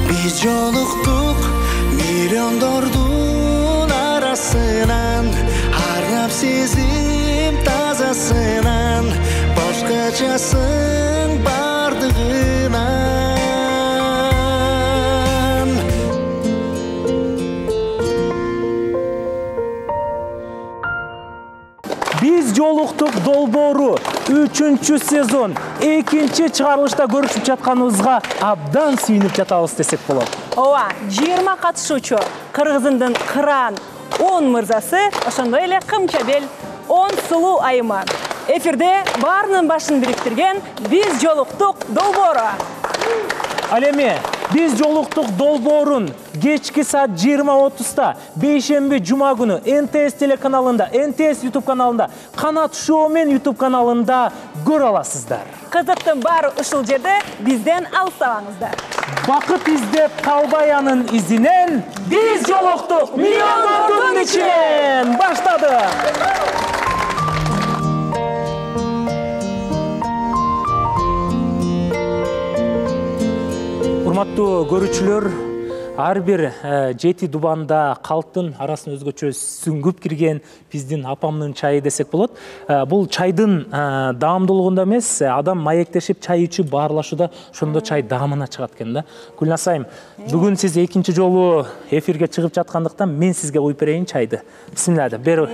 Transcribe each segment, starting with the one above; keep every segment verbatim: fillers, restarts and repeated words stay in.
Biz joluqtuq milyondordun arasынан, harap sezim tazasынан, boshqachasın bardığından. Biz joluqtuq долбоору үчүнчү сезон экинчи чыгарылышта көрүшүп жатканыбызга абдан сүйүнүп жатабыз десек болот. Ооба, жыйырма катышуучу Кыргызындын кыран он мырзасы, ошондой эле кымчабел он сулуу айымы. Эфирде баарынын башын бириктирген Биз жолуктук долбоору. Ал эми Биз жолуктук долбоорун кечки саат жыйырма отузда бейшемби жума күнү эн тэ эс телеканалында, эн тэ эс YouTube каналында, Канат Шоу мен YouTube каналында көрө аласыздар. Кызыктын баары ушул жерде, бизден алыстабаңыздар. Бакыт издеп калбай анын изинен Биз жолуктук миллиондордун ичинен баштады. Урматтуу көрүүчүлөр, ар бир жети дубанда калктын арасын өзгөчө сүңгүп кирген биздин апамдын чайы десек болот. Бул чайдын даамдуулугунда эмес, адам маектешип чай ичип баарлашууда ошондо чай даамына чыгат экен да. Гүлназ айым, бүгүн сиз экинчи жолу эфирге чыгып жаткандыктан мен сизге куюп берейин чайды. Бисмилла деп бер.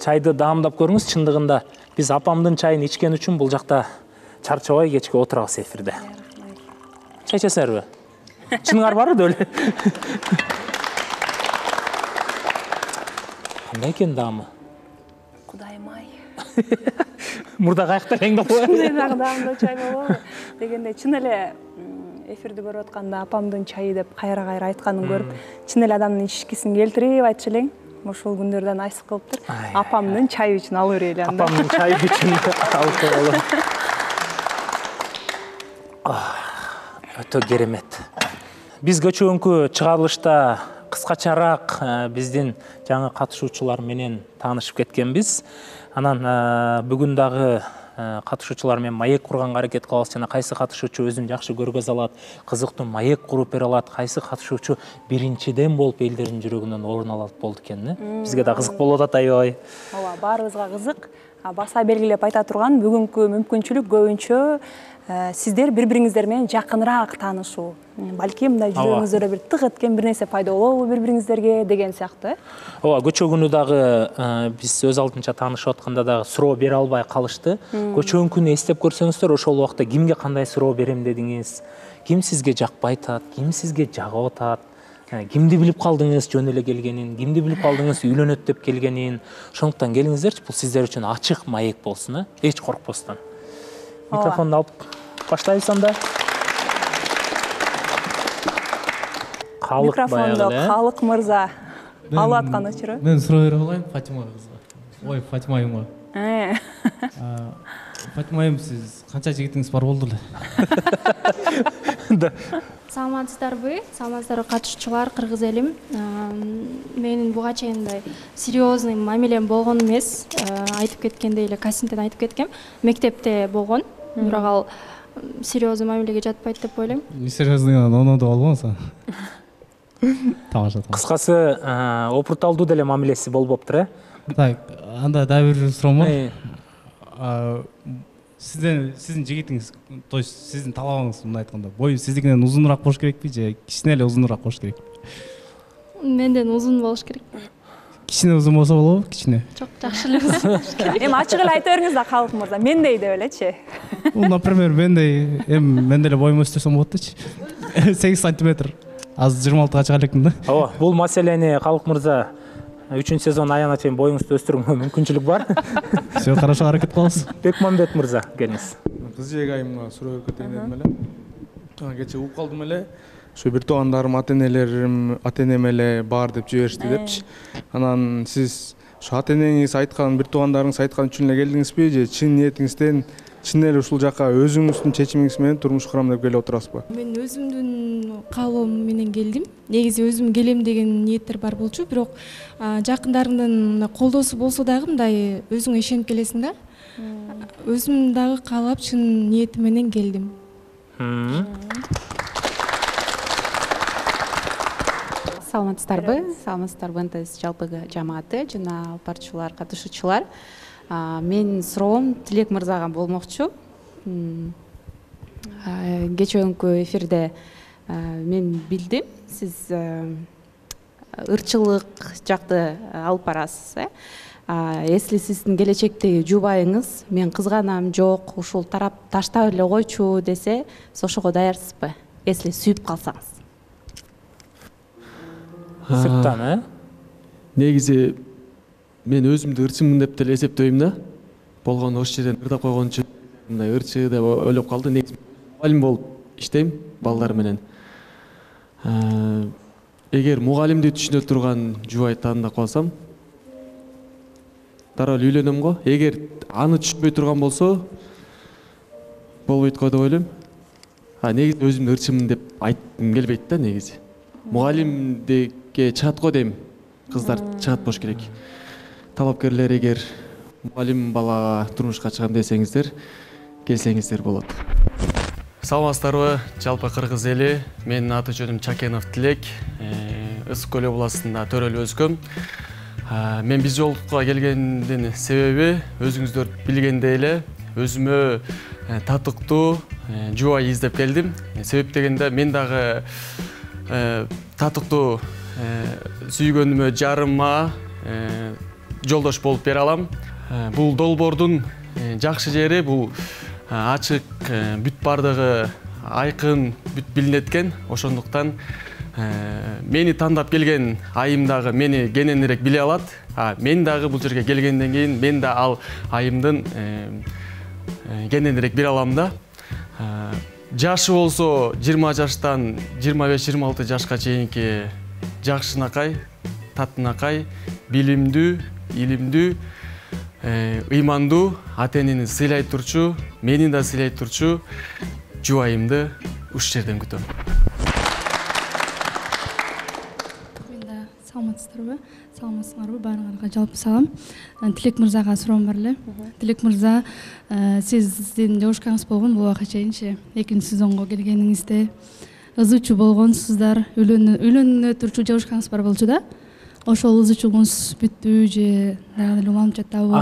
Чайды даамдап көрүңүз. Чындыгында биз апамдын чайын ичкен үчүн бул жакта чарчабай кечке отурабыз эфирде. Чай içesizlerби? Чыныңар барбы өле? Кандай экен даамы? Кудайым ай. Мурда каяктан эң болобу? Ушундай даамдуу чай болобу? Дегенде чын эле эфирди көрүп атканда апамдын чайы деп кайра-кайра айтканын көрүп, чын эле адамдын ичкисин келтирип айтчу элең. Ошол күндөрдөн айсып калыптыр. Апамдын чайы үчүн алып берели анда. Апамдын чайы үчүн алып берели. Өтө керемет. Биз көчөгүнкү чыгарылышта кыскачараак биздин жаңы катышуучулар менен таанышып кеткенбиз. Анан бүгүн дагы катышуучулар менен маек курганга аракет кылабыз жана кайсы катышуучу өзүн жакшы көргөзө алат, кызыктуу маек куруп бере алат, кайсы катышуучу биринчиден болуп элдердин жүрөгүнөн орун алат болду экен. Бизге да кызык болуп атат аябай. Ооба, баарыбызга кызык. Баса белгилеп айта турган бүгүнкү мүмкүнчүлүк көбүнчө сиздер бири-бириңиздер менен жакыныраак таанышуу. Балки мындай жүрөгүңүздөрдө бир тык эткен бир нерсе пайда болобу бири-бириңиздерге деген сыяктуу. Ооба, көчөгүнү дагы биз өз алдынча таанышып атканда дагы суроо бере албай калышты. Көчөгүнкүнү эстеп көрсөңүздөр, ошол убакта кимге кандай суроо берем дедиңиз, ким сизге жакпай атат, ким сизге жагып атат, кимди билип калдыңыз жөн эле келгенин, кимди билип калдыңыз үйлөнөт деп келгенин. Ошондуктан келиңиздерчи, бул сиздер үчүн ачык маек болсун, эч коркпостон. Микрофонду алып баштайбыз анда. Микрофонду Калык мырза алып аткан учуру. Мен суроо бере алайын Фатима кызга. Ой, Фатима айымга. Фатима айым, сиз канча жигитиңиз бар болду эле? Саламатсыздарбы? Саламатсыздарбы катышуучулар, кыргыз элим. Менин буга чейин мындай серьезный мамилем болгон эмес. Айтып кеткендей эле кастингден айтып кеткем. Мектепте болгон. Бирок ал серьезный мамилеге жатпайт деп ойлойм. Серьезныйдан оноодо болбосо. Тамаша. Кыскасы, опурталдуу деле мамилеси болбоптур, э? Так, анда дагы бир суроом бар. Сизден сиздин жигитиңиз, то есть сиздин талабыңыз мындай айтканда, бою сиздикинен узунураак болуш керекпи же кичине эле узунураак болуш керекпи? Менден узун болуш керек. Кичине узун болсо болобу, кичине? Жок, жакшы эле узун болуш керек. Эми ачык эле айта бериңиз да, Калык мырза, мендей деп элечи. Бул, например, мендей, эми мен деле боюм өстүрсөм болот дечи. сегиз сантиметр. Азыр жыйырма алтыга чыга элекмин да. Ооба, бул маселени Калык мырза үчүнчү сезон аягына чейин боюңузду өстүрүүгө мүмкүнчүлүк бар. Все хорошо, аракет кылабыз. Бекмамбет мырза, келиңиз. Кыз жеги айымга суроо берип кетейин дедим эле. Кече угуп калдым эле. Ошо бир туугандарым, ата-энелерим, ата-энем эле бар деп жиберишти депчи. Анан сиз ошо ата-энеңиз айткан, бир туугандарыңыз айткан үчүн эле келдиңизби же чын ниетиңизден чын эле ушул жака өзүңүздүн чечимиңиз менен турмуш курам деп келип отурасызбы? Мен өзүмдүн каалоом менен келдим. Негизи өзүм келем деген ниеттер бар болчу, бирок жакындарымдын колдоосу болсо дагы мындай өзүңө ишенип келесиң да. Өзүм дагы каалап чын ниетим менен келдим. саламатсыздарбы? Саламатсыздарбы НТС жалпы жамааты жана алпарчылар, катышуучулар. Менин суроом Тилек мырзага болмокчу. Кечээкү эфирде мен билдим, сиз ырчылык жакты алып барасыз, э? Если сиздин келечектеги жубайыңыз мен кызганам, жок, ушул тарап таштап эле койчу десе, ошого даярсызбы? Если сүйүп калсаңыз. Сырттан, э? Негизи мен өзүмдү ырчымын деп деле эсептейм да. Болгону ошол жерден ырдап койгончу мындай ырчы деп ойлоп калды. Негизи мугалим болуп иштейм балдар менен. Эгер мугалимди түшүнө турган жубай тандап калсам, дароо үйлөнөм го. Эгер аны түшүнбөй турган болсо, болбойт го деп ойлойм. А негизи өзүмдү ырчымын деп айткым келбейт да негизи. Мугалимдикке чыгат го дейм. Кыздар чыгат болуш керек. Талапкерлер эгер мугалим балага турмушка чыгам десеңиздер, келсеңиздер болот. Саламатсыздарбы, жалпы кыргыз эли. Менин аты жөнүм Чакенов Тилек. Ысык көл областында төрөлүп өскөм. Мен биз жолдукка келгендин себеби өзүңүздөр билгендей эле өзүмө татыктуу жубай издеп келдим. Себеп дегенде мен дагы татыктуу сүйгөнүмө жарыма жолдош болуп бере алам. Бул долбоордун жакшы жери бул ачык, бүт бардыгы айкын, бүт билинет экен. Ошондуктан мени тандап келген айым дагы мени кененирээк биле алат. Мен дагы бул жерге келгенден кийин мен да ал айымдын кененирээк биле алам да. Жашы болсо жыйырма жаштан жыйырма беш жыйырма алты жашка чейинки жакшынакай, татынакай, билимдүү, илимдүү, ыймандуу, ата-энени сыйлай турчу, мени да сыйлай турчу жубайымды ушул жерден күтөм. Саламатсыздарбы? Саламатсыңарбы? Баарыңарга жалпы салам. Тилек мырзага суроом бар эле. Тилек мырза, сиздин жогушкаңыз болгон бул убакка чейинчи экинчи сезонго келгениңизде ызычуу болгонсуздар, үйлөнө турчу жогушкаңыз бар болчу да. Ошол ызычуулугуңуз бүттүбү же дагы эле уланып жатабы?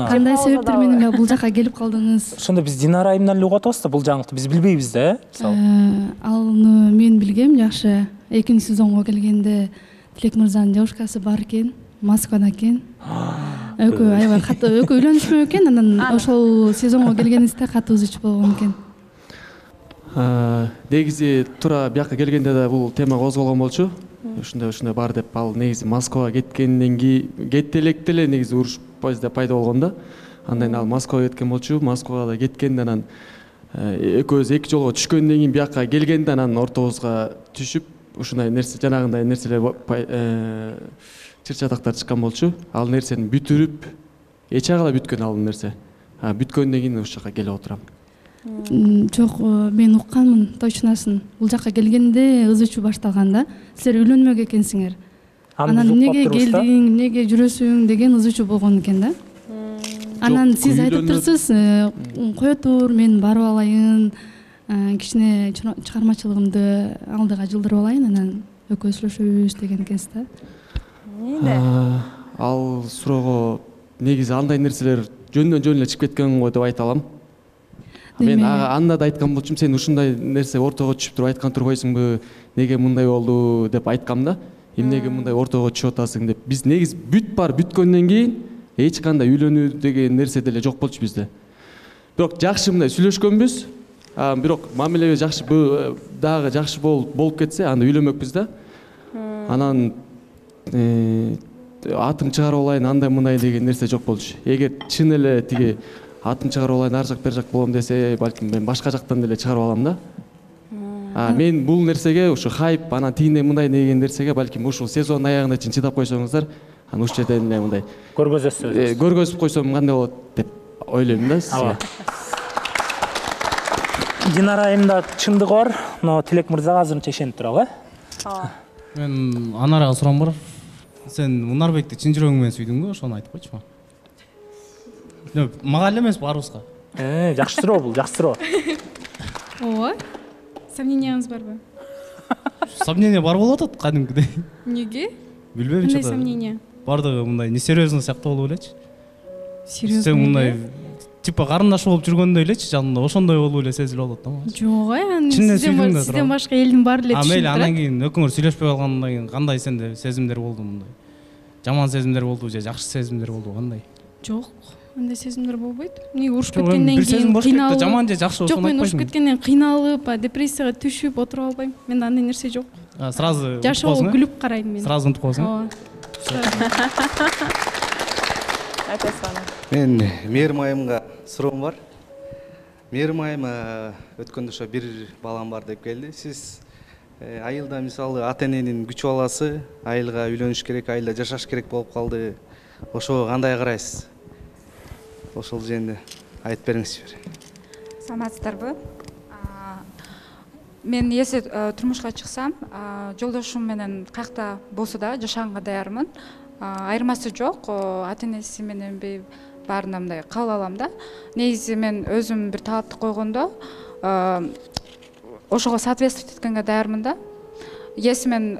Кандай себептер менен бул жака келип калдыңыз? Ошондо биз Динара айымдан эле угуп атабыз да бул жаңылыкты. Биз билбейбиз да, э? Аны мен билгем жакшы. Экинчи сезонго келгенде Тилек мырзанын жогушкасы бар экен, Москвада экен. Экөө аябай катуу экөө үйлөнүшмөк экен, анан ошол сезонго келгениңизде катуу ызычуу болгон экен. Негизи туура бияка келгенде да бул тема козголгон болчу. Ушундай ушундай бар деп, ал негизи Москвага кеткенден кийин кетти электе эле негизи уруш пайда болгон да. Андан кийин ал Москвага кеткен болчу. Москвага да кеткенде анан экөөбүз эки жолго түшкөндөн кийин бияка келгенде анан ортобузга түшүп ушундай нерсе жанагындай нерселер чыр чатактар чыккан болчу. Ал нерсени бүтүрүп эч агала бүткөн ал нерсе. Бүткөндөн кийин ушул жака келип отурам. Жок, мен укканмын точносын. Бул жака келгенде ызычуу башталган да. Силер үйлөнмөк экенсиңер. Анан эмнеге келдиң, эмнеге жүрөсүң деген ызычуу болгон экен да. Анан сиз айтып турсуз, кое тур, мен барып алайын, кичине чыгармачылыгымды алдыга жылдырып алайын, анан экөөбүз сүйлөшөбүз деген экенсиз да. Ал суроого негизи андай нерселер жөндөн жөн эле чыгып кеткен го деп айта алам. Мен анда да айткан болчумун, сен ушундай нерсе ортого түшүп туруп айткан турбайсыңбы, неге мындай болду деп айткам да. Эмнеге мындай ортого түшүп атасың деп. Биз негизи бүт бар бүткөндөн кийин эч кандай үйлөнүү деген нерсе деле жок болчу бизде. Бирок жакшы мындай сүйлөшкөнбүз. Бирок мамилебиз жакшы дагы жакшы болуп кетсе, анда үйлөнмөкпүз да. Анан атым чыгарып алайын, андай мындай деген нерсе жок болчу. Эгер чын эле тиги атым чыгарып алайын, ар жак бер жак болом десе, балким мен башка жактан деле чыгарып алам да. Мен бул нерсеге ушу хайп, анан тигиндей мындай деген нерсеге балким ушул сезон аягына чейин чыдап койсоңуздар, анан ушул жерден эле мындай көргөзөсүз. Көргөзүп койсом кандай болот деп ойлойм да сизге. Динара айымда чындыгы бар, но Тилек мырзага азырынча ишенип туралы, э? Мен Анарага суроом бар. Сен Мунарбекти чын жүрөгүң менен сүйдүңбү? Ошону айтып койчу. Мага эле эмес, баарыбызга. Э, жакшы суроо бул, жакшы суроо. Ооба. Сомнениябыз барбы? сомнение бар болуп атат кадимкидей. Эмнеге? Билбейм, кандай сомнение? Бардыгы мындай несерьезно сыяктуу болуп элечи. Серьезно? Сен мындай типа карындаш болуп жүргөндөй элечи, жанында ошондой болуп эле сезилип атат да. Жок, аны Чынында сизден сүйдүм да. сизден башка элдин баары эле А түшүнүп мейли, турат. анан кийин экөөңөр сүйлөшпөй калгандан кийин кандай сенде сезимдер болду мындай? Жаман сезимдер болду же жакшы сезимдер болду, кандай? Жок, андай сезимдер болбойт. Эмнеге урушуп кеткенден бир сезим кийин болуш керек да, кыйналып. жаман же жакшы Жок, ошону мен урушуп айтпайсың. кеткенден кыйналып, депрессияга түшүп отуруп албайм. Менде андай нерсе жок. Сразу жашоого күлүп карайм мен. Сразу унутуп каласың. Ооба. Мен Мээрим айымга суроом бар. Мээрим айым өткөндө ошо бир балам бар деп келди. Сиз айылда мисалы ата эненин күч баласы, айылга үйлөнүш керек, айылда жашаш керек болуп калды. Ошого кандай карайсыз? Ошол жөнүндө айтып бериңизчи. Саламатсыздарбы? Мен эсе турмушка чыксам, жолдошум менен каякта болсо да жашаганга даярмын. Айырмасы жок, ата энеси мененби баарына мындай кабыл алам да. Негизи мен өзүм бир талапты койгондо ошого соответствовать эткенге даярмын да. Если мен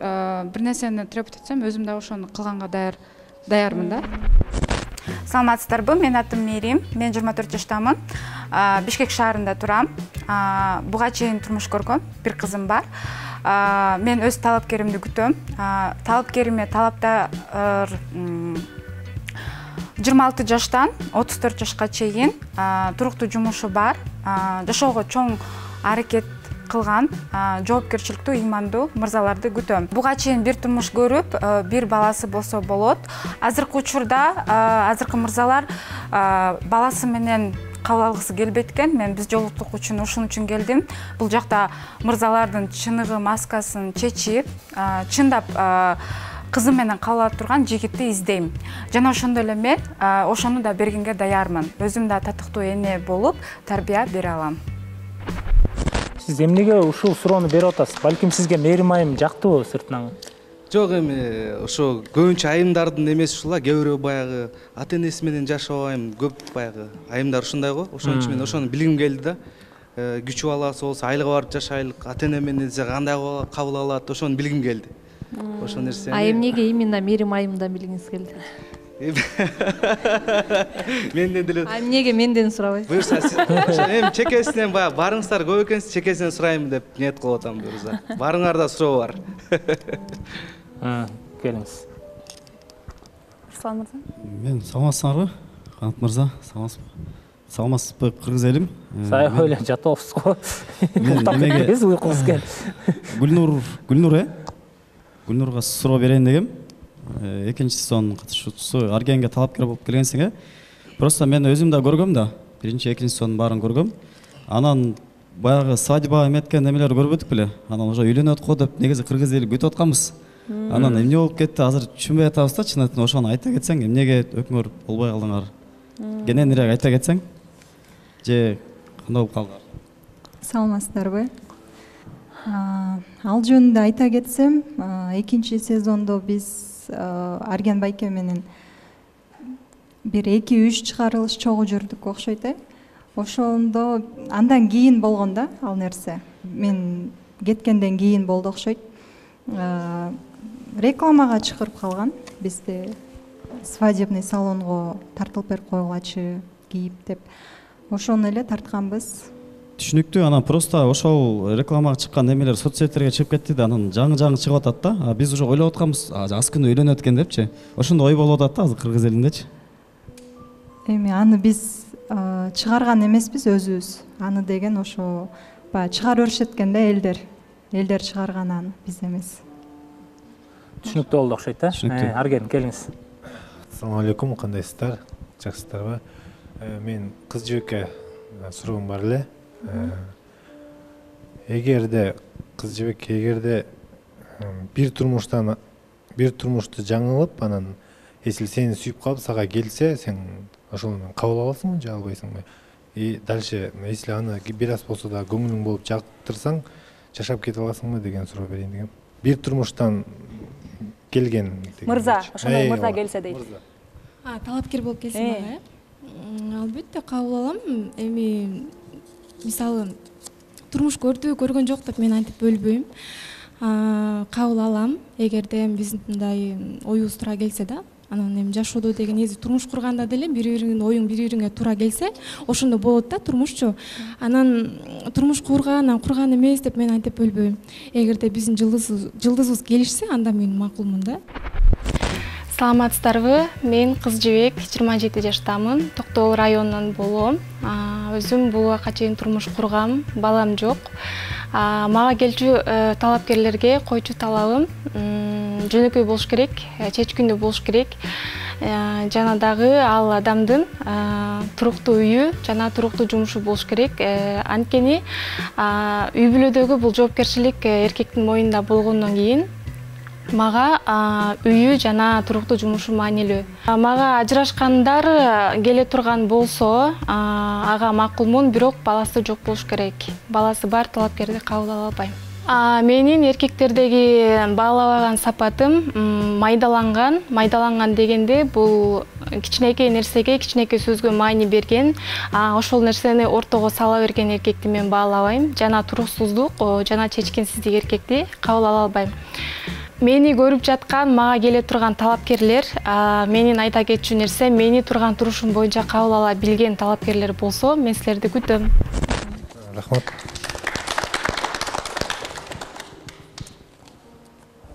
бир нерсени требовать этсем, өзүм да ошону кылганга даяр даярмын да. Саламатсыздарбы? Мен атым Мээрим. Мен жыйырма төрт жаштамын. Бишкек шаарында турам. Буга чейин турмуш көргөм. Бир кызым бар. Мен өз талапкеримди күтөм. Талапкериме талаптар жыйырма алты жаштан отуз төрт жашка чейин туруктуу жумушу бар. Жашоого чоң аракет кылган, жоопкерчиликтүү, ыймандуу мырзаларды күтөм. Буга чейин бир турмуш көрүп, бир баласы болсо болот. Азыркы учурда азыркы мырзалар баласы менен кабыл алгысы келбейт экен. Мен биз жолуктук үчүн ушун үчүн келдим. Бул жакта мырзалардын чыныгы, маскасын чечип, чындап кызым менен кабыл алып турган жигитти издейм. Жана ошондой эле мен ошону да бергенге даярмын. Өзүм да татыктуу эне болуп, тарбия бере алам. Сиз эмнеге ушул суроону берип атасыз? Балким сизге Мээрим айым жактыбы сыртынан? Жок, эми ошо көбүнчө айымдардын эмеси ушул, кээ бирөө баягы ата энеси менен жашабайм, көп баягы айымдар ушундай го. Ошон үчүн мен ошону билгим келди да. Күчү баласы болсо айылга барып жашайлык, ата эне менен кандай кабыл алат, ошону билгим келди. Ошол нерсени. А эмнеге именно Мээрим айымдан билгиңиз келди? Менден деле. А эмнеге менден сурабайсыз? Буюрса, сиз эми чекесинен баягы барыңыздар көп экенсиз, чекесинен сурайм деп ниет кылып атам буюрса. Барыңарда суроо бар. Келиңиз. Руслан мырза. Мен саламатсыздарбы? Канат мырза, саламатсызбы? Саламатсызбы, кыргыз элим? Сая ойло жатабыз го. Эмнеге уйкуңуз кел. Гүлнур, Гүлнур э? Гүлнурга суроо берейин дегем. Экинчи сезон катышуучусу Аргенге талапкер болуп келгенсиң э? Просто мен өзүм да көргөм да. Биринчи, экинчи сезондун баарын көргөм. Анан баягы свадьба эметкен немелер көрбөдүк беле? Анан уже үйлөнөт го деп негизи кыргыз эли күтүп атканбыз. Анан эмне болуп кетти, азыр түшүнбөй атабыз да, чынын ошону айта кетсең, эмнеге өкмөр болбой калдыңар? Кененирээк айта кетсең? Же кандай болуп калдыңар? Саламатсыздарбы? Ал жөнүндө айта кетсем, экинчи сезондо биз Арген байке менен бир эки үч чыгарылыш чогуу жүрдүк окшойт э. Ошондо андан кийин болгон да ал нерсе. Мен кеткенден кийин болду окшойт. Рекламага чыгып калган. Бизде свадебный салонго тартылып берип койгулачы кийип деп. Ошону эле тартканбыз. Түшүнүктүү, анан просто ошол рекламага чыккан немелер соцсеттерге чыгып кетти да, анан жаңы-жаңы чыгып атат да. А биз уже ойлоп атканбыз, аз күнү үйлөнөт экен депчи. Ошондой ой болуп атат да азыр кыргыз элиндечи. Эми аны биз чыгарган эмеспиз өзүбүз. Аны деген ошо баягы чыгарып беришет экен да элдер. Элдер чыгарган аны, биз эмес. Түшүнүктүү болду окшойт э? Арген, келиңиз. Ассалому алейкум, кандайсыздар? Жакшысыздарбы? Мен кыз жибекке суроом бар эле. Эгерде кыз жибек эгерде бир турмуштан бир турмушту жаңылып, анан если сени сүйүп калып сага келсе, сен ошону кабыл аласыңбы же албайсыңбы? И дальше если аны бир аз болсо да көңүлүң болуп жактырсаң, жашап кете аласыңбы деген суроо берейин дегем. Бир турмуштан келген мырза, ошондой мырза келсе дейт. А, талапкер болуп келсе мага, э? Албетте кабыл алам. Эми мисалы турмуш көрдү, көргөн жок деп мен антип бөлбөйм. кабыл алам эгерде биздин мындай оюбуз туура келсе да. Анан эми жашоодо деген негизи турмуш курганда деле бири бириңин оюң бири бириңе туура келсе ошондо болот да турмушчу. Анан турмуш курган, анан курган эмес деп мен айтып бөлбөйм. Эгерде биздин жылдызыбыз келишсе анда мен макулмун да. Саламатсыздарбы? Мен Кыз Жибек, жыйырма жети жаштамын. Токтогул районунан болом. Өзүм бул убакка чейин турмуш кургам, балам жок. Мага келчү талапкерлерге койчу талабым жөнөкөй болуш керек, чечкиндүү болуш керек. Жана дагы ал адамдын туруктуу үйү жана туруктуу жумушу болуш керек. Анткени үй бүлөдөгү бул жоопкерчилик эркектин мойнунда болгондон кийин мага үйү жана туруктуу жумушу маанилүү. Мага ажырашкандар келе турган болсо, ага макулмун, бирок баласы жок болуш керек. Баласы бар талапкерди кабыл ала албайм. Менин эркектердеги баалабаган сапатым майдаланган. Майдаланган дегенде бул кичинекей нерсеге, кичинекей сөзгө маани берген, ошол нерсени ортого сала берген эркекти мен баалабайм. Жана туруксуздук, жана чечкинсиздик эркекти кабыл ала албайм. Мени көрүп жаткан, мага келе турган талапкерлер, менин айта кетчү нерсе, мени турган турушум боюнча кабыл ала билген талапкерлер болсо, мен силерди күтөм. Рахмат.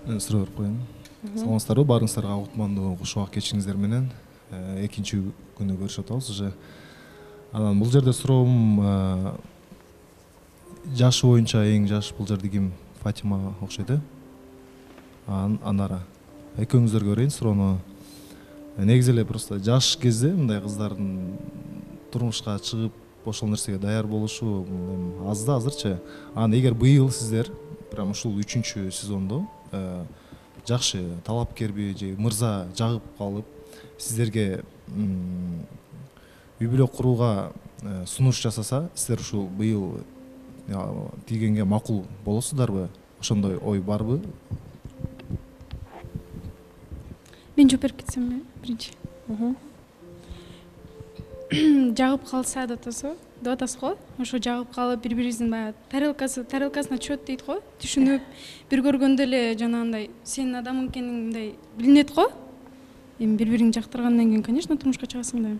Мен суроо берип коеюн. Саламатсыздарбы? Баарыңыздарга кутмандуу кушубак кечиңиздер менен экинчи күнү көрүшүп атабыз уже. Анан бул жерде суроом жашы боюнча эң жаш бул жерде ким? Фатима окшойт э? Анара. Экөөңүздөргө берейин суроону. Негизи эле просто жаш кезде мындай кыздардын турмушка чыгып ошол нерсеге даяр болушу аз да азырчы. Анан эгер быйыл сиздер прям ушул үчүнчү сезондо жакшы талапкерби же мырза жагып калып сиздерге үй бүлө курууга сунуш жасаса, сиздер ушул быйыл тийгенге макул болосуздарбы? Ошондой ой барбы? Мен жооп берип кетсемби биринчи? Жагып калса деп атасыз деп атасыз го. Ошо жагып калып бири бирибиздин баягы тарелкасы тарелкасына чөт дейт го. Түшүнүп, бир көргөндө эле жанагындай сенин адамың экениң мындай билинет го. Эми бири бириңди жактыргандан кийин, конечно, турмушка чыгасың да.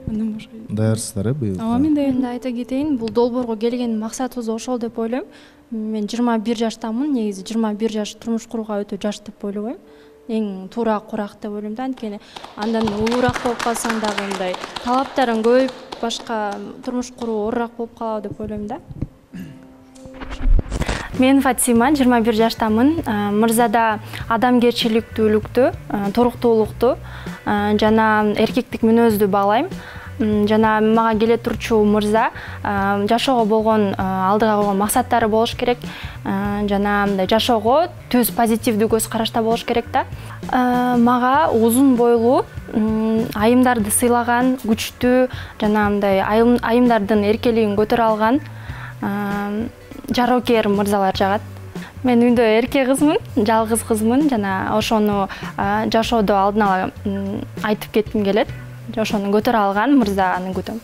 Андан башка. Даярсыздар э быйыл? Ооба, мен даярмын. Мен айта кетейин, бул долбоорго келген максатыбыз ошол деп ойлойм. Мен жыйырма бир жаштамын, негизи жыйырма бир жаш турмуш курууга өтө жаш деп ойлобойм. Эң туура курак деп ойлойм да, анткени андан улуураак болуп калсаң дагы мындай талаптарың көбөйүп, башка турмуш куруу оорураак болуп калабы деп ойлойм да. Мен Фатима, жыйырма бир жаштамын. Мырзада адамгерчиликтүүлүктү, туруктуулукту жана эркектик мүнөздү баалайм. Жана мага келе турчу мырза жашоого болгон алдыга койгон максаттары болуш керек. Жана мындай жашоого түз позитивдүү көз карашта болуш керек да. Мага узун бойлуу, айымдарды сыйлаган, күчтүү жана мындай айымдардын эркелигин көтөрө алган жарокер мырзалар жагат. Мен үйдө эрке кызмын, жалгыз кызмын жана ошону жашоодо алдын ала айтып кетким келет. Ошону көтөрө алган мырзаны күтөм.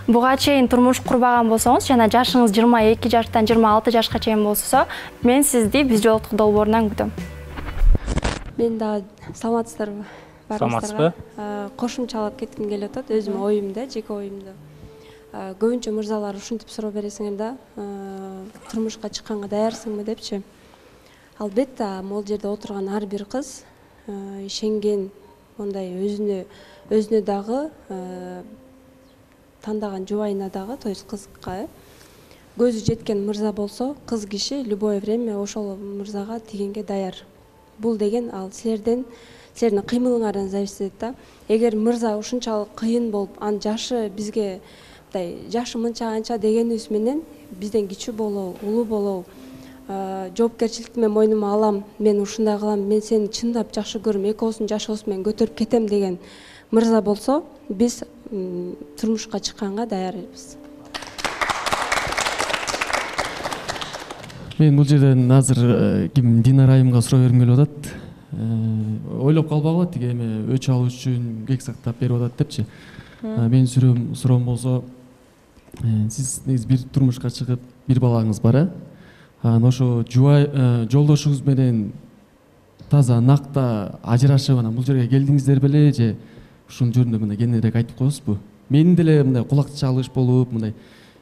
Буга чейин турмуш курбаган болсоңуз жана жашыңыз жыйырма эки жаштан жыйырма алты жашка чейин болсо, мен сизди биз жолуктук долбоорунан күтөм. Мен да саламатсыздарбы? Саламатсызбы? Кошумчалап кетким келип атат өзүм оюмда, жеке оюмда. Көбүнчө мырзалар ушинтип суроо бересиңер да, турмушка чыкканга даярсыңбы депчи. Албетте, могул жерде отурган ар бир кыз ишенген, мондай өзүнө өзүнө дагы тандаган жубайына дагы, то есть кызга көзү жеткен мырза болсо, кыз киши любое время ошол мырзага тийгенге даяр. Бул деген ал силерден, силердин кыймылыңардан зависит да. Эгер мырза ушунчалык кыйын болуп, анын жашы бизге мындай жашы мынча анча дегенибиз менен бизден кичүү болобу, улуу болобу, жоопкерчиликти мен мойнума алам, мен ушундай кылам, мен сени чындап жакшы көрөм, экөөбүздүн жашыбызды мен көтөрүп кетем деген мырза болсо, биз турмушка чыкканга даярбыз. Мен бул жерден азыр ким Динара айымга суроо бергим келип атат. Ойлоп калбагыла, тиги эме өч алуу үчүн кек сактап берип атат депчи. Менин суроом суроом болсо, сиз негизи бир турмушка чыгып, бир балаңыз бар э? анан ошо жубай жолдошуңуз менен таза накта ажырашып анан бул жерге келдиңиздер беле же ушул жөнүндө мындай кененирээк айтып коесузбу? Менин деле мындай кулак чалыш болуп, мындай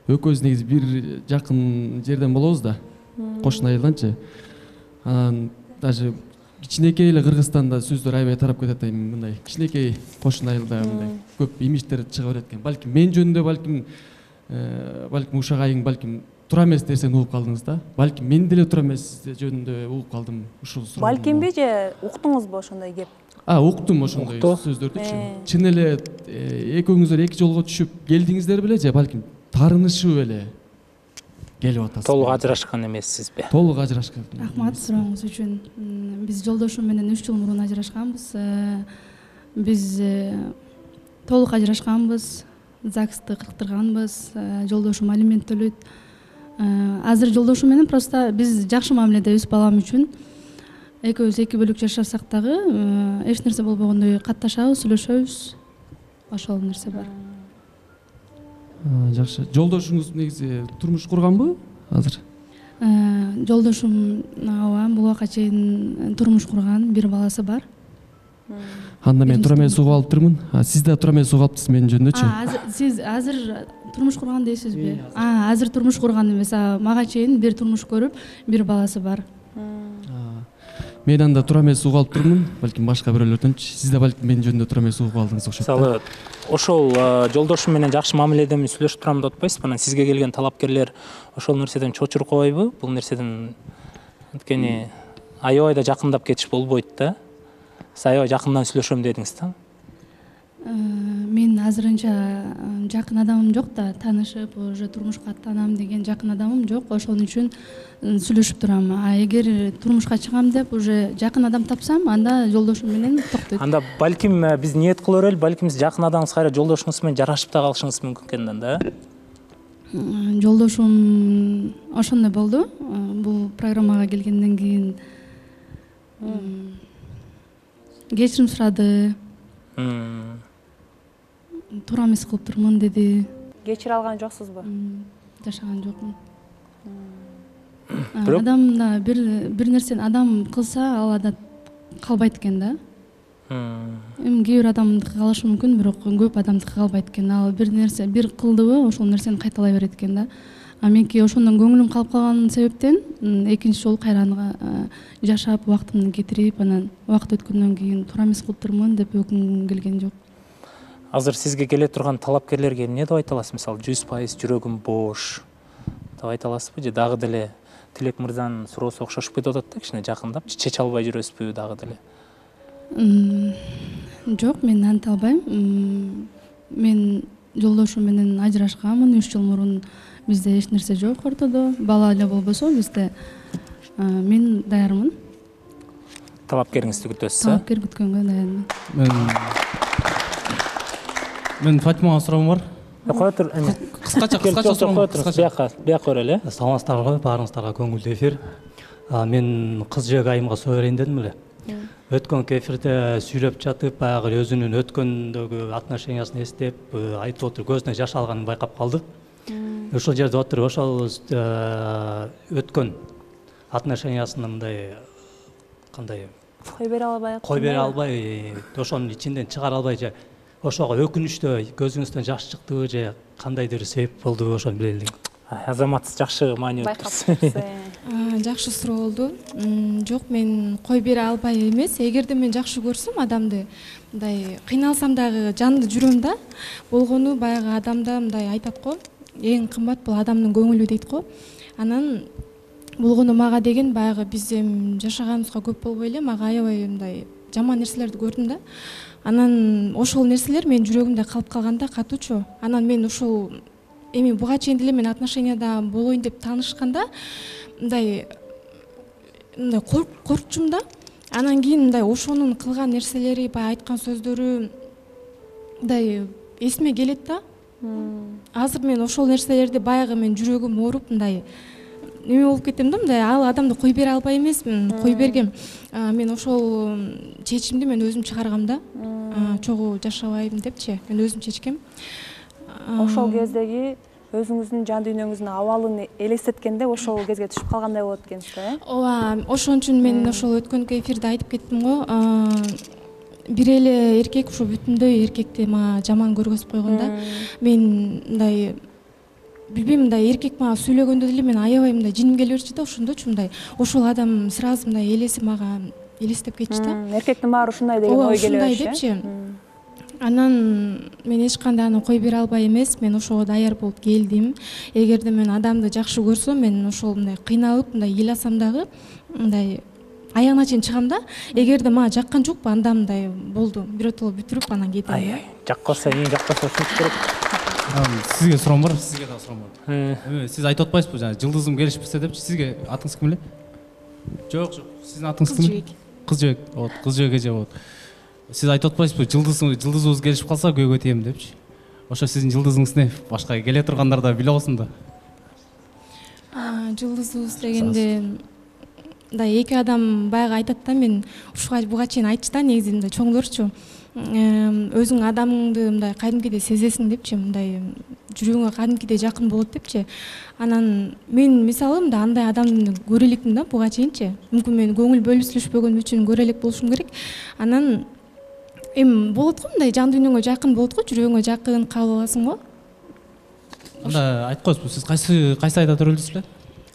экөөбүз негизи бир жакын жерден болобуз да, кошуна айылданчы. Анан даже кичинекей эле Кыргызстанда сөздөр аябай тарап кетет эми мындай кичинекей кошуна айылда мындай көп имидждер чыга берет экен. Балким мен жөнүндө балким балким ушак айың балким туура эмес нерсени угуп калдыңыз да. Балким мен деле туура эмес жөнүндө угуп калдым ушул суроо. Балкимби же уктуңузбу ошондой кеп? А, уктум ошондой сөздөрдүчү. Чын эле экөөңүздөр эки жолго түшүп келдиңиздер беле же балким таарынышып эле келип атасыз? Толук ажырашкан эмессизби? Толук ажырашкан. Рахмат сурооңуз үчүн. Биз жолдошум менен үч жыл мурун ажырашканбыз. Биз толук ажырашканбыз. ЗАГСты кырктырганбыз. Жолдошум алимент төлөйт. Азыр жолдошум менен просто биз жакшы мамиледебиз балам үчүн. Экөөбүз эки бөлүк жашасак дагы эч нерсе болбогондой катташабыз, сүйлөшөбүз. Ошол нерсе бар. Жакшы. Жолдошуңуз негизи турмуш курганбы азыр? Жолдошум ооба бул убакка чейин турмуш курган, бир баласы бар. Анда мен туура эмес угуп алып турмун. Сиз да туура эмес угуп алыптырсыз менин жөнүндөчү. Сиз азыр турмуш курган дейсизби? А, азыр турмуш курган эмес. Мага чейин бир турмуш көрүп, бир баласы бар. Мен анда туура эмес угуп алып турмун, балким башка бирөөлөрдөнчү. Сиз да балким менин жөнүндө туура эмес угуп алдыңыз окшойт. Мисалы, ошол жолдошум менен жакшы мамиледеми сүйлөшүп турам деп атпайсызбы? Анан сизге келген талапкерлер ошол нерседен чочуруп калбайбы? Бул нерседен анткени аябай да жакындап кетиш болбойт да. Сиз аябай жакындан сүйлөшөм дедиңиз да. Мен азырынча жакын адамым жок да, таанышып, уже турмушка аттанам деген жакын адамым жок. Ошон үчүн сүйлөшүп турам. А эгер турмушка чыгам деп уже жакын адам тапсам, анда жолдошум менен токтойт. Анда балким биз ниет кыла берели, балким сиз жакын адамыңыз кайра жолдошуңуз менен жарашып да калышыңыз мүмкүн экен да. Жолдошум ошондой болду. Бул программага келгенден кийин кечирим сурады. Туура эмес кылып турмун деди. Кечире алган жоксузбу? Жашаган жокмун. Адам да бир бир нерсени адам кылса, ал адат калбайт экен да. Эми кээ бир адамдыкы калышы мүмкүн, бирок көп адамдыкы калбайт экен. Ал бир нерсе бир кылдыбы, ошол нерсени кайталай берет экен да. А меники ошондон көңүлүм калып калган себептен экинчи жолу кайра аны жашап, убактымды кетирип, анан убакыт өткөндөн кийин туура эмес кылып турмун деп өкүнгүм келген жок. Азыр сизге келе турган талапкерлерге эмне деп айта аласыз? Мисалы, жүз пайыз жүрөгүм бош деп айта аласызбы же дагы деле Тилек мырзанын суроосу окшошуп кетип атат да, кичине жакындап, чече албай жүрөсүзбү дагы деле? Жок, мен анта албайм. Мен жолдошум менен ажырашканмын үч жыл мурун. Бизде эч нерсе жок ортодо. Бала эле болбосо бизде. Мен даярмын. Талапкериңизди күтөсүз, а? Талапкер күткөнгө даярмын. Мен Мен Фатимага суроом бар. Кое тур, эме. Кыскача, кыскача суроом. Бияка, бияка көрөлү. Саламатсыздарбы, баарыңыздарга көңүлдүү эфир. Мен кыз жөөк айымга соо берейин дедим эле. Өткөнкү эфирде сүйлөп жатып, баягы өзүнүн өткөндөгү отношениясын эстеп, айтып отуруп, көзүнө жаш алганын байкап калды. Ошол жерде отуруп, ошол өткөн отношениясын мындай кандай кой бере албай, кой бере албай, ошонун ичинден чыгара албай же ошого өкүнүчтүү көзүңүздөн жаш чыктыбы же кандайдыр себеп болдубу, ошону биле элек. Азамат жакшы маани өткөрсүз. Жакшы суроо болду. Жок, мен кой бере албай эмес. Эгерде мен жакшы көрсөм адамды, мындай кыйналсам дагы жанды жүрөм да. Болгону баягы адамда мындай айтат го, эң кымбат бул адамдын көңүлү дейт го. Анан болгону мага деген баягы биз эми жашаганыбызга көп болбой эле, мага аябай мындай жаман нерселерди көрдүм да. Анан ошол нерселер менин жүрөгүмдө калып калганда катуучу. Анан мен ушул эми буга чейин деле мен отношенияда болоюн деп таанышканда мындай мындай коркчумун да. Анан кийин мындай ошонун кылган нерселери, баягы айткан сөздөрү мындай эсиме келет да. Азыр мен ошол нерселерди баягы мен жүрөгүм ооруп мындай неме болуп кетем да, мындай ал адамды кой бере албай эмесмин, кой бергем. Мен ошол чечимди мен өзүм чыгаргам да. Чогуу жашабайм депчи, мен өзүм чечкем. Ошол кездеги өзүңүздүн жан дүйнөңүздүн абалын элестеткенде ошол кезге түшүп калгандай болот экенсиз да, э? ооба, ошон үчүн мен ошол өткөнкү эфирде айтып кеттим го, бир эле эркек ушу бүтүндөй эркекти мага жаман көргөзүп койгонда, мен мындай билбейм, мындай эркек мага сүйлөгөндө деле мен аябай мындай жиним келе берчү да, ошондочу мындай ошол адам сразу мындай элеси мага элестеп кетчү да. Эркектин баары ушундай деген ой келе берчү. Ушундай депчи. Анан мен эч кандай аны кое бере албай эмес, мен ошого даяр болуп келдим. Эгерде мен адамды жакшы көрсөм, мен ошол мындай кыйналып, мындай ыйласам дагы, мындай аягына чейин чыгам да. Эгерде мага жаккан жокпу, анда мындай болду, биротоло бүтүрүп анан кетем. Ай, жакканса эң жакканса ушинтип керек. Сизге суроом бар, сизге дагы суроом бар. Сиз айтып атпайсызбы, жана жылдызым келишпесе депчи, сизге атыңыз ким эле? Жок, жок. Сиздин атыңыз ким? Кыз жебек. Вот, кыз жебек эже болот. Сиз айтып атпайсызбы, жылдызым, жылдызыбыз келишип калса көйгөй тием депчи. Ошо сиздин жылдызыңыз не? Башка келе тургандар да биле алсын да. Жылдызыбыз дегенде мындай эки адам баягы айтат да, мен ушуга буга чейин айтчу да, негизи мындай чоңдорчу. Өзүң адамыңды мындай кадимкидей сезесиң депчи, мындай жүрөгүңө кадимкидей жакын болот депчи. Анан мен мисалы мындай андай адамды көрө элекмин да буга чейинчи. Мүмкүн мен көңүл бөлүшпөгөн үчүн көрө элек болушум керек. Анан эми болот го, мындай жан дүйнөңө жакын болот го, жүрөгүңө жакын кабыл аласың го. Анда айтып коесузбу, сиз кайсы кайсы айда төрөлдүсүз эле?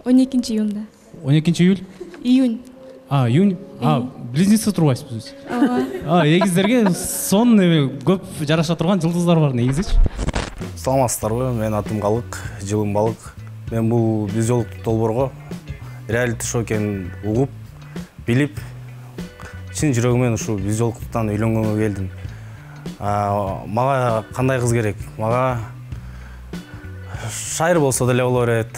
он экинчи июнда. он экинчи июль? Июнь. А, июнь. А, близнецы турбайсызбы сиз? Ооба. А, эгиздерге сон эме көп жараша турган жылдыздар бар негизичи. Саламатсыздарбы? Менин атым Калык, жылым Балык. Мен бул биз жолуктук долбоорго реалити шоу экенин угуп, билип, чын жүрөгүмөн ушу биз жолуктуктан үйлөнгөнгө келдим. Мага кандай кыз керек? Мага шайыр болсо деле боло берет.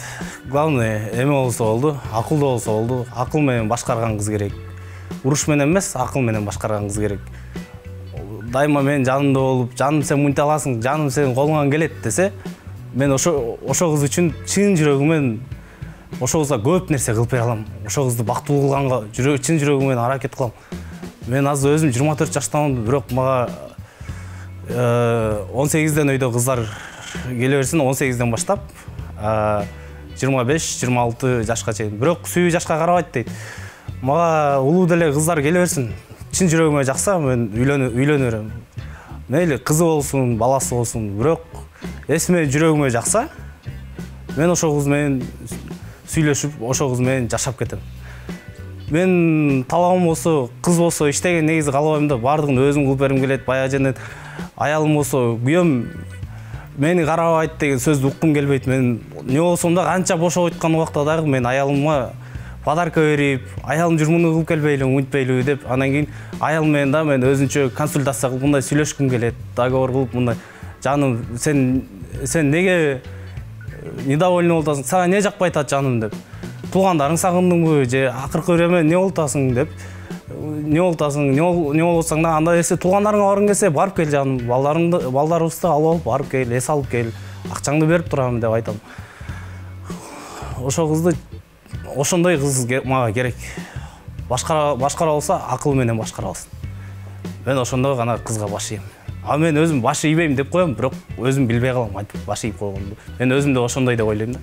Главное, эме болсо болду, акылдуу болсо болду. Акыл менен башкарган кыз керек. Уруш менен эмес, акыл менен башкарган кыз керек. Дайыма менин жанымда болуп, жаным сен мынтип аласың, жаным сенин колуңан келет десе, мен ошо ошо кыз үчүн чын жүрөгүмөн ошо кызга көп нерсе кылып бере алам. Ошо кызды бактылуу кылганга жүрөк чын жүрөгүм менен аракет кылам. Мен азыр өзүм жыйырма төрт жаштамын, бирок мага он сегизден өйдө кыздар келе берсин, он сегизден баштап жыйырма беш жыйырма алты жашка чейин. Бирок сүйүү жашка карабайт дейт. Мага улуу деле кыздар келе берсин. Чын жүрөгүмө жакса, мен үйлөнө берем. Мейли кызы болсун, баласы болсун, бирок эсиме жүрөгүмө жакса, мен ошол кыз менен сүйлөшүп, ошол кыз менен жашап кетем. Мен талабым болсо, кыз болсо иштеген негизи каалабайм да, баардыгын өзүм кылып бергим келет. Баягы жерден аялым болсо, күйөөм мени карабайт деген сөздү уккум келбейт. Мен не болсом да канча бошоп айткан убакта дагы мен аялыма подарка берип, аялым жүр муну кылып келбейлиби, мынтпейлиби деп, анан кийин аялым менен да мен өзүнчө консультация кылып мындай сүйлөшкүм келет, договор кылып мындай жаным сен сен неге недовольный болуп атасың, сага эмне жакпай атат жаным деп. Туугандарың сагындыңбы же акыркы бир эме эмне болуп атасың деп. Не болуп атасың, не болуп атсаң да анда эсе туугандарыңа баргың келсе барып кел жаным, балдарыңды балдарыбызды алып алып барып кел, эс алып кел, акчаңды берип турам деп айтам. Ошо кызды ошондой кыз мага керек. Башкара башкара болсо акыл менен башкара алсын. Мен ошондой гана кызга баш ийем. А мен өзүм баш ийбейм деп коем, бирок өзүм билбей калам айтып баш ийип койгонду. Мен өзүм да ошондой деп ойлойм да.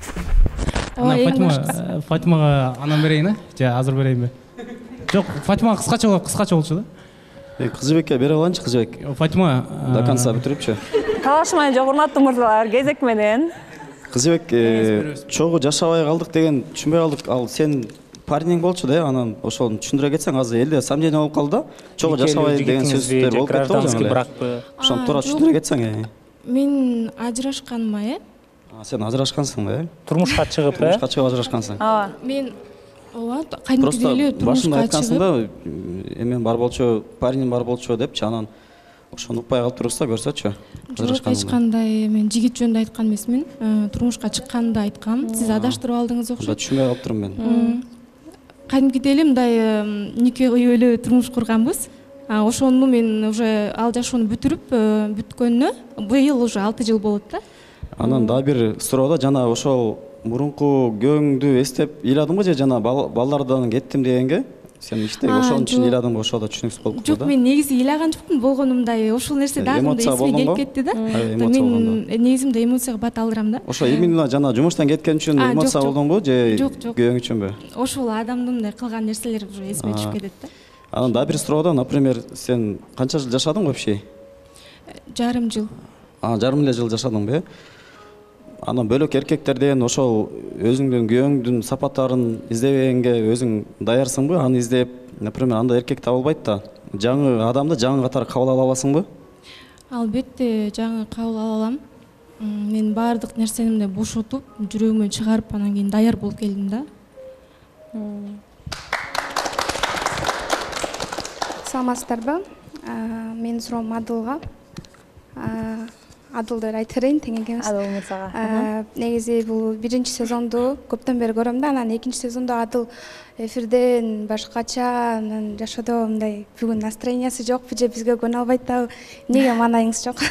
Ана Фатима, Фатимага анан берейин, э? Же азыр берейинби? Жок, Фатима кыскача болот, кыскача болчу да. Кызыбекке бере алайынчы, Кызыбек. Фатима до конца бүтүрүпчү. Талашмай жок, урматтуу мырзалар, кезек менен. Кызыбек чогуу жашабай калдык деген түшүнбөй калдык. Ал сен парнең болчу да, анан ошону түшүндүрө кетсең, азыр элде сомнение болуп калды да. Чогуу жашабай деген сөздөр болуп кетти го жаңы. Ошону туура түшүндүрө кетсең. Мен ажырашканыма, э? Сен ажырашкансың да, э? Турмушка чыгып, э? Турмушка чыгып ажырашкансың. Ооба. Мен ооба, кадимкидей эле турмушка чыгып. Башында эмен бар болчу, парнем бар болчу депчи, анан ошону укпай калып турбуз да, көрсөчү. Жок, эч кандай мен жигит жөнүндө айткан эмесмин. Турмушка чыкканды айткам. Сиз адаштырып алдыңыз окшойт. Түшүнбөй калып турмун мен. Кадимкидей эле мындай нике кыйып эле турмуш курганбыз. Ошону мен уже ал жашоону бүтүрүп, бүткөнүнө быйыл уже алты жыл болот да. Анан дагы бир суроо да, жана ошол мурунку күйөөңдү эстеп ыйладыңбы же жана балдардан кеттим дегенге сен иште ошон үчүн ыйладым, ошо да түшүнүксүз болуп калды да. Жок, мен негизи ыйлаган жокмун, болгонумдай ошол нерсе дагы мындай эсиме келип кетти да. Мен негизимде эмоцияга бат алдырам да. Ошо именно жана жумуштан кеткен үчүн эмоция болдуңбу же күйөөң үчүнбү? Ошол адамдын мындай кылган нерселери уже эсиме түшүп кетет да. Анан дагы бир суроодо, например, сен канча жыл жашадың вообще? Жарым жыл. А, жарым эле жыл жашадыңбы, э? Анан бөлөк эркектерден ошол өзүңдүн күйөөңдүн сапаттарын издебегенге өзүң даярсыңбы? Аны издеп, например, анда эркек табылбайт да. Жаңы адамды жаңы катары кабыл ала аласыңбы? Албетте, жаңы кабыл ала алам. Мен баардык нерсемди бошотуп, жүрөгүмөн чыгарып, анан кийин даяр болуп келдим да. Саламатсыздарбы? Менин суроом Адылга. Адылды айтып берейин, тең экенбиз. Адыл мырзага. Негизи бул биринчи сезонду көптөн бери көрөм да, анан экинчи сезондо Адыл эфирден башкача, анан жашоодо мындай бүгүн настроениясы жокпу же бизге көнө албайт дагы. Эмнеге маанайыңыз жок?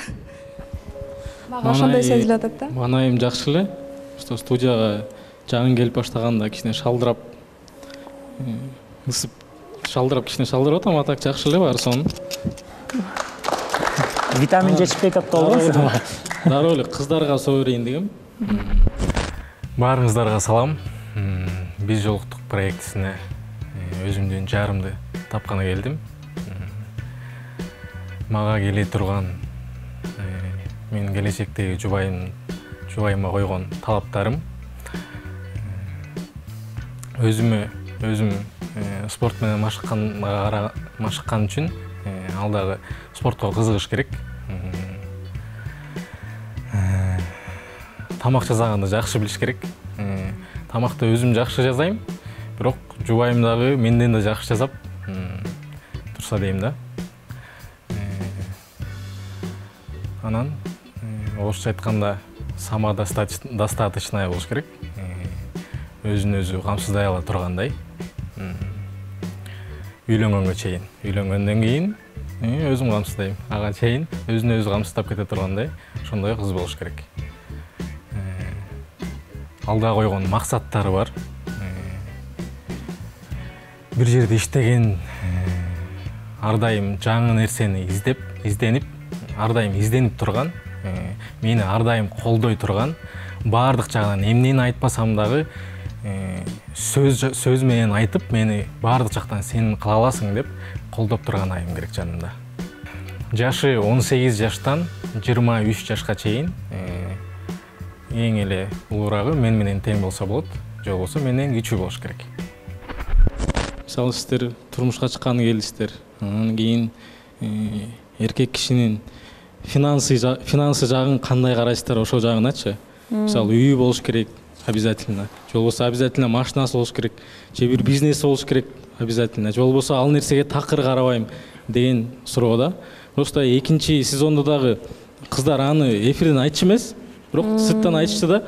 Мага ошондой сезилип атат да. Маанайым жакшы эле. Что студияга жаңы келип баштаганда кичине шалдырап, ысып шалдырап кичине шалдырып атам, а так жакшы эле баары сонун. Витамин жетишпей атат болбойсузбу? Дароо эле кыздарга соо берейин дегем. Баарыңыздарга салам. Биз жолуктук проектисине өзүмдүн жарымды тапканы келдим. Мага келе турган менин келечектеги жубайым жубайыма койгон талаптарым өзүмө өзүм спорт менен машыкканга машыккан үчүн ал дагы спортко кызыгыш керек. Тамак жасаганды жакшы билиш керек. Тамакты өзүм жакшы жасайм, бирок жубайым дагы менден да жакшы жасап турса дейм да. Анан орусча айтканда сама достаточная болуш керек. Өзүн өзү камсыздай ала тургандай. Үйлөнгөнгө чейин. Үйлөнгөндөн кийин өзүм камсыздайм. Ага чейин өзүн өзү камсыздап кете тургандай ошондой кыз болуш керек. Алда койгон максаттары бар. Бир жерде иштеген, ар дайым жаңы нерсени издеп, изденип, ар дайым изденип турган, мени ар дайым колдой турган, баардык жагынан эмнени айтпасам дагы сөз сөз менен айтып, мени баардык жактан сен кыла аласың деп колдоп турган айым керек жанымда. Жашы он сегиз жаштан жыйырма үч жашка чейин эң эле улуурагы мен менен тең болсо болот, же болбосо менден кичүү болуш керек. Мисалы сиздер турмушка чыкканы келдиңиздер. Анан кийин эркек кишинин финансы финансы жагын кандай карайсыздар, ошол жагыначы. Мисалы үйү болуш керек обязательно. Же болбосо обязательно машинасы болуш керек, же бир бизнеси болуш керек обязательно. Же болбосо ал нерсеге такыр карабайм деген суроо да. Просто экинчи сезондо дагы кыздар аны эфирден айтчу эмес, бирок сырттан айтышты да.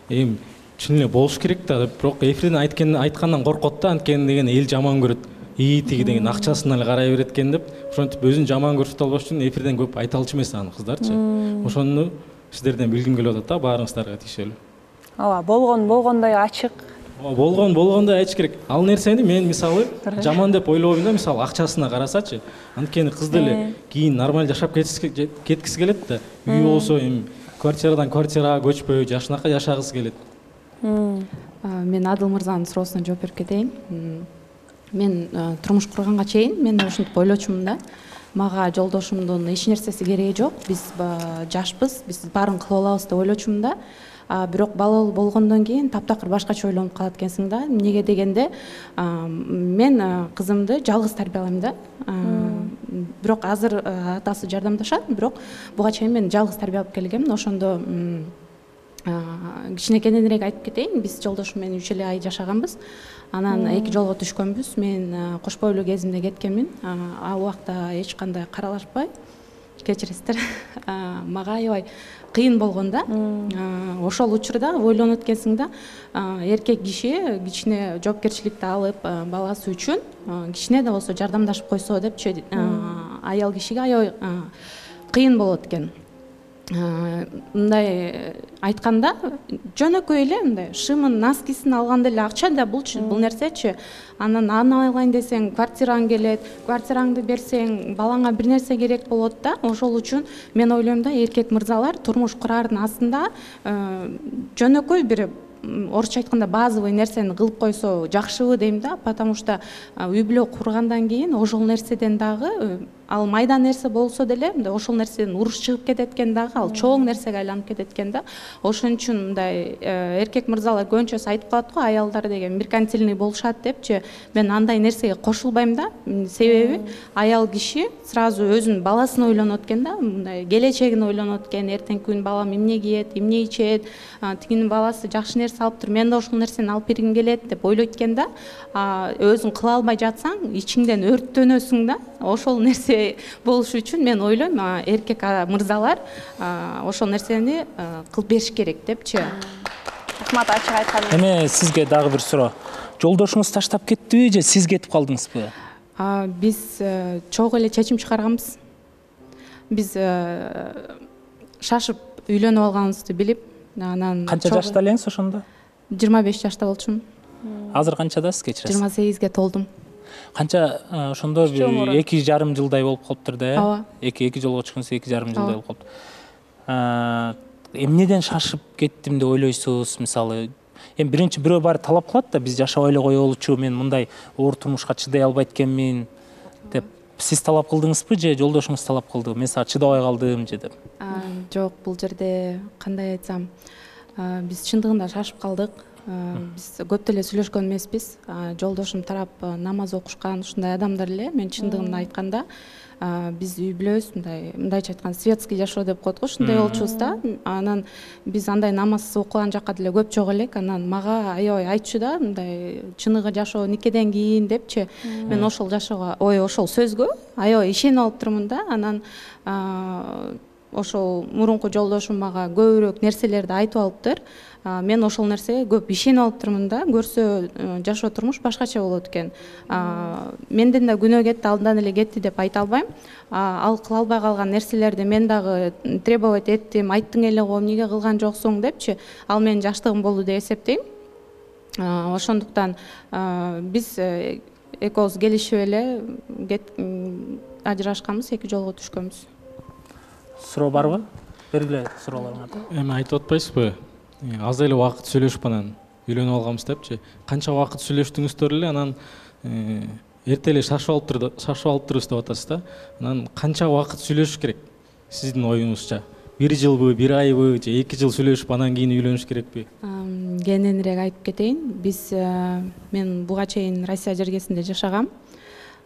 Эми чын эле болуш керек да, бирок эфирден айткан айткандан коркот да, анткени деген эл жаман көрөт. ии тиги деген акчасына эле карай берет экен деп, ошентип өзүн жаман көрсөтө албаш үчүн эфирден көп айта алчу эмес аны кыздарчы. Ошону сиздерден билгим келип атат да, баарыңыздарга тиешелүү. Ооба, болгон болгондой ачык. Болгон болгондой айтыш керек. Ал нерсени мен мисалы жаман деп ойлобойм да, мисалы акчасына карасачы. Анткени кыз деле кийин нормаль жашап кеткиси келет да. Үй болсо эми квартирадан квартирага көчпөй, жашынака жашагысы келет. Мен Адыл мырзанын суроосуна жооп берип кетейин. Мен турмуш курганга чейин мен ушинтип ойлочумун да. Мага жолдошумдун эч нерсеси кереги жок. Биз жашпыз, биз баарын кыла алабыз деп ойлочумун да. Бирок балалуу болгондон кийин таптакыр башкача ойлонуп калат экенсиң да. Эмнеге дегенде, мен кызымды жалгыз тарбиялайм да. Бирок азыр атасы жардамдашат, бирок буга чейин мен жалгыз тарбиялап келгем. Ошондо кичинекейинирээк айтып кетейин. Биз жолдошум менен үч эле ай жашаганбыз. Анан эки жолго түшкөнбүз. Мен кош бойлуу кезимде кеткенмин. Ал убакта эч кандай каралашпай, кечиресиздер, мага аябай кыйын болгон да. Ошол учурда ойлонот экенсиң да, эркек киши кичине жоопкерчиликти алып, баласы үчүн кичине да болсо жардамдашып койсо депчи, аял кишиге аябай кыйын болот экен. мындай айтканда жөнөкөй эле мындай шымын носкисин алганда эле акча да булчу бул нерсечи. Анан аны алайын десең квартираң келет, квартираңды берсең балаңа бир нерсе керек болот да. Ошол үчүн мен ойлойм да эркек мырзалар турмуш курардын астында жөнөкөй бир орусча айтканда базовый нерсени кылып койсо жакшыбы дейм да, потому что үй бүлө кургандан кийин ошол нерседен дагы ал майда нерсе болсо деле мындай ошол нерседен уруш чыгып кетет экен дагы, ал чоң нерсеге айланып кетет экен да. Ошон үчүн мындай эркек мырзалар көбүнчөсү айтып калат го, аялдар деген меркантильный болушат депчи. Мен андай нерсеге кошулбайм да. Себеби аял киши сразу өзүнүн баласын ойлонот экен да, мындай келечегин ойлонот экен, эртеңки күн балам эмне кийет, эмне ичет, тигинин баласы жакшы нерсе алыптыр, мен да ошол нерсени алып бергим келет деп ойлойт экен да. Өзүң кыла албай жатсаң, ичиңден өрттөнөсүң да. Ошол нерсе болуш үчүн мен ойлойм эркек мырзалар ошол нерсени кылып бериш керек депчи. Рахмат ачык айтканыңыз. Эми сизге дагы бир суроо. Жолдошуңуз таштап кеттиби же сиз кетип калдыңызбы? Биз чогуу эле чечим чыгарганбыз. Биз шашып үйлөнүп алганыбызды билип, анан канча жашта элеңиз ошондо? жыйырма беш жашта болчумун. Азыр канчадасыз, кечиресиз? жыйырма сегизге толдум. Канча ошондо эки жарым жылдай болуп калыптыр да, э? Ооба. Эки эки жолго чыккансыз, эки жарым жылдай болуп калыптыр. Эмнеден шашып кеттим деп ойлойсуз? Мисалы, эми биринчи бирөө баары талап кылат да, биз жашабай эле коелучу, мен мындай оор турмушка чыдай албайт экенмин деп. Сиз талап кылдыңызбы же жолдошуңуз талап кылдыбы? Мен сага чыдабай калдым же деп. Жок, бул жерде кандай айтсам, биз чындыгында шашып калдык. Биз көп деле сүйлөшкөн эмеспиз. Жолдошум тарап намаз окушкан ушундай адамдар эле. Мен чындыгын айтканда биз үй бүлөбүз мындай мындайча айтканда светский жашоо деп коет го, ушундай болчубуз да. Анан биз андай намаз окуган жакка деле көп чогуу элек. Анан мага аябай айтчу да, мындай чыныгы жашоо никеден кийин депчи. Мен ошол жашоого, ой, ошол сөзгө аябай ишенип алыптырмын да. Анан ошол мурунку жолдошум мага көбүрөөк нерселерди айтып алыптыр. Мен ошол нерсеге көп ишенип алыптырмын да. Көрсө жашоо турмуш башкача болот экен. Менден да күнөө кетти, алдан эле кетти деп айта албайм. Ал кыла албай калган нерселерди мен дагы требовать эттим, айттың эле го, эмнеге кылган жоксуң депчи. Ал менин жаштыгым болду деп эсептейм. Ошондуктан биз экөөбүз келишип эле ажырашканбыз, эки жолго түшкөнбүз. Суроо барбы? Бергиле суроолоруңарды. Эми айтып атпайсызбы? Аз эле убакыт сүйлөшүп анан үйлөнүп алганбыз депчи. Канча убакыт сүйлөштүңүздөр эле, анан эрте эле шашып алыптыр, шашып алыптырбыз деп атасыз да. Анан канча убакыт сүйлөшүш керек сиздин оюңузча? Бир жылбы, бир айбы же эки жыл сүйлөшүп анан кийин үйлөнүш керекпи? Кененирээк айтып кетейин. Биз мен буга чейин Россия жергесинде жашагам.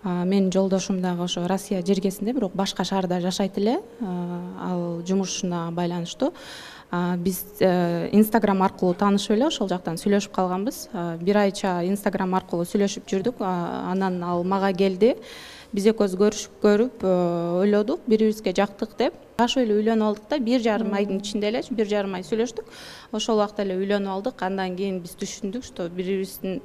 Менин жолдошум дагы ошо Россия жергесинде, бирок башка шаарда жашайт эле. Ал жумушуна байланыштуу. Биз Instagram аркылуу таанышып эле ошол жактан сүйлөшүп калганбыз. Бир айча Instagram аркылуу сүйлөшүп жүрдүк. Анан ал мага келди. Биз экөөбүз көрүшүп көрүп ойлодук, бири-бирибизге жактык деп. Ашып эле үйлөнүп алдык да, бир жарым айдын ичинде эле, бир жарым ай сүйлөштүк. Ошол убакта эле үйлөнүп алдык. Андан кийин биз түшүндүк, что бири-бирибиздин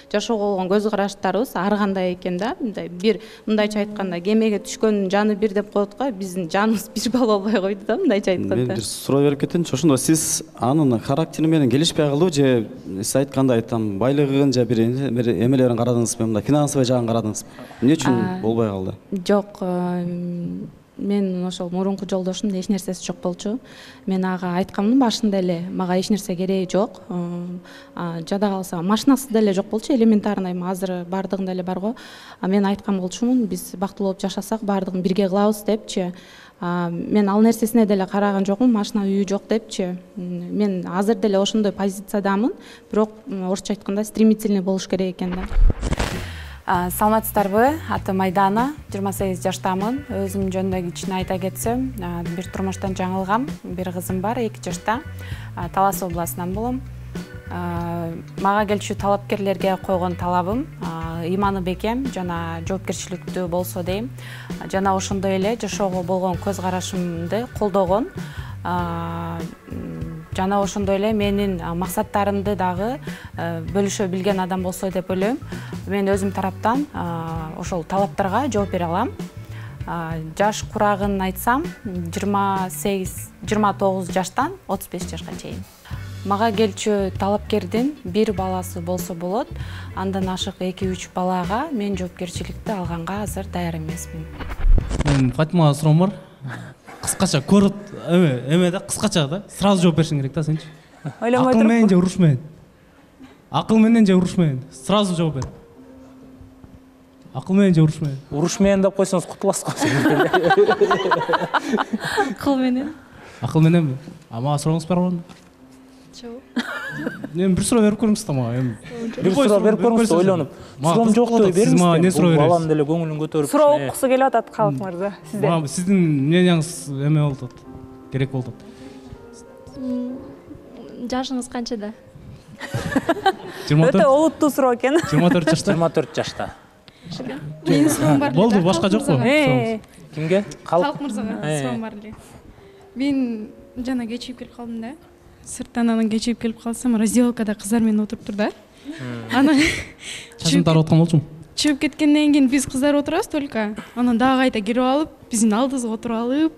жашоого болгон көз караштарыбыз ар кандай экен да. Мындай бир, мындайча айтканда, кемеге түшкөндүн жаны бир деп коет го, биздин жаныбыз бир боло албай койду да, мындайча айтканда. Мен бир суроо берип кетейинчи. Ошондо сиз анын характери менен келишпей калдыбы же сиз айткандай там байлыгын же бир эмелерин карадыңызбы, мындай финансовый жагын карадыңызбы? Эмне үчүн болбой калды? Жок, мен ошол мурунку жолдошумдун эч нерсеси жок болчу. Мен ага айткаммын башында эле, мага эч нерсе кереги жок. Жада калса машинасы деле жок болчу, элементарный, азыр баардыгында эле бар го. Мен айткан болчумун, биз бактылуу болуп жашасак баардыгын бирге кылабыз депчи. Мен ал нерсесине деле караган жокмун, машина үйү жок депчи. Мен азыр деле ошондой позициядамын, бирок орусча айтканда стремительный болуш керек экен да. Саламатсыздарбы? Атым Айдана, жыйырма сегиз жаштамын. Өзүм жөнүндө кичине айта кетсем, бир турмуштан жаңылгам, бир кызым бар, эки жашта. Талас областынан болом. Мага келчү талапкерлерге койгон талабым ыйманы бекем жана жоопкерчиликтүү болсо дейм. Жана ошондой эле жашоого болгон көз карашымды колдогон, жана ошондой эле менин максаттарымды дагы бөлүшө билген адам болсо деп ойлойм. Мен өзүм тараптан ошол талаптарга жооп бере алам. Жаш курагын айтсам, жыйырма сегиз жыйырма тогуз жаштан отуз беш жашка чейин. Мага келчү талапкердин бир баласы болсо болот, андан ашык эки үч балага мен жоопкерчиликти алганга азыр даяр эмесмин. Мен Фатимага суроом бар. Кыскача көрөт, эме, эме да кыскача да, сразу жооп беришиң керек да сенчи. Ойлонбой Акыл туруп. менен же уруш менен? Акыл менен же уруш менен? Сразу жооп бер. Акыл менен же уруш менен? Уруш менен деп койсоңуз кутуласыз го. Акыл менен. Акыл мененби? А мага сурооңуз бар болду? Жок. Эми бир суроо берип көрүңүз да мага. Бир суроо берип көрүңүз, ойлонуп. Суроом жок деп бериңиз. Не суроо бересиз? Балам деле көңүлүн көтөрүп. Суроо уккусу келип атат Калык мырза сизден. Мага сиздин мненияңыз эме болуп атат. Керек болуп атат. Жашыңыз канчада? Өтө олуттуу суроо экен. жыйырма төрт жашта. жыйырма төрт жашта. Менин суроом бар эле. Болду, башка жокпу? Кимге? Калык мырзага суроом бар эле. Мен жана кечигип келип калдым да. Сырттан анан кечигип келип калсам, раздевалкада кыздар менен отуруптур да. Анан чачын тарап аткан болчумун? Чыгып кеткенден кийин биз кыздар отурабыз только. Анан дагы кайта кирип алып, биздин алдыбызга отуруп алып,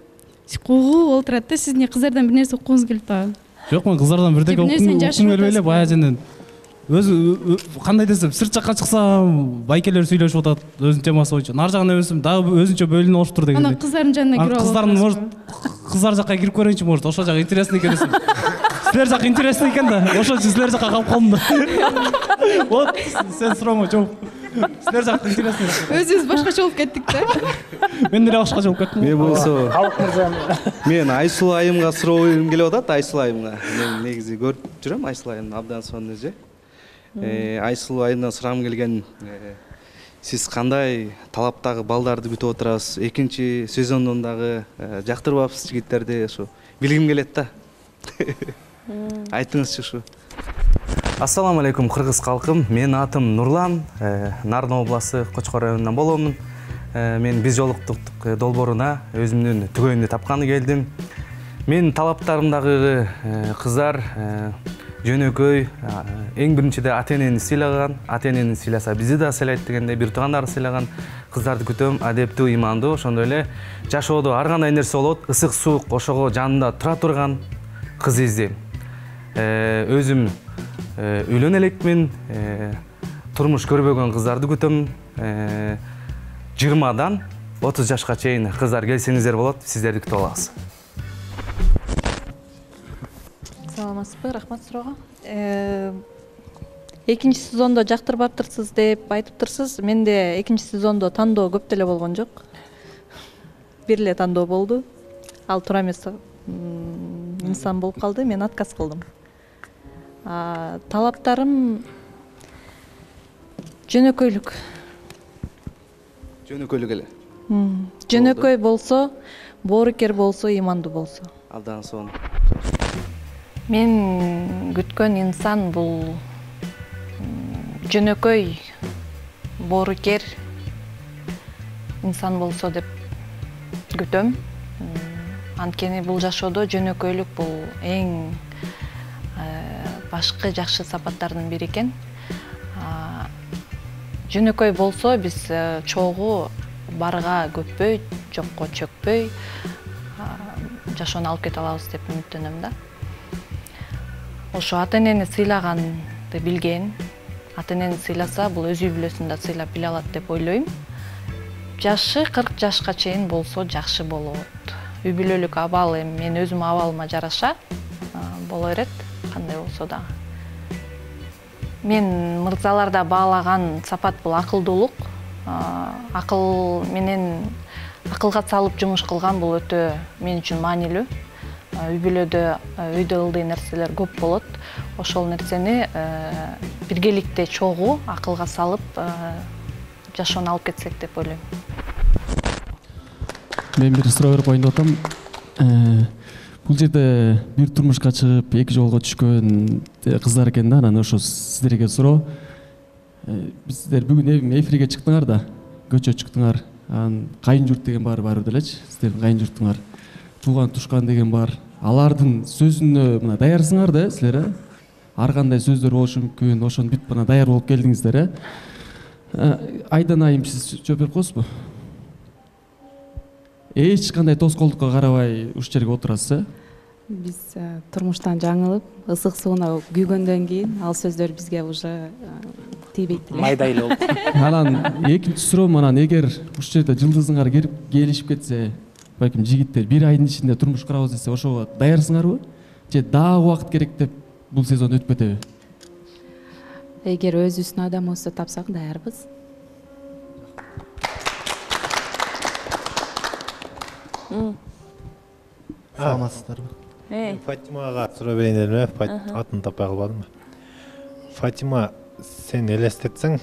куугуп олтурат да. Сиз эмне кыздардан бир нерсе уккуңуз келип атабы? Жок, мен кыздардан бирдеке уккум келбей эле бая женден. Өзү кандай десем, сырт жакка чыксам, байкелер сүйлөшүп атат, өзүнүн темасы боюнча. Нар жагына өсөм, дагы өзүнчө бөлүнүп алышыптыр дегенде. Анан кыздардын жанына кирип алып. Кыздардын может, кыздар жакка кирип көрөйүнчү, может, ошол жак интересный экен десем. Силер жак интересный экен да, ошол үчүн силер жакка калып калдым да. Вот, сен сурооңо жооп. Силер жак интересный. Өзүбүз башкача болуп кеттик да. Мен деле башкача болуп кеттим. Мен болсо, Калык мырза. мен Айсулуу айымга суроом келип атат, Айсулуу айымга. Мен негизи көрүп жүрөм Айсулуу айымды абдан сонун эже. Айсулуу айымдан сурагым келген, сиз кандай талаптагы балдарды күтүп отурасыз? Экинчи сезондон дагы жактырбапсыз жигиттерди, ошо билгим келет да. Айтыңызчы ушу. Ассаламу алейкум кыргыз калкым. Менин атым Нурлан, Нарын областы Кочкор районунан боломун. Мен биз жолуктук долбооруна өзүмдүн түгөйүмдү тапканы келдим. Менин талаптарымдагы кыздар жөнөкөй, эң биринчиде ата-энени сыйлаган, ата-энени сыйласа бизди да сыйлайт дегенде бир туугандарды сыйлаган кыздарды күтөм, адептүү, имандуу, ошондой эле жашоодо ар кандай нерсе болот, ысык суук ошого жанында тура турган кыз издейм. Өзүм үйлөнө элекмин, турмуш көрбөгөн кыздарды күтөм. жыйырмадан отуз жашка чейин кыздар келсеңиздер болот, сиздерди күтүп алабыз. Саламатсызбы, рахмат суроого. Экинчи сезондо жактырбаптырсыз деп айтыптырсыз. Менде экинчи сезондо тандоо көп деле болгон жок. Бир эле тандоо болду. Ал туура эмес инсан болуп калды, мен отказ кылдым. Талаптарым жөнөкөйлүк. Жөнөкөйлүк эле. Жөнөкөй болсо, боорукер болсо, имандуу болсо. Абдан сонун. Мен күткөн инсан бул жөнөкөй, боорукер инсан болсо деп күтөм. Анткени бул жашоодо жөнөкөйлүк бул эң башкы жакшы сапаттардын бири экен. Жөнөкөй болсо биз чогуу барга көппөй, жокко чөкпөй жашоону алып кете алабыз деп үмүттөнөм да. Ошо ата-энени сыйлаганды билген, ата-энени сыйласа бул өз үй бүлөсүн да сыйлап биле алат деп ойлойм. Жашы кырк жашка чейин болсо жакшы болот. Үй бүлөлүк абал эми мен өзүм абалыма жараша боло берет, кандай болсо дагы. Мен мырзаларда баалаган сапат бул акылдуулук. Акыл менен акылга салып жумуш кылган бул өтө мен үчүн маанилүү. Үй бүлөдө өйдө ылдый нерселер көп болот. Ошол нерсени биргеликте чогуу акылга салып жашоону алып кетсек деп ойлойм. Мен бир суроо берип коеюн деп атам. Бул жерде бир турмушка чыгып, эки жолго түшкөн кыздар экен да, анан ошо сиздерге суроо. Сиздер бүгүн эфирге чыктыңар да, көчө чыктыңар. Анан кайын журт деген бар бар делечи, сиздердин кайын журтуңар. Тууган тушкан деген бар. Алардын сөзүнө мына даярсыңар да силер, э? Ар кандай сөздөр болушу мүмкүн, ошону бүт мына даяр болуп келдиңиздер, э? Айдан айым сиз жооп берип коесузбу? эч кандай тоскоолдукка карабай ушул жерге отурасыз э? Биз турмуштан жаңылып, ысык сууна күйгөндөн кийин ал сөздөр бизге уже тийбейт эле. Майда эле болду. Анан экинчи суроом анан эгер ушул жерде жылдызыңар келип келишип кетсе, балким жигиттер бир айдын ичинде турмуш курабыз десе, ошого даярсыңарбы? Же дагы убакыт керек деп бул сезон өтүп кетеби? Эгер өзүбүздүн адамыбызды тапсак, даярбыз. Саламатсыздарбы? Фатимага суроо берейин дедим эле, атын таппай калбадым. Фатима, сен элестетсең,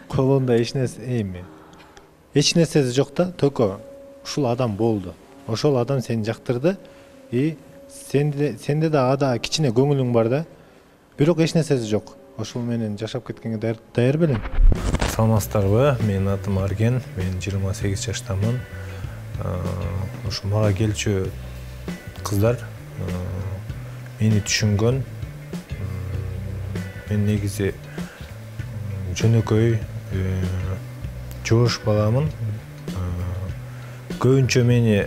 колунда эч нерсе эми. Эч нерсеси жок да, только ушул адам болду. Ошол адам сени жактырды и сенде сенде да ада кичине көңүлүң бар да. Бирок эч нерсеси жок. Ошол менен жашап кеткенге даяр белең? Саламатсыздарбы? Менин атым Арген, мен жыйырма сегиз жаштамын. Ушу мага келчү кыздар мени түшүнгөн. Мен негизи жөнөкөй жоош баламын. Көбүнчө мени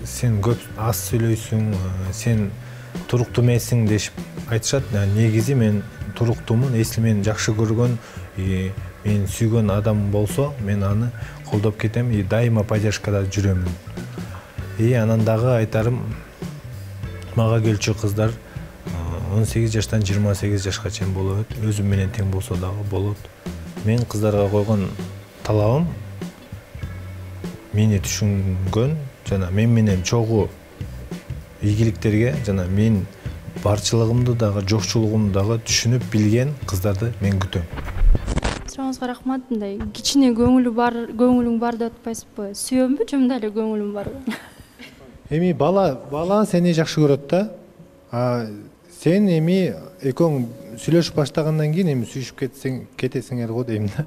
сен көп аз сүйлөйсүң, сен туруктуу эмессиң дешип айтышат. Негизи мен туруктуумун, эсли мени жакшы көргөн, мен сүйгөн адам болсо, мен аны колдоп кетем и дайыма поддержкада жүрөмүн. И анан дагы айтарым, мага келчү кыздар он сегиз жаштан жыйырма сегиз жашка чейин болот, өзүм менен тең болсо дагы болот. Мен кыздарга койгон талабым мени түшүнгөн жана мен менен чогуу ийгиликтерге жана мен барчылыгымды дагы жокчулугумду дагы түшүнүп билген кыздарды мен күтөм. Сурооңузга рахмат. Мындай кичине көңүлү бар, көңүлүң бар деп атпайсызбы? Сүйөмбү, жумда эле көңүлүм барбы? Эми бала, бала сени жакшы көрөт да. А сен эми экөөң сүйлөшүп баштагандан кийин эми сүйүшүп кетсең, кетесиңер го дейм да.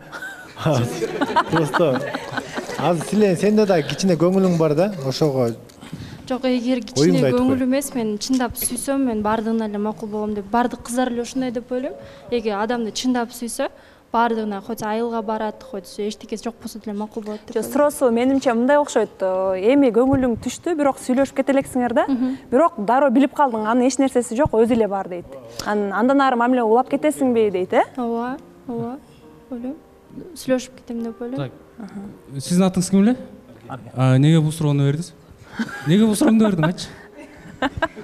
Просто азыр силе сенде да кичине көңүлүң бар да, ошого. Жок, эгер кичине көңүл эмес, мен чындап сүйсөм, мен бардыгына эле макул болом деп, бардык кыздар эле ушундай деп ойлойм. Эгер адамды чындап сүйсө, бардыгына хоть айылга барат, хоть эчтекеси жок болсо деле макул болот деп. Жок, суроосу менимче мындай окшойт. Эми көңүлүң түштү, бирок сүйлөшүп кете элексиңер да. Бирок дароо билип калдың, анын эч нерсеси жок, өзү эле бар дейт. Андан ары мамиле улап кетесиңби дейт, э? Ооба, ооба. Ойлойм. Сүйлөшүп кетем деп ойлойм. Сиздин атыңыз ким эле? Неге бул суроону бердиңиз? Неге бул суроону бердиң, айтчы?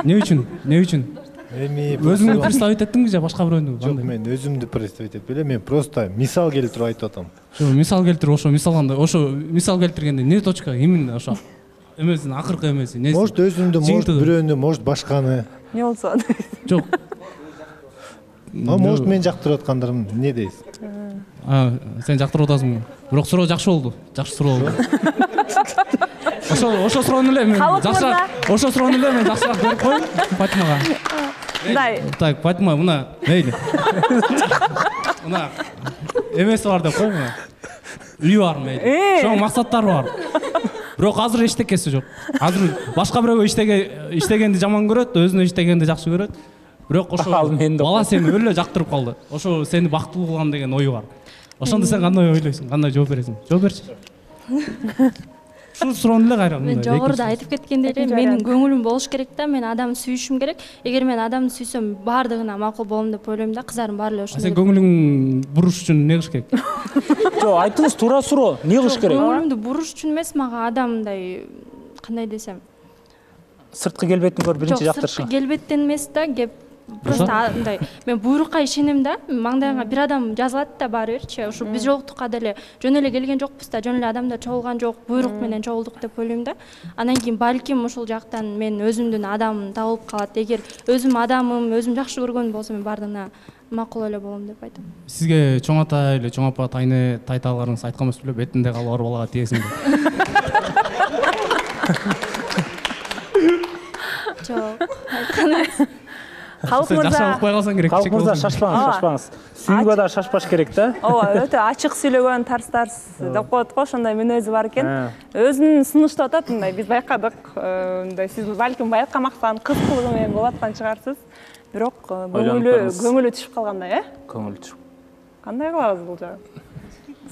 Эмне үчүн? Эмне үчүн? Эми өзүңдү представить эттиңби же башка бирөөнү? Жок, мен өзүмдү представить этпей эле, мен просто мисал келтирип айтып атам. Ошо мисал келтирип, ошо мисалганда, ошо мисал келтиргенде эмне точка, именно ошо эмесин, акыркы эмеси, неси? Может өзүмдү, может бирөөнү, может башканы. Не болсо? Жок. А может мен жактырып аткандарым эмне дейсиз? А, сен жактырып атасың. Бирок суроо жакшы болду. Жакшы суроо болду. Ошо ошо суроону эле мен жакшыраак, ошо суроону эле мен жакшыраак берип коеюн Фатимага. Мындай. Так, Фатима, мына, мейли. Мына эмеси бар деп кой, мына. Үйү бар, мейли. Ошо максаттары бар. Бирок азыр эчтекеси жок. Азыр башка бирөөгө иштеге иштегенди жаман көрөт, өзүнө иштегенди жакшы көрөт. Бирок ошо бала сени өлө эле жактырып калды. Ошо сени бактылуу кылган деген ою бар. Ошондо сен кандай ойлойсуң? Кандай жооп бересиң? Жооп берчи. Ушул суроону эле кайра мындай. Мен жогоруда айтып кеткендей эле, менин көңүлүм болуш керек да, мен адамды сүйүшүм керек. Эгер мен адамды сүйсөм, бардыгына макул болом деп ойлойм да, кыздардын баары эле ошондой. Сен көңүлүң буруш үчүн эмне кылыш керек? Жок, айтыңыз, туура суроо. Эмне кылыш керек? Көңүлүмдү буруш үчүн эмес, мага адамдай, кандай десем, сырткы келбетин көрүп биринчи жок, жактырышың. сырткы келбеттен эмес да, кеп просто мындай, мен буйрукка ишенем да, маңдайга бир адам жазылат да баары бирчи, ошо биз жолуктукка деле жөн эле келген жокпуз да, жөн эле адамдар чогулган жок, буйрук менен чогулдук деп ойлойм да. Андан кийин балким ушул жактан мен өзүмдүн адамым табылып калат. Эгер өзүм адамым, өзүм жакшы көргөн болсо, мен бардыгына макул эле болом деп айтам. Сизге чоң ата эле чоң апа тайны тайталарыңыз айткан эмес беле, бетинде калып ар балага тиесиң деп. Жок, айткан эмес. Халык мырза, жакшы укпай калсаң керек. Халык мырза, шашпаңыз, шашпаңыз. Сүйүүгө да шашпаш керек да. Ооба, өтө ачык сүйлөгөн, тарс-тарс деп коет го, ошондой мүнөзү бар экен. Өзүн сунуштап атат, мындай биз байкадык. Мындай сиз балким байкамактан, кыз кылыгы менен болуп аткан чыгарсыз. Бирок көңүлү көңүлү түшүп калгандай, э? Көңүлү түшүп. Кандай кылабыз бул жагы?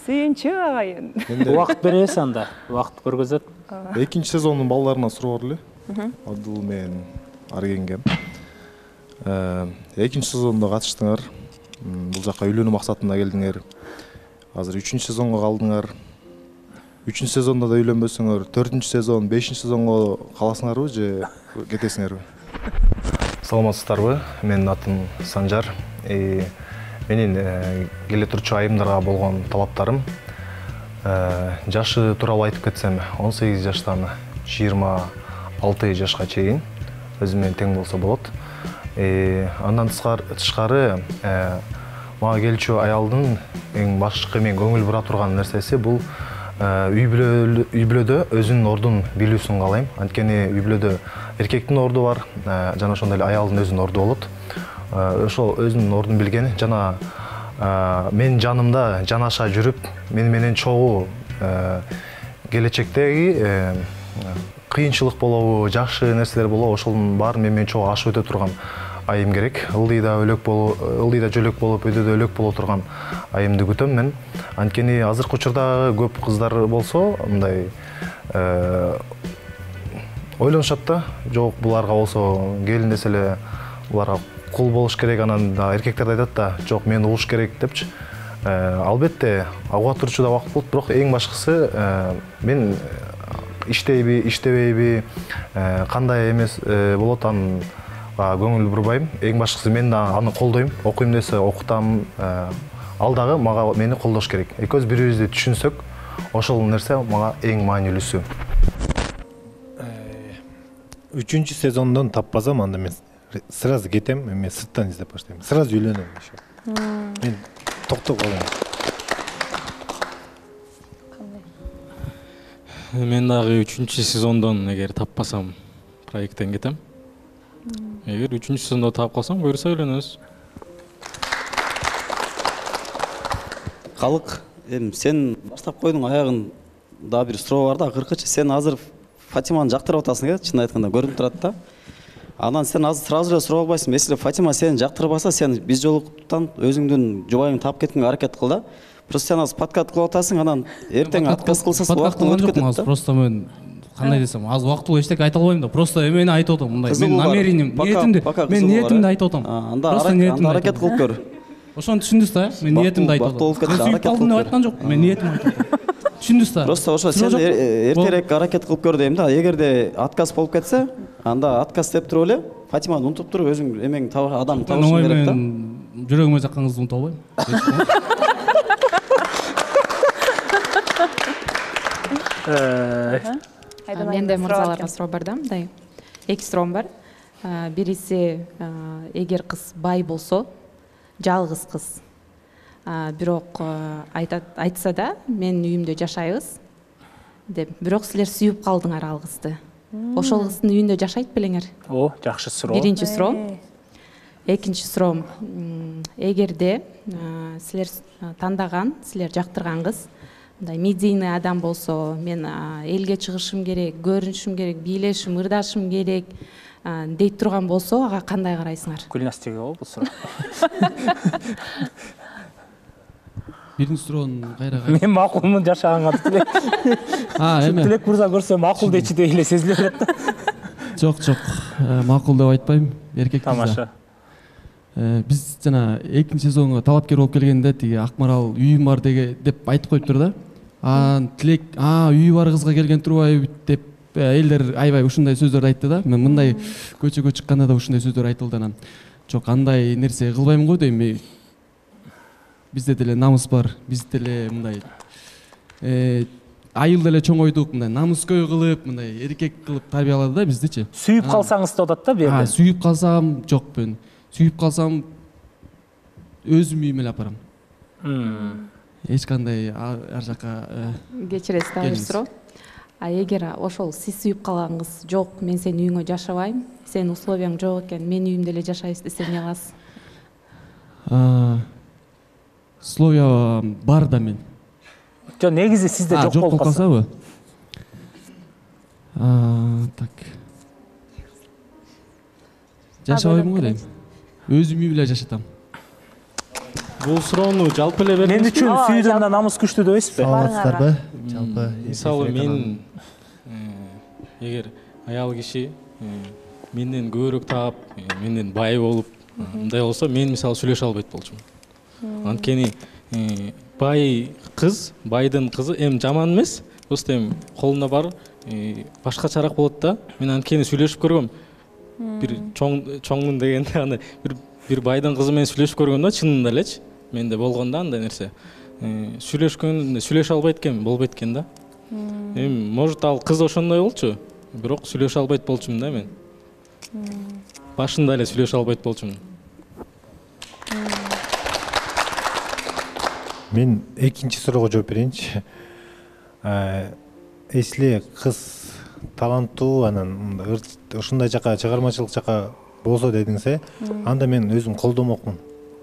сүйүнчү агайын. Убакыт беребиз анда, убакыт көргөзөт. Экинчи сезондун балдарына суроо бар эле. Адыл менен Аргенге. Экинчи сезондо катыштыңар. Бул жака үйлөнүү максатында келдиңер. Азыр үчүнчү сезонго калдыңар. Үчүнчү сезондо да үйлөнбөсөңөр, төртүнчү сезон, бешинчи сезонго каласыңарбы же кетесиңерби? Саламатсыздарбы? Менин атым Санжар. Менин келе турчу айымдарга болгон талаптарым жашы тууралуу айтып кетсем, он сегиз жаштан жыйырма алты жашка чейин өзүм менен тең болсо болот. Андан тышкары мага келчү аялдын эң башкы мен көңүл бура турган нерсеси бул үй бүлөдө өзүнүн ордун билүүсүн каалайм. Анткени үй бүлөдө эркектин орду бар, жана ошондой эле аялдын өзүнүн орду болот. Ошол өзүнүн ордун билген жана менин жанымда жанаша жүрүп, мени менен чогуу келечектеги кыйынчылык болобу, жакшы нерселер болобу, ошонун баарын мени менен чогуу ашып өтө турган айым керек. Ылдыйда өлөк болуп, ылдыйда жөлөк болуп, өйдөдө өлөк боло турган айымды күтөм мен. Анткени азыркы учурдагы көп кыздар болсо, мындай ойлонушат да, жок буларга болсо келин десе эле буларга кул болуш керек, анан эркектер да айтат да, жок мен угуш керек депчи. Албетте уга турчу да убакыт болот, бирок эң башкысы мен иштейби, иштебейби, кандай эмес болот анын көңүл бурбайм. Эң башкысы мен да аны колдойм. Окуйм десе окутам. Ал дагы мага мени колдош керек. Экөөбүз бири-бирибизди түшүнсөк, ошол нерсе мага эң маанилүүсү. Үчүнчү сезондон таппасам, анда мен сразу кетем, мен сырттан издеп баштайм. Сразу үйлөнөм еще. Мен токтоп калам. Мен дагы үчүнчү сезондон эгер таппасам, проекттен кетем. Эгер үчүнчү сезондо таап калсам, буюрса үйлөнөбүз. Калык, эми сен баштап койдуң, аягын да бир суроо бар да, акыркычы сен азыр Фатиманы жактырып атасың, э, чын айтканда көрүнүп турат да. Анан сен азыр сразу эле суроо албайсың. Если Фатима сени жактырбаса, сен биз жолуктан өзүңдүн жубайыңды таап кеткенге аракет кыл да. Просто сен азыр подкат кылып атасың, анан эртең отказ кылсаң убакыт өтүп кетет да. Просто мен кандай десем, аз убактылуу эчтеке айта албайм да. Просто эмени айтып атам, мындай. Мен намерением, ниетимди, мен ниетимди айтып атам. Просто ниетимди аракет кылып көр. Ошону түшүндүңүз да? Мен ниетимди айтып атам. Мен сүйүп калдым деп айткан жокмун, мен ниетимди айтып атам. Түшүндүңүз да? Просто ошо сен эртерээк аракет кылып көр дейм да. Эгерде отказ болуп кетсе, анда отказ деп туруп эле Фатиманы унутуп туруп өзүң эмең адам табышың керек да. Мен жүрөгүмө жаккан кызды унута албайм. Менде мырзаларга суроо бар да, мындай. Эки суроом бар. Бириси, эгер кыз бай болсо, жалгыз кыз, бирок айтса да, менин үйүмдө жашайбыз деп, бирок силер сүйүп калдыңар ал кызды. Ошол кыздын үйүндө жашайт белеңер? О, жакшы суроо. Биринчи суроо. Экинчи суроом, эгерде силер тандаган, силер жактырган кыз мындай медийный адам болсо, мен элге чыгышым керек, көрүнүшүм керек, бийлешим, ырдашым керек дейт турган болсо, ага кандай карайсыңар? Гүлнастиге болобу бул суроо? Биринчи суроонун кайра кайра. Мен макулмун жашаганга тилек. А, эме. Тилек мырза көрсө макул дечи деп эле сезилип атат да. Жок, жок. Макул деп айтпайм, эркек кыз. Тамаша. Биз жана экинчи сезонго талапкер болуп келгенде тиги Акмарал үйүм бар деп айтып коюптур да. А, тилек, а, үйү бар кызга келген турбайбы деп элдер аябай ушундай сөздөрдү айтты да. Мен мындай көчөгө чыкканда да ушундай сөздөр айтылды анан. Жок, андай нерсе кылбайм го дейм. Бизде деле намыс бар, бизде деле мындай айыл деле чоңойдук, мындай намыскөй кылып, мындай эркек кылып тарбиялады да биздичи. Сүйүп калсаңыз да атат да бу жерде. А, сүйүп калсам, жок мен. Сүйүп калсам өзүм үйүмө эле апарам. Эч кандай ар жака кечиресиз да бир суроо. А эгер ошол сиз сүйүп калган кыз, жок, мен сенин үйүңө жашабайм, сенин условияң жок экен, менин үйүмдө эле жашайбыз десе эмне кыласыз? Условия бар да мен. Жок, негизи сизде жок болуп калсабы? Так. Жашабайм го дейм. Өзүм үй менен жашатам. Бул суроону жалпы эле бердиңиз. Мен үчүн сүйүүдөн да намыс күчтүү деп эсизби? Саламатсыздарбы? Жалпы мисалы мен эгер аял киши менден көбүрөөк таап, менден бай болуп, мындай болсо мен мисалы сүйлөшө албайт болчумун. Анткени бай кыз, байдын кызы эми жаман эмес, просто эми колунда бар башкачараак болот да. Мен анткени сүйлөшүп көргөм. Бир чоң чоңмун дегенде андай бир бир байдын кызы менен сүйлөшүп көргөм да, чынында элечи. Менде болгон да андай нерсе. Сүйлөшкөн, сүйлөшө албайт экен, болбойт экен да. Эми может ал кыз ошондой болчу, бирок сүйлөшө албайт болчумун да мен. Башында эле сүйлөшө албайт болчумун. Мен экинчи суроого жооп берейинчи. Если кыз таланттуу, анан ушундай жака, чыгармачылык жака болсо дедиңиз, анда мен өзүм колдомокмун.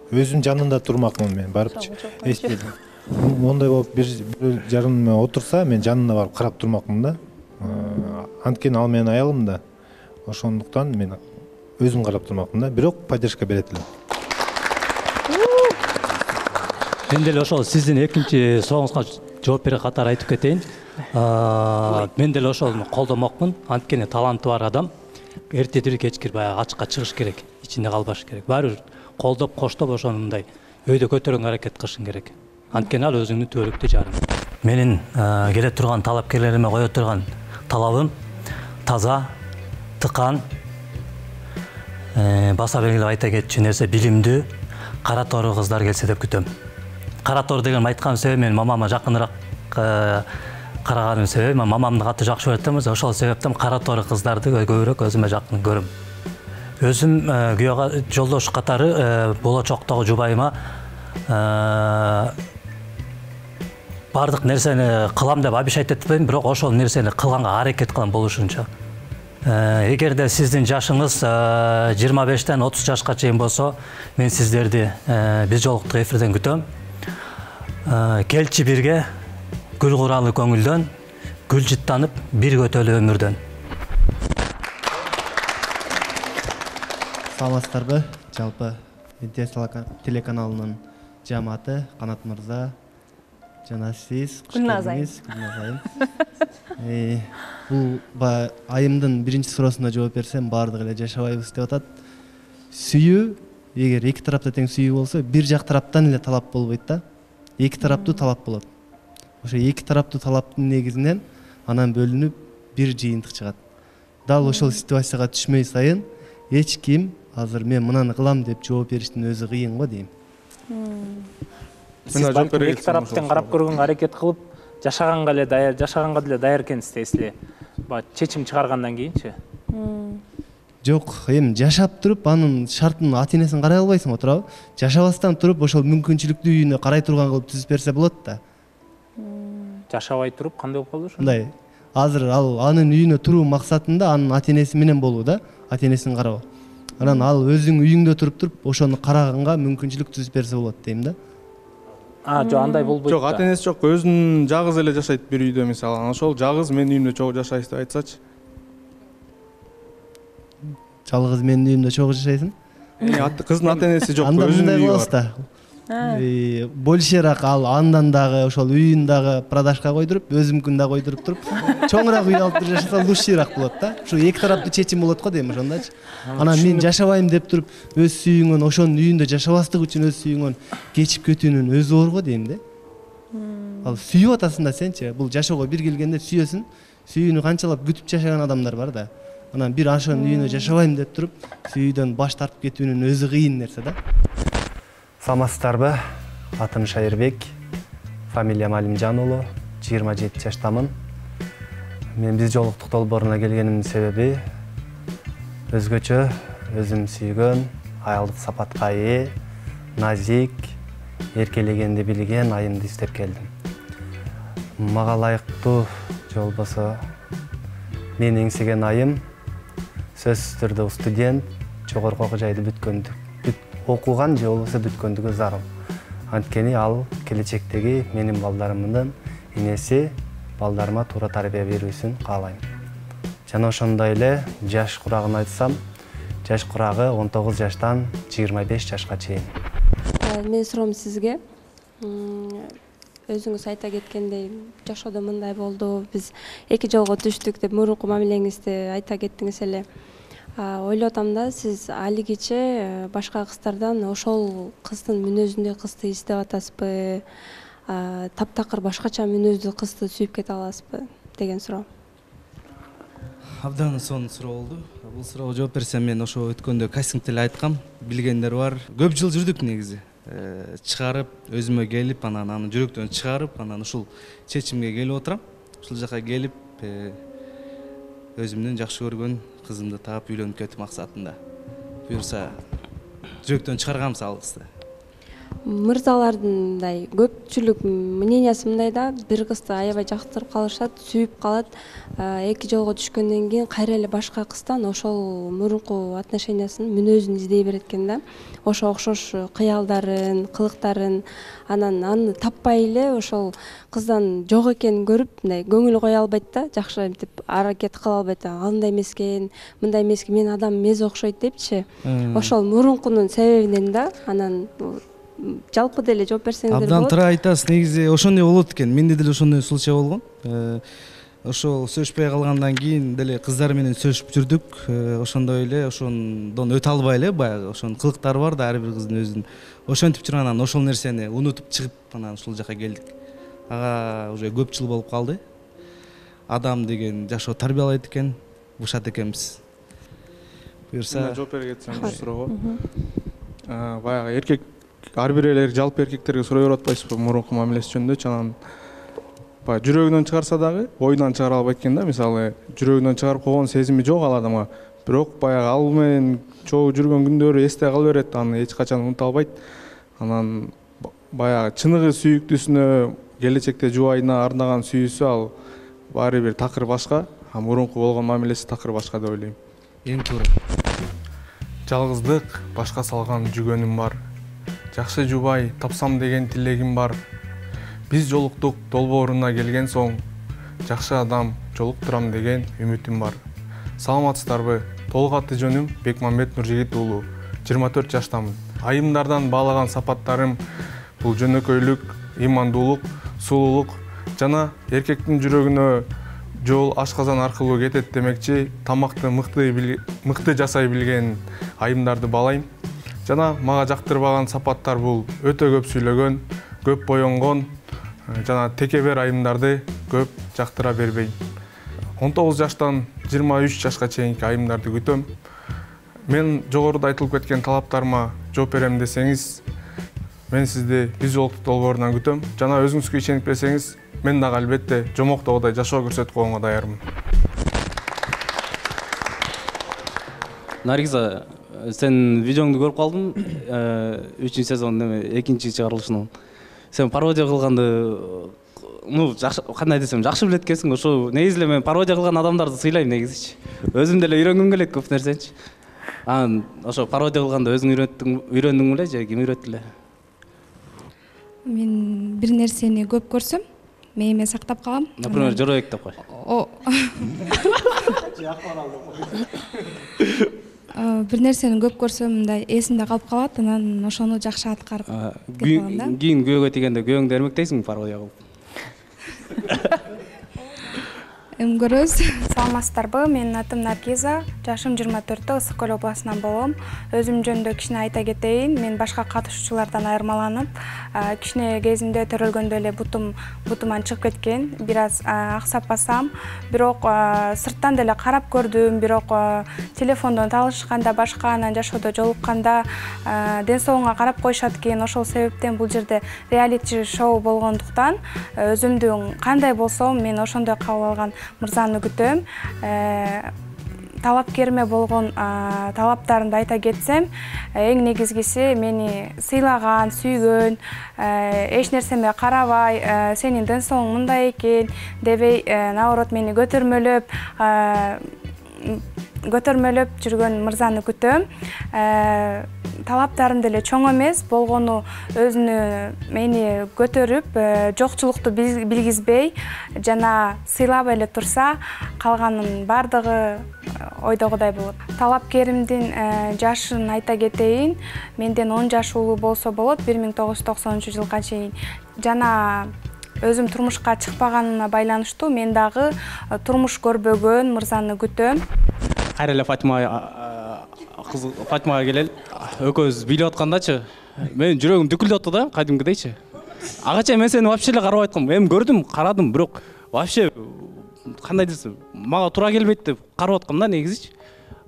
Өзүм жанында турмакмын мен барыпчы. Если мондай болуп бир жарымда отурса, мен жанына барып карап турмакмын да. Анткени ал менин аялым да. Ошондуктан мен өзүм карап турмакмын да, бирок поддержка берет элем. Мен деле ошол сиздин экинчи сурооңузга жооп бере катары айтып кетейин. Мен деле ошону колдомокмун. Анткени таланты бар адам эртедир кечкир баягы ачыкка чыгыш керек, ичинде калбаш керек. Баары бир колдоп, коштоп ошону мындай өйдө көтөргөнгө аракет кылышың керек. Анткени ал өзүңдүн түбөлүктүү жарың. Менин келе турган талапкерлериме кое турган талабым таза, тыкан, баса белгилеп айта кетчү нерсе билимдүү, кара тору кыздар келсе деп күтөм. Кара тор деген айткан себеби мен мамама жакыныраак караганын себеби, мен мамамды катты жакшы көрөм, ошол себептен кара тору кыздарды көбүрөөк өзүмө жакын көрөм. Өзүм күйөө жолдош катары болочоктогу жубайыма бардык нерсени кылам деп обещать этпейм, бирок ошол нерсени кылганга аракет кылам болушунча. Эгерде сиздин жашыңыз жыйырма бештен отуз жашка чейин болсо, мен сиздерди биз жолуктук эфирден күтөм. Келчи бирге гүл куралы көңүлдөн, гүл жыттанып бир көтөлү өмүрдөн. Саламатсыздарбы? Жалпы Интер телеканалынын жамааты Канат мырза жана сиз Гүлназ айым. Бул айымдын биринчи суроосуна жооп берсем, баардыгы эле жашабайбыз деп атат. Сүйүү, эгер эки тарапта тең сүйүү болсо, бир жак тараптан эле талап болбойт да. Эки тараптуу талап болот. Ошо эки тараптуу талаптын негизинен анан бөлүнүп бир жыйынтык чыгат. Дал ошол ситуацияга түшмөй сайын эч ким азыр мен мынаны кылам деп жооп бериштин өзү кыйын го дейм. Сиз эки тараптан карап көргөнгө аракет кылып, жашаганга эле даяр, жашаганга деле даяр экенсиз дейсизби? Баягы чечим чыгаргандан кийинчи. Жок, эми жашап туруп анын шартын ата-энесин карай албайсың го туурабы? Жашабастан туруп ошол мүмкүнчүлүктүү үйүнө карай турган кылып түзүп берсе болот да. Жашабай туруп кандай болуп калды ошо? Мындай, азыр ал анын үйүнө туруу максатында анын ата-энеси менен болуу да, ата-энесин кароо. Анан ал өзүң үйүңдө туруп туруп ошону караганга мүмкүнчүлүк түзүп берсе болот дейм да. А, жок, андай болбойт. Жок, ата-энеси жок, өзүнүн жалгыз эле жашайт бир үйдө мисалы. Анан ошол жалгыз менин үйүмдө чогуу жашайсыз деп айтсачы. Жалгыз менин үйүмдө чогуу жашайсың? Кыздын ата-энеси жок, өзүнүн үйү бар. Большераак ал андан дагы ошол үйүн дагы продажга койдуруп, өзүмкүн да койдуруп туруп, чоңураак үй алып жашаса лучшийраак болот да. Ушу эки тараптуу чечим болот го дейм ошондочу. Анан мен жашабайм деп туруп, өз сүйүүңөн ошонун үйүндө жашабастык үчүн өз сүйүүңөн кечип кетүүнүн өзү оор го дейм да. Ал сүйүп атасың да сенчи, бул жашоого бир келгенде сүйөсүң, сүйүүнү канчалап күтүп жашаган адамдар бар да. Анан бир ошонун үйүнө жашабайм деп туруп, сүйүүдөн баш тартып кетүүнүн өзү кыйын нерсе да. Саламатсыздарбы? Атым Шайырбек, фамилиям Алимжан уулу, жыйырма жети жаштамын. Мен биз жолуктук долбооруна келгенимдин себеби өзгөчө, өзүм сүйгөн, аялдык сапатка ээ, назик, эркелегенди билген айымды издеп келдим. Мага ылайыктуу же болбосо мен эңсеген айым сөзсүз түрдө студент, жогорку окуу жайды бүткөндү, окуган же болбосо бүткөндүгү зарыл. Анткени ал келечектеги менин балдарымдын энеси, балдарыма туура тарбия берүүсүн каалайм. Жана ошондой эле жаш курагын айтсам, жаш курагы он тогуз жаштан жыйырма беш жашка чейин. Менин суроом сизге. Өзүңүз айта кеткендей, жашоодо мындай болду, биз эки жолго түштүк деп мурунку мамилеңизди айта кеттиңиз эле. Ойлоп атам да, сиз алигиче башка кыздардан ошол кыздын мүнөзүндөй кызды издеп атасызбы? Таптакыр башкача мүнөздүү кызды сүйүп кете аласызбы деген суроо. Абдан сонун суроо болду. Бул суроого жооп берсем, мен ошо өткөндө кастингде эле айткам. Билгендер бар. Көп жыл жүрдүк негизи. Чыгарып, өзүмө келип, анан аны жүрөктөн чыгарып, анан ушул чечимге келип отурам. Ушул жака келип, өзүмдүн жакшы көргөн кызымды таап үйлөнүп кетүү максатында. Буюрса, жүрөктөн чыгарганбыз ал кызды. Мырзалардындай көпчүлүк мнениясы мындай да, бир кызды аябай жактырып калышат, сүйүп калат, эки жолго түшкөндөн кийин кайра эле башка кыздан ошол мурунку отношениясынын мүнөзүн издей берет экен да. Ошо окшош кыялдарын, кылыктарын, анан аны таппай эле ошол кыздан жок экенин көрүп, мындай көңүл кое албайт да, жакшы мынтип аракет кыла албайт. Андай эмес экен, мындай эмес экен, мен адам эмес окшойт депчи. Ошол мурункунун себебинен да, анан жалпы деле жооп берсеңиздер болот. Абдан туура айтасыз. Негизи ошондой болот экен. Менде деле ошондой случай болгон. Ошол сөзүшпөй калгандан кийин деле кыздар менен сөзүшүп жүрдүк. Ошондой эле ошондон өтө албай эле баягы ошонун кылыктары бар да ар бир кыздын өзүнүн. Ошентип жүргөн ошол нерсени унутуп чыгып анан ушул жака келдик. Ага уже көп жыл болуп калды. Адам деген жашоо тарбиялайт экен, бушат экенбиз. Буюрса, жооп бере кетсем бул суроого. Баягы эркек ар бир элер жалпы эркектерге суроо берип атпайсызбы мурунку мамилеси жөнүндө? Анан баягы жүрөгүнөн чыгарса дагы оюнан чыгара албайт экен да. Мисалы, жүрөгүнөн чыгарып койгон сезими жок ал адамга. Бирок баягы ал менен чогуу жүргөн күндөрү эсте кала берет, аны эч качан унута албайт. Анан баягы чыныгы сүйүктүүсүнө, келечекте жубайына арнаган сүйүүсү ал баары бир такыр башка, а мурунку болгон мамилеси такыр башка деп ойлойм. Эң туура. Жалгыздык башка салган жүгөнүм бар. Жакшы жубай тапсам деген тилегим бар. Биз жолуктук долбооруна келген соң, жакшы адам жолуктурам деген үмүтүм бар. Саламатсыздарбы? Толук аты жөнүм Бекмамбет Нуржигит уулу. жыйырма төрт жаштамын. Айымдардан баалаган сапаттарым бул жөнөкөйлүк, имандуулук, сулуулук жана эркектин жүрөгүнө жол ашказан аркылуу кетет демекчи, тамакты мыкты мыкты жасай билген айымдарды баалайм. Жана мага жактырбаган сапаттар бул өтө көп сүйлөгөн, көп боенгон жана текебер айымдарды көп жактыра бербейм. он тогуз жаштан жыйырма үч жашка чейинки айымдарды күтөм. Мен жогоруда айтылып кеткен талаптарыма жооп берем десеңиз, мен сизди биз жолуктук долбоорунан күтөм. Жана өзүңүзгө ишенип берсеңиз, мен дагы албетте жомоктогудай жашоо көрсөтүп койгонго даярмын. Наргиза, сен видеоңду көрүп калдым, үчүнчү сезондун экинчи чыгарылышынан. Сен пародия кылганды, ну, кандай десем, жакшы билет экенсиң. Ошо негизи эле мен пародия кылган адамдарды сыйлайм негизичи. Өзүм деле үйрөнгүм келет көп нерсеничи. Анан ошо пародия кылганда өзүң үйрөттүң, үйрөндүң беле же ким өйрөттү эле? Мен бир нерсени көп көрсөм, мээме сактап калам. Например, жороек деп кой. Бир нерсени көп көрсөм, мындай эсимде калып калат, анан ошону жакшы аткарып кетип калам да. Кийин күйөөгө тийгенде күйөөңдү эрмектейсиңби пародия кылып? Эми көрөбүз. Саламатсыздарбы? Менин атым Наргиза, жашым жыйырма төрттө, Ысык көл областынан болом. Өзүм жөнүндө кичине айта кетейин. Мен башка катышуучулардан айырмаланып, кичине кезимде төрөлгөндө эле бутум бутуман чыгып кеткен. Бир аз аксап басам, бирок сырттан деле карап көрдүм, бирок телефондон таанышканда башка, анан жашоодо жолукканда ден соолугуңа карап коюшат экен. Ошол себептен бул жерде реалити шоу болгондуктан өзүмдүн кандай болсом, мен ошондой кабыл алган мырзаны күтөм. Талапкериме болгон талаптарымды айта кетсем, эң негизгиси мени сыйлаган, сүйгөн, эч нерсеме карабай, сенин ден соолугуң мындай экен дебей, наоборот мени көтөрмөлөп, көтөрмөлөп жүргөн мырзаны күтөм. Талаптарым деле чоң эмес, болгону өзүнү мени көтөрүп, жокчулукту билгизбей, жана сыйлап эле турса, калганын бардыгы ойдогудай болот. Талапкеримдин жашын айта кетейин. Менден он жаш улуу болсо болот, бир миң тогуз жүз токсонунчу жылга чейин. Жана өзүм турмушка чыкпаганыма байланыштуу мен дагы турмуш көрбөгөн мырзаны күтөм. Кайра эле Фатима кыз Фатимага келели. Экөөбүз бийлеп аткандачы, менин жүрөгүм дүкүлдөп атты да, кадимкидейчи. Ага чейин мен сени вообще эле карабай аткам. Эми көрдүм, карадым, бирок вообще кандай десем, мага туура келбейт деп карап аткам да негизичи.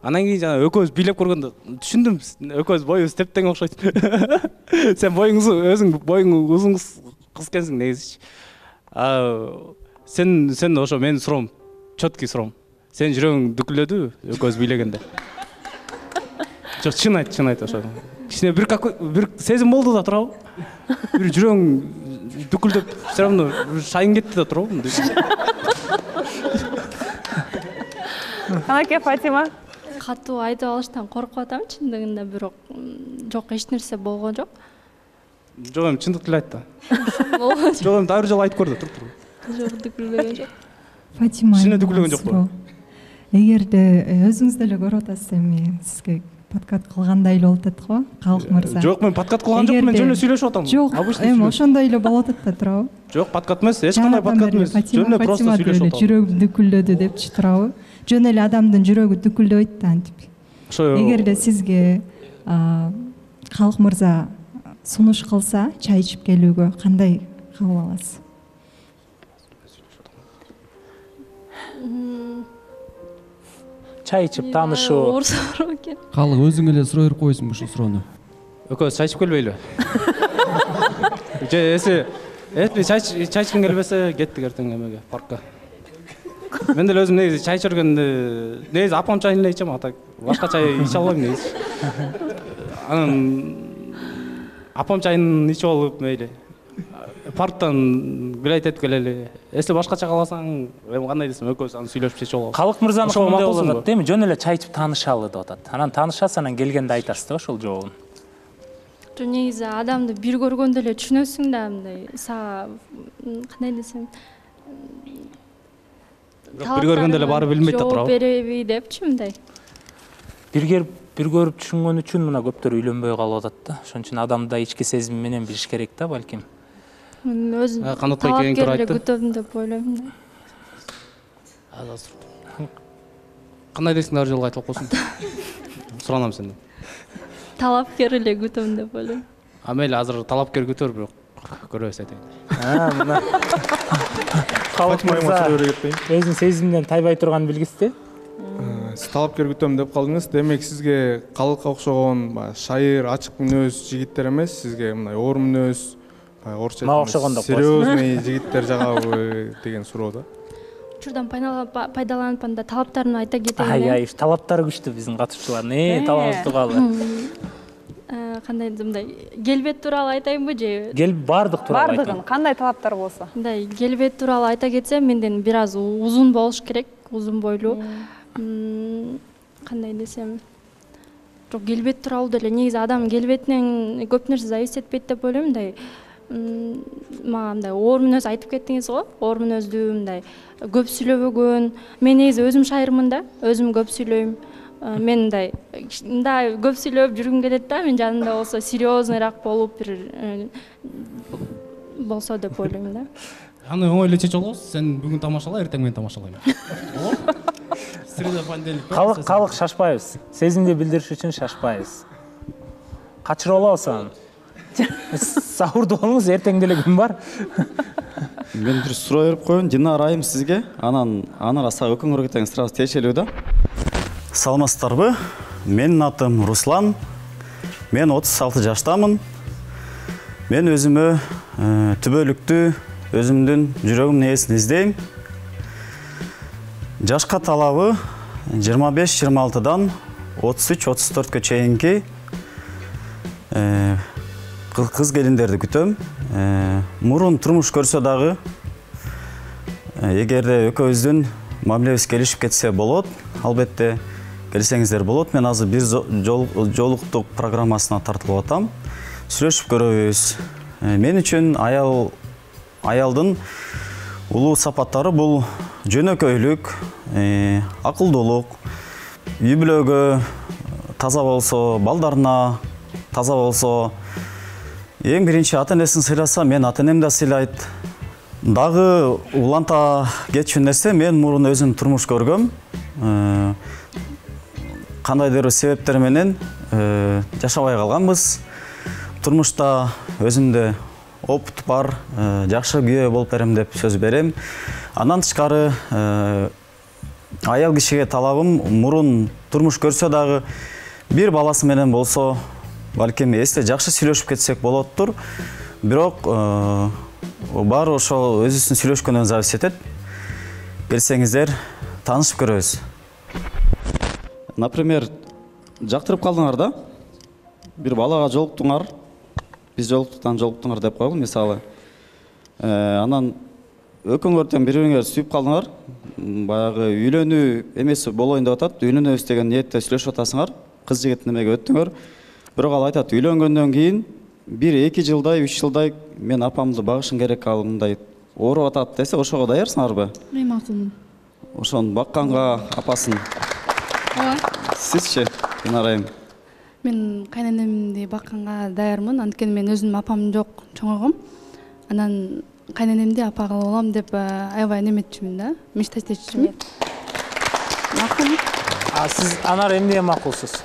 Анан кийин жана экөөбүз бийлеп көргөндө түшүндүм, экөөбүз боюбуз тептең окшойт. Сен боюң өзүң боюң узун кыз экенсиң негизичи. Сен сен ошо менин суроом, чөткү суроом. Сен жүрөгүң дүкүлдөдүбү экөөбүз бийлегенде? Жок, чын айт, чын айт ошо. Кичине бир бир сезим болду да турабы? Бир жүрөгүң дүкүлдөп, все равно шайын кетти да турабы? Канаке Фатима? Катуу айтып алыштан коркуп атам чындыгында, бирок жок, эч нерсе болгон жок. Жок, эми чындыкты эле айт да. Жок, эми дагы бир жолу айтып көр да, туруп туруп. Жок, дүкүлбөгөн жок. Фатима, кичине дүкүлгөн жокпу? Эгерде өзүңүз деле көрүп атасыз, эми сизге подкат кылгандай эле болуп атат го, Калык мырза. Жок, мен подкат кылган жокмун, мен жөн эле сүйлөшүп атам. Жок, эми ошондой эле болуп атат да турабы? Жок, подкат эмес, эч кандай подкат эмес. Жөн эле просто сүйлөшүп атам. Жүрөгүм дүкүлдөдү депчи турабы? Жөн эле адамдын жүрөгү дүкүлдөйт да антип. Эгерде сизге Калык мырза сунуш кылса, чай ичип келүүгө кандай кабыл аласыз? Чай ичип таанышуу. Оор суроо экен. Калык өзүң эле суроо берип койсуңбу ушул суроону? Экөөбүз чай ичип келбейлиби? Же эси эси чай чай ичким келбесе, кеттик эртең эмеге, паркка. Мен деле өзүм негизи чай ичергенде, негизи апам чайын эле ичем, ата башка чай иче албайм негизи. Анан апам чайын ичип алып, мейли парктан билет этип келели. Эсли башкача кааласаң, эми кандай десем, экөөбүз аны сүйлөшүп чечип алалы. Калык мырзанын кандай болуп атат, эми жөн эле чай ичип таанышалы деп атат. Анан таанышасыз, анан келгенде айтасыз да ошол жообун. Жо, негизи адамды бир көргөндө эле түшүнөсүң да, мындай сага кандай десем, бир көргөндө эле баары билинбейт да турабы. Жооп береби депчи, мындай. Бир көрүп, бир көрүп түшүнгөн үчүн мына көптөр үйлөнбөй калып атат да. Ошон үчүн адамда ички сезим менен билиш керек да, балким. Өзүм талапкерлер күтөм деп ойлойм да. Кандай дейсиң, дагы жолго айтып койсуң? Суранам сенден. Талапкер эле күтөм деп ойлойм. А мейли, азыр талапкер күтөр, бирок көрөбүз айтайын. А, мына. Калык мырза өзүнүн сезимден тайбай турганын билгизди. Сиз талапкер күтөм деп калдыңыз. Демек сизге Калыкка окшогон шайыр, ачык мүнөз жигиттер эмес, сизге мындай оор мүнөз, орусча айтканда серьезный жигиттер жагабы деген суроо да. Учурдан пайдаланып анда талаптарын айта кетейин. Ай, ай, талаптары күчтүү биздин катышчылардын. Э, талабыбыз тууралуу. Кандай мындай келбет тууралуу айтайынбы же? Кел бардык тууралуу айтайын. Бардыгын кандай талаптар болсо? Мындай келбет тууралуу айта кетсем, менден бир аз узун болуш керек, узун бойлуу. Кандай десем, жок, келбет тууралуу деле негизи адам келбетинен көп нерсе зависит этпейт деп ойлойм. Мындай мага мындай оор мүнөз айтып кеттиңиз го, оор мүнөздүү, мындай көп сүйлөбөгөн. Мен негизи өзүм шайырмын да, өзүм көп сүйлөйм. Мен мындай мындай көп сүйлөп жүргүм келет да, мен жанымда болсо серьезныйраак болуп бир болсо деп ойлойм да. Аны оңой эле чечип алабыз. Сен бүгүн тамашала, эртең мен тамашалайм. Среда, понедельник. Калык, калык шашпайбыз. Сезимди билдириш үчүн шашпайбыз. Качырып алабыз аны. Саурду болуңуз, эртең деле күн бар. Мен бир суроо берип коеюн, Динара айым сизге. Анан аны раса өкүңөр кетеңиз, сразу тиешелүү да. Саламатсыздарбы? Менин атым Руслан. Мен отуз алты жаштамын. Мен өзүмө түбөлүктүү, өзүмдүн жүрөгүмдүн ээсин издейм. Жашка талабы жыйырма беш жыйырма алтыдан отуз үч отуз төрткө чейинки кыз келиндерди күтөм. Мурун турмуш көрсө дагы, эгерде экөөбүздүн мамилебиз келишип кетсе болот. Албетте, келсеңиздер болот. Мен азыр бир жолуктук программасына тартылып атам. Сүйлөшүп көрөбүз. Мен үчүн аял аялдын улуу сапаттары бул жөнөкөйлүк, акылдуулук, үй бүлөгө таза болсо, балдарына таза болсо, эң биринчи ата-энесин сыйласа, мен ата-энем да сыйлайт. Дагы уланта кетчү нерсе, мен мурун өзүм турмуш көргөм. Кандайдыр себептер менен жашабай калганбыз. Турмушта өзүмдө опыт бар, жакшы күйөө болуп берем деп сөз берем. Андан тышкары аял кишиге талабым мурун турмуш көрсө дагы бир баласы менен болсо, балким эсте жакшы сүйлөшүп кетсек болоттур. Бирок баары ошол өзүбүздүн сүйлөшкөндөн зависит этет. Келсеңиздер, таанышып көрөбүз. Например, жактырып калдыңар да, бир балага жолуктуңар, биз жолуктуктан жолуктуңар деп койгул, мисалы. Анан экөөңөрдөн бири-бириңер сүйүп калдыңар, баягы үйлөнүү эмеси болоюн деп атат, үйлөнөбүз деген ниетте сүйлөшүп атасыңар, кыз жигит немеге өттүңөр. Бирок ал айтат, үйлөнгөндөн кийин бир эки жылдай, үч жылдай мен апамды багышым керек, ал мындай ооруп атат десе, ошого даярсыңарбы? Мен макулмун. Ошону бакканга апасын. Ооба. Сизчи, Динарайым? Мен кайненемди бакканга даярмын, анткени мен өзүмдүн апам жок, чоңойгом. Анан кайненемди апа кылып алам деп аябай неметчүмүн да, мечтать этчүмүн. Макул. А сиз Анар эмне макулсуз?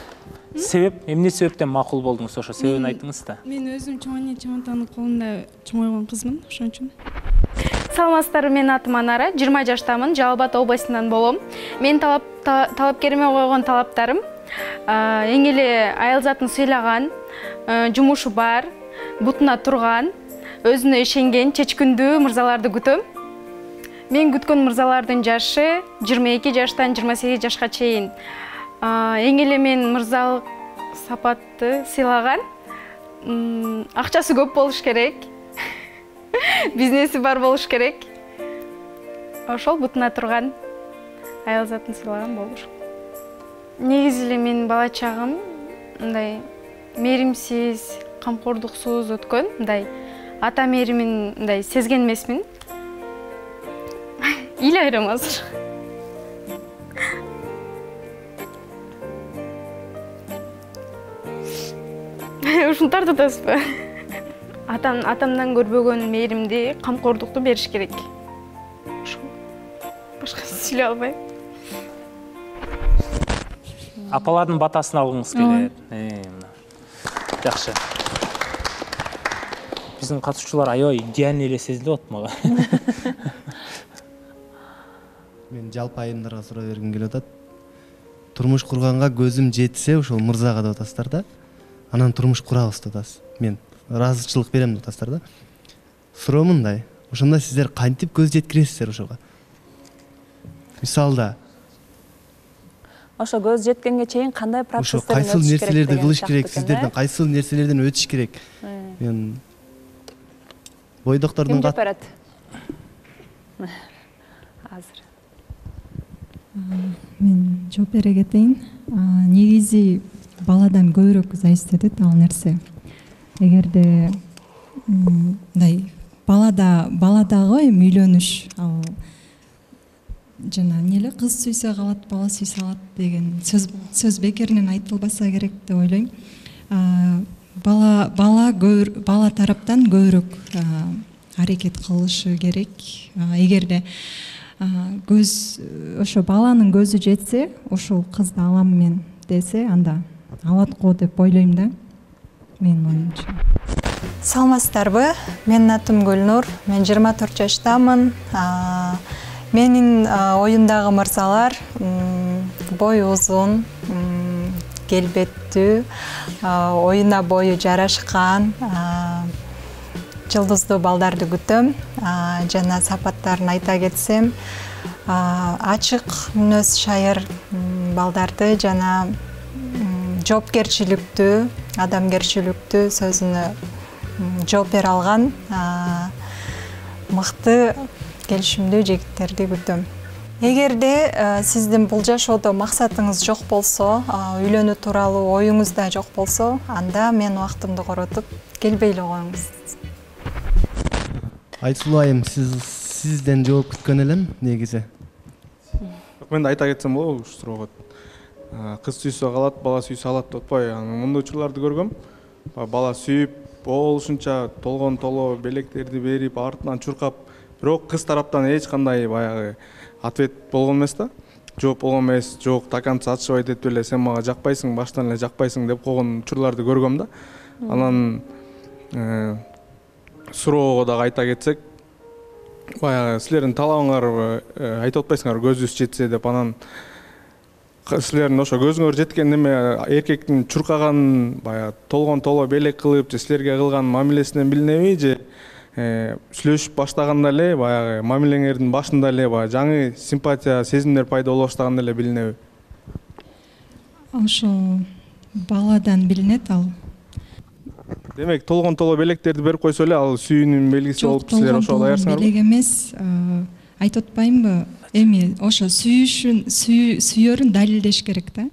Себеп, эмне себептен макул болдуңуз, ошо себебин айтыңыз да. Мен өзүм чоң эне чоң атанын колунда чоңойгон кызмын, ошон үчүн. Саламатсыздарбы, менин атым Анара, жыйырма жаштамын, Жалал Абад областынан болом. Мен талап талапкериме койгон талаптарым эң эле аял затын сыйлаган, жумушу бар, бутуна турган, өзүнө ишенген, чечкиндүү мырзаларды күтөм. Мен күткөн мырзалардын жашы жыйырма эки жаштан жыйырма сегиз жашка чейин. Эң эле мен мырзалык сапатты сыйлаган, акчасы көп болуш керек, бизнеси бар болуш керек. Ошол бутуна турган аял затын сыйлаган болуш. Негизи эле менин бала чагым мындай мээримсиз, камкордуксуз өткөн, мындай ата мээримин мындай сезген эмесмин. Ыйлайрым азыр. Ушуну тартып атасызбы? Атам атамдан көрбөгөн мээримди, камкордукту бериш керек. Башка сүйлөй албайм. Апалардын батасын алгыңыз келет. Жакшы. Биздин катышуучулар аябай идеальный эле сезилип атат мага. Мен жалпы айымдарга суроо бергим келип атат. Турмуш курганга көзүм жетсе, ошол мырзага деп атасыздар да. Анан турмуш курабыз деп атасыз. Мен ыраазычылык берем деп атасыздар да. Суроо мындай. Ошондо сиздер кантип көз жеткиресиздер ошого? Мисалда, ошо көз жеткенге чейин кандай процесстерден кайсыл өтүш керек? нерселерди кылыш керек, сиздерден кайсыл нерселерден өтүш керек? Мен бойдоктордун кат берет? Азыр. Мен жооп бере кетейин. Негизи баладан көбүрөөк зависит этет ал нерсе. Эгерде мындай балада баладагы эми үйлөнүш, ал жана эмне кыз сүйсө калат, бала сүйсө калат деген сөз сөз бекеринен айтылбаса керек деп ойлойм. Бала бала бала тараптан көбүрөөк аракет кылышы керек. Эгерде көз ошо баланын көзү жетсе, ошол кызды алам мен десе, анда алат го деп ойлойм да. Менин оюмча. Саламатсыздарбы? Менин атым Гүлнур. Мен жыйырма төрт жаштамын. Менин оюмдагы мырзалар бою узун, келбеттүү, оюна бою жарашкан, жылдыздуу балдарды күтөм. Жана сапаттарын айта кетсем, ачык мүнөз шайыр балдарды жана жоопкерчиликтүү, адамгерчиликтүү, сөзүнө жооп бере алган мыкты келишимдүү жигиттерди күтөм. эгерде сиздин бул жашоодо максатыңыз жок болсо, үйлөнүү тууралуу оюңуз да жок болсо, анда мен убактымды коротуп келбей эле коюңуз. Айсулуу айым, сиз сизден жооп күткөн элем негизи. Мен да айта кетсем болобу ушул суроого? Кыз сүйсө калат, бала сүйсө алат деп атпайбы? Мындай учурларды көргөм. Бала сүйүп, болушунча толгон толо белектерди берип, артынан чуркап, бирок кыз тараптан эч кандай баягы ответ болгон эмес да. Жооп болгон эмес, жок, до конца атышпайт этип эле сен мага жакпайсың, баштан эле жакпайсың деп койгон учурларды көргөм да. Анан суроого дагы айта кетсек, баягы силердин талабыңар айтып атпайсыңар көзүбүз жетсе деп, анан силердин ошо көзүңөр жеткен неме эркектин чуркаган, баягы толгон толо белек кылып, же силерге кылган мамилесинен билинеби, же сүйлөшүп баштаганда эле баягы мамилеңердин башында эле баягы жаңы симпатия, сезимдер пайда боло баштаганда эле билинеби? Ошо баладан билинет ал. Демек, толгон толо белектерди берип койсо эле ал сүйүүнүн белгиси болуп силер ошого даярсыңарбы? Белек эмес, айтып атпаймынбы? Эми ошо сүйүшүн, сүйөрүн далилдеш керек да.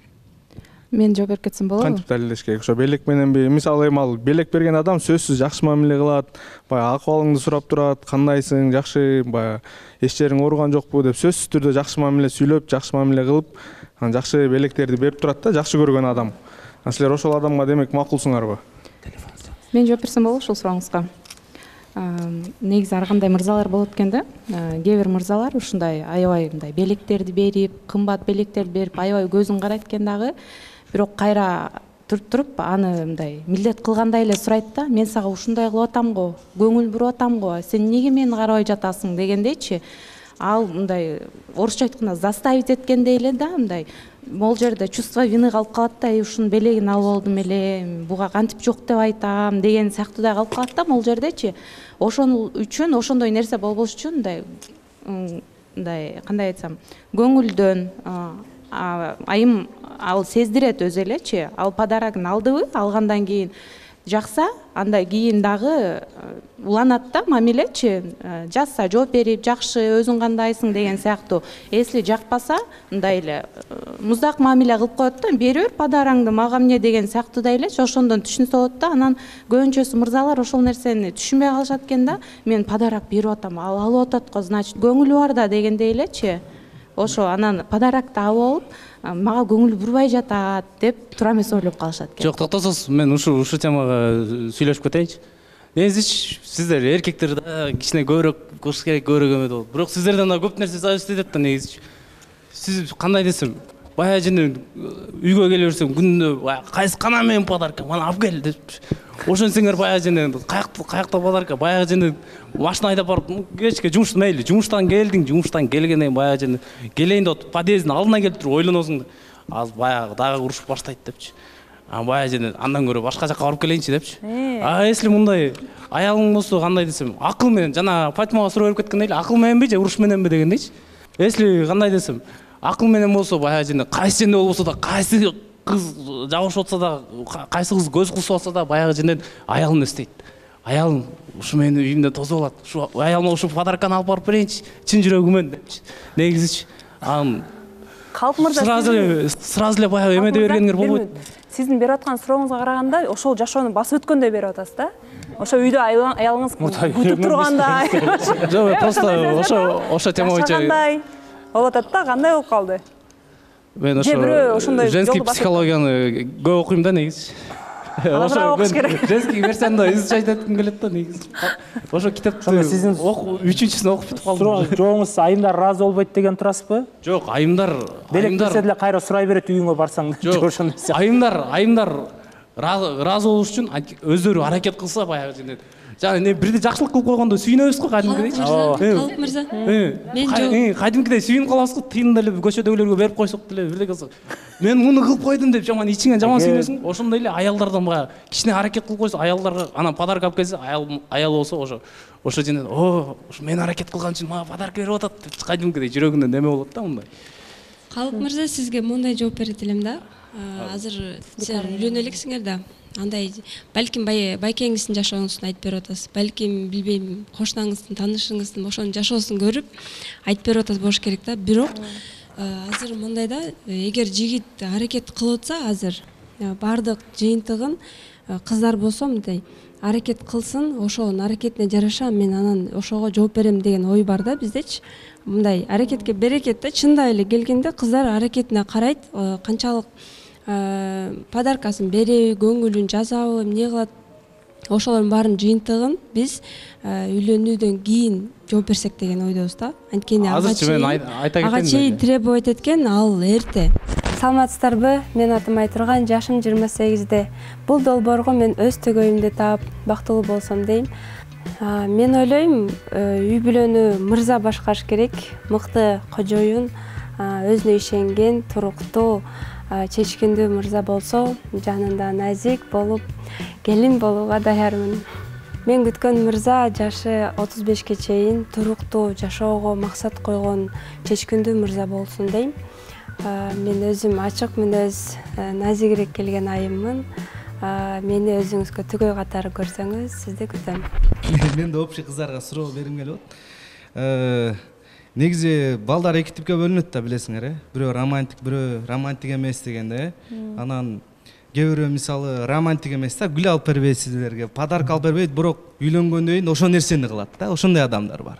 Мен жооп берип кетсем болобу? Кантип далилдеш керек? Ошо белек мененби? Мисалы эми ал белек берген адам сөзсүз жакшы мамиле кылат, баягы акыбалыңды сурап турат, кандайсың, жакшы, баягы эч жериң ооруган жокпу деп сөзсүз түрдө жакшы мамиле сүйлөп, жакшы мамиле кылып, анан жакшы белектерди берип турат да, жакшы көргөн адам. Анан силер ошол адамга демек макулсуңарбы? Мен жооп берсем болобу ушул сурооңузга? Негизи ар кандай мырзалар болот экен да. Кээ бир мырзалар ушундай аябай мындай белектерди берип, кымбат белектерди берип, аябай көзүн карайт экен дагы. Бирок кайра туруп туруп аны мындай милдет кылгандай эле сурайт да. Мен сага ушундай кылып атам го, көңүл буруп атам го, сен эмнеге мени карабай жатасың дегендейчи. Ал мындай орусча айтканда заставить эткендей эле да, мындай могул жерде чувство вины калып калат да, ушунун белегин алып алдым эле, буга кантип жок деп айтам деген сыяктуудай калып калат да могул жердечи. Ошон үчүн, ошондой нерсе болбош үчүн мындай мындай кандай айтсам, көңүлдөн айым ал сездирет өзү элечи. Ал подарогун алдыбы, алгандан кийин жакса, андай кийин дагы уланат да мамилечи. Жазса жооп берип, жакшы, өзүң кандайсың деген сыяктуу. Эсли жакпаса, мындай эле муздак мамиле кылып коет да, бери бер подараңды, мага эмне деген сыяктуудай элечи. Ошондон түшүнсө болот да. Анан көбүнчөсү мырзалар ошол нерсени түшүнбөй калышат экен да. Мен подарок берип атам, ал алып атат го, значит, көңүлү бар да дегендей элечи. Ошо анан подарокду алып алып, мага көңүл бурбай жатат деп туура эмес ойлоп калышат экен. Жок, токтосоз, мен ушу ушу темага сүйлөшүп кетейинчи. Негизичи сиздер эркектер да кичине көбүрөөк кылыш керек, көбүрөөк эме болот. Бирок сиздерден да көп нерсе зависит этет да негизичи. Сиз кандай десем, баягы жана үйгө келе берсем, күнүнө кайсы кана менен подарка, мана алып кел деп. Ошентсеңер баягы жана каякта каякта подарка, баягы жана машина айдап барып, кечке жумуш мейли, жумуштан келдиң, жумуштан келгенден кийин баягы жана келейин деп атып, подъездин алдына келип туруп ойлоносуң да. Азыр баягы дагы урушуп баштайт депчи. А баягы жана андан көрө башка жака барып келейинчи депчи. А если мындай аялың болсо, кандай десем, акыл менен, жана Фатимага суроо берип кеткендей эле, акыл мененби же уруш мененби дегендейчи. Если кандай десем, акыл менен болсо, баягы жана кайсы жерде болбосо да, кайсы кыз жабышып атса да, кайсы кыз көз кылышып атса да, баягы жана аялын эстейт. Аялым ушу менин үйүмдө тосуп алат. Ушу аялыма ушу подарканы алып барып берейинчи, чын жүрөгүмөн депчи. Негизичи. Анан Калп мырза, сразу эле сразу эле баягы эмеде бергениңер болбойт. Сиздин берип аткан сурооңузга караганда, ошол жашоону басып өткөндөй берип атасыз да? Ошо үйдө аялыңыз күтүп тургандай. Жок, просто ошо ошо тема боюнча болуп атат да, кандай болуп калды? Мен ошо женский психологияны көп окуйм да негизи. Ошо женский версияны изучать этким келет да негизи. Ошо китепти сиздин үчүнчүсүн окуп бүтүп калдым. Жооңуз айымдар ыраазы болбойт деген турасызбы? Жок, айымдар белек берсе деле кайра сурай берет үйүңө барсаң. Жок, айымдар айымдар ыраазы болуш үчүн өздөрү аракет кылса баягы жана жана не бирде жакшылык кылып койгондо сүйүнөбүз го кадимкидейчи. Калп мырза. Мен жок. Кадимкидей сүйүнүп калабыз го, тыйында эле көчөдөгүлөргө берип койсок деле бирде кылсак. Мен муну кылып койдум деп жаман ичиңен жаман сүйүнөсүң. Ошондой эле аялдардан баягы кичине аракет кылып койсо, аялдарга анан подарок алып келсе, аял аял болсо ошо ошо жана о, ушу мен аракет кылган үчүн мага подарок берип атат деп кадимкидей жүрөгүнөн неме болот да мындай. Калп мырза, сизге мындай жооп берет элем да. Азыр силер үйлөнө элексиңер да. андай балким байкеңиздин жашооңузун айтып берип атасыз, балким билбейм кошунаңыздын таанышыңыздын ошонун жашоосун көрүп айтып берип атасыз болуш керек да. Бирок азыр мындай да, эгер жигит аракет кылып атса азыр баардык жыйынтыгын кыздар болсо мындай аракет кылсын, ошонун аракетине жараша мен анан ошого жооп берем деген ой бар да биздечи. Мындай аракетке берекет да, чындап эле келгенде кыздар аракетине карайт, канчалык подаркасын береби, көңүлүн жазабы, эмне кылат, ошолордун баарын жыйынтыгын биз үйлөнүүдөн кийин жооп берсек деген ойдобуз да. Анткени ага чейин требовать эткен ал эрте. Саламатсыздарбы? Мен атым Айтурган, жашым жыйырма сегизде. Бул долбоорго мен өз төгөйүмдү таап бактылуу болсом дейм. Мен ойлойм, үй бүлөнү мырза башкарыш керек, мыкты кожоюн, өзүнө ишенген, туруктуу, чечкиндүү мырза болсо, жанында назик болуп, келин болууга даярмын. Мен күткөн мырза жашы отуз бешке чейин туруктуу жашоого максат койгон чечкиндүү мырза болсун дейм. Мен өзүм ачык мүнөз, назигирээк келген айыммын. Мени өзүңүзгө түгөй катары көрсөңүз, сизди күтөм. Мен да общий кыздарга суроо бергим келип атат. Негизи балдар эки типке бөлүнөт да, билесиңер, э? Бирөө романтик, бирөө романтик эмес дегенде, э? Анан кээ бирөө мисалы романтик эмес да, гүл алып бербейт силерге, подарка алып бербейт, бирок үйлөнгөндөн кийин ошол нерсени кылат да, ошондой адамдар бар.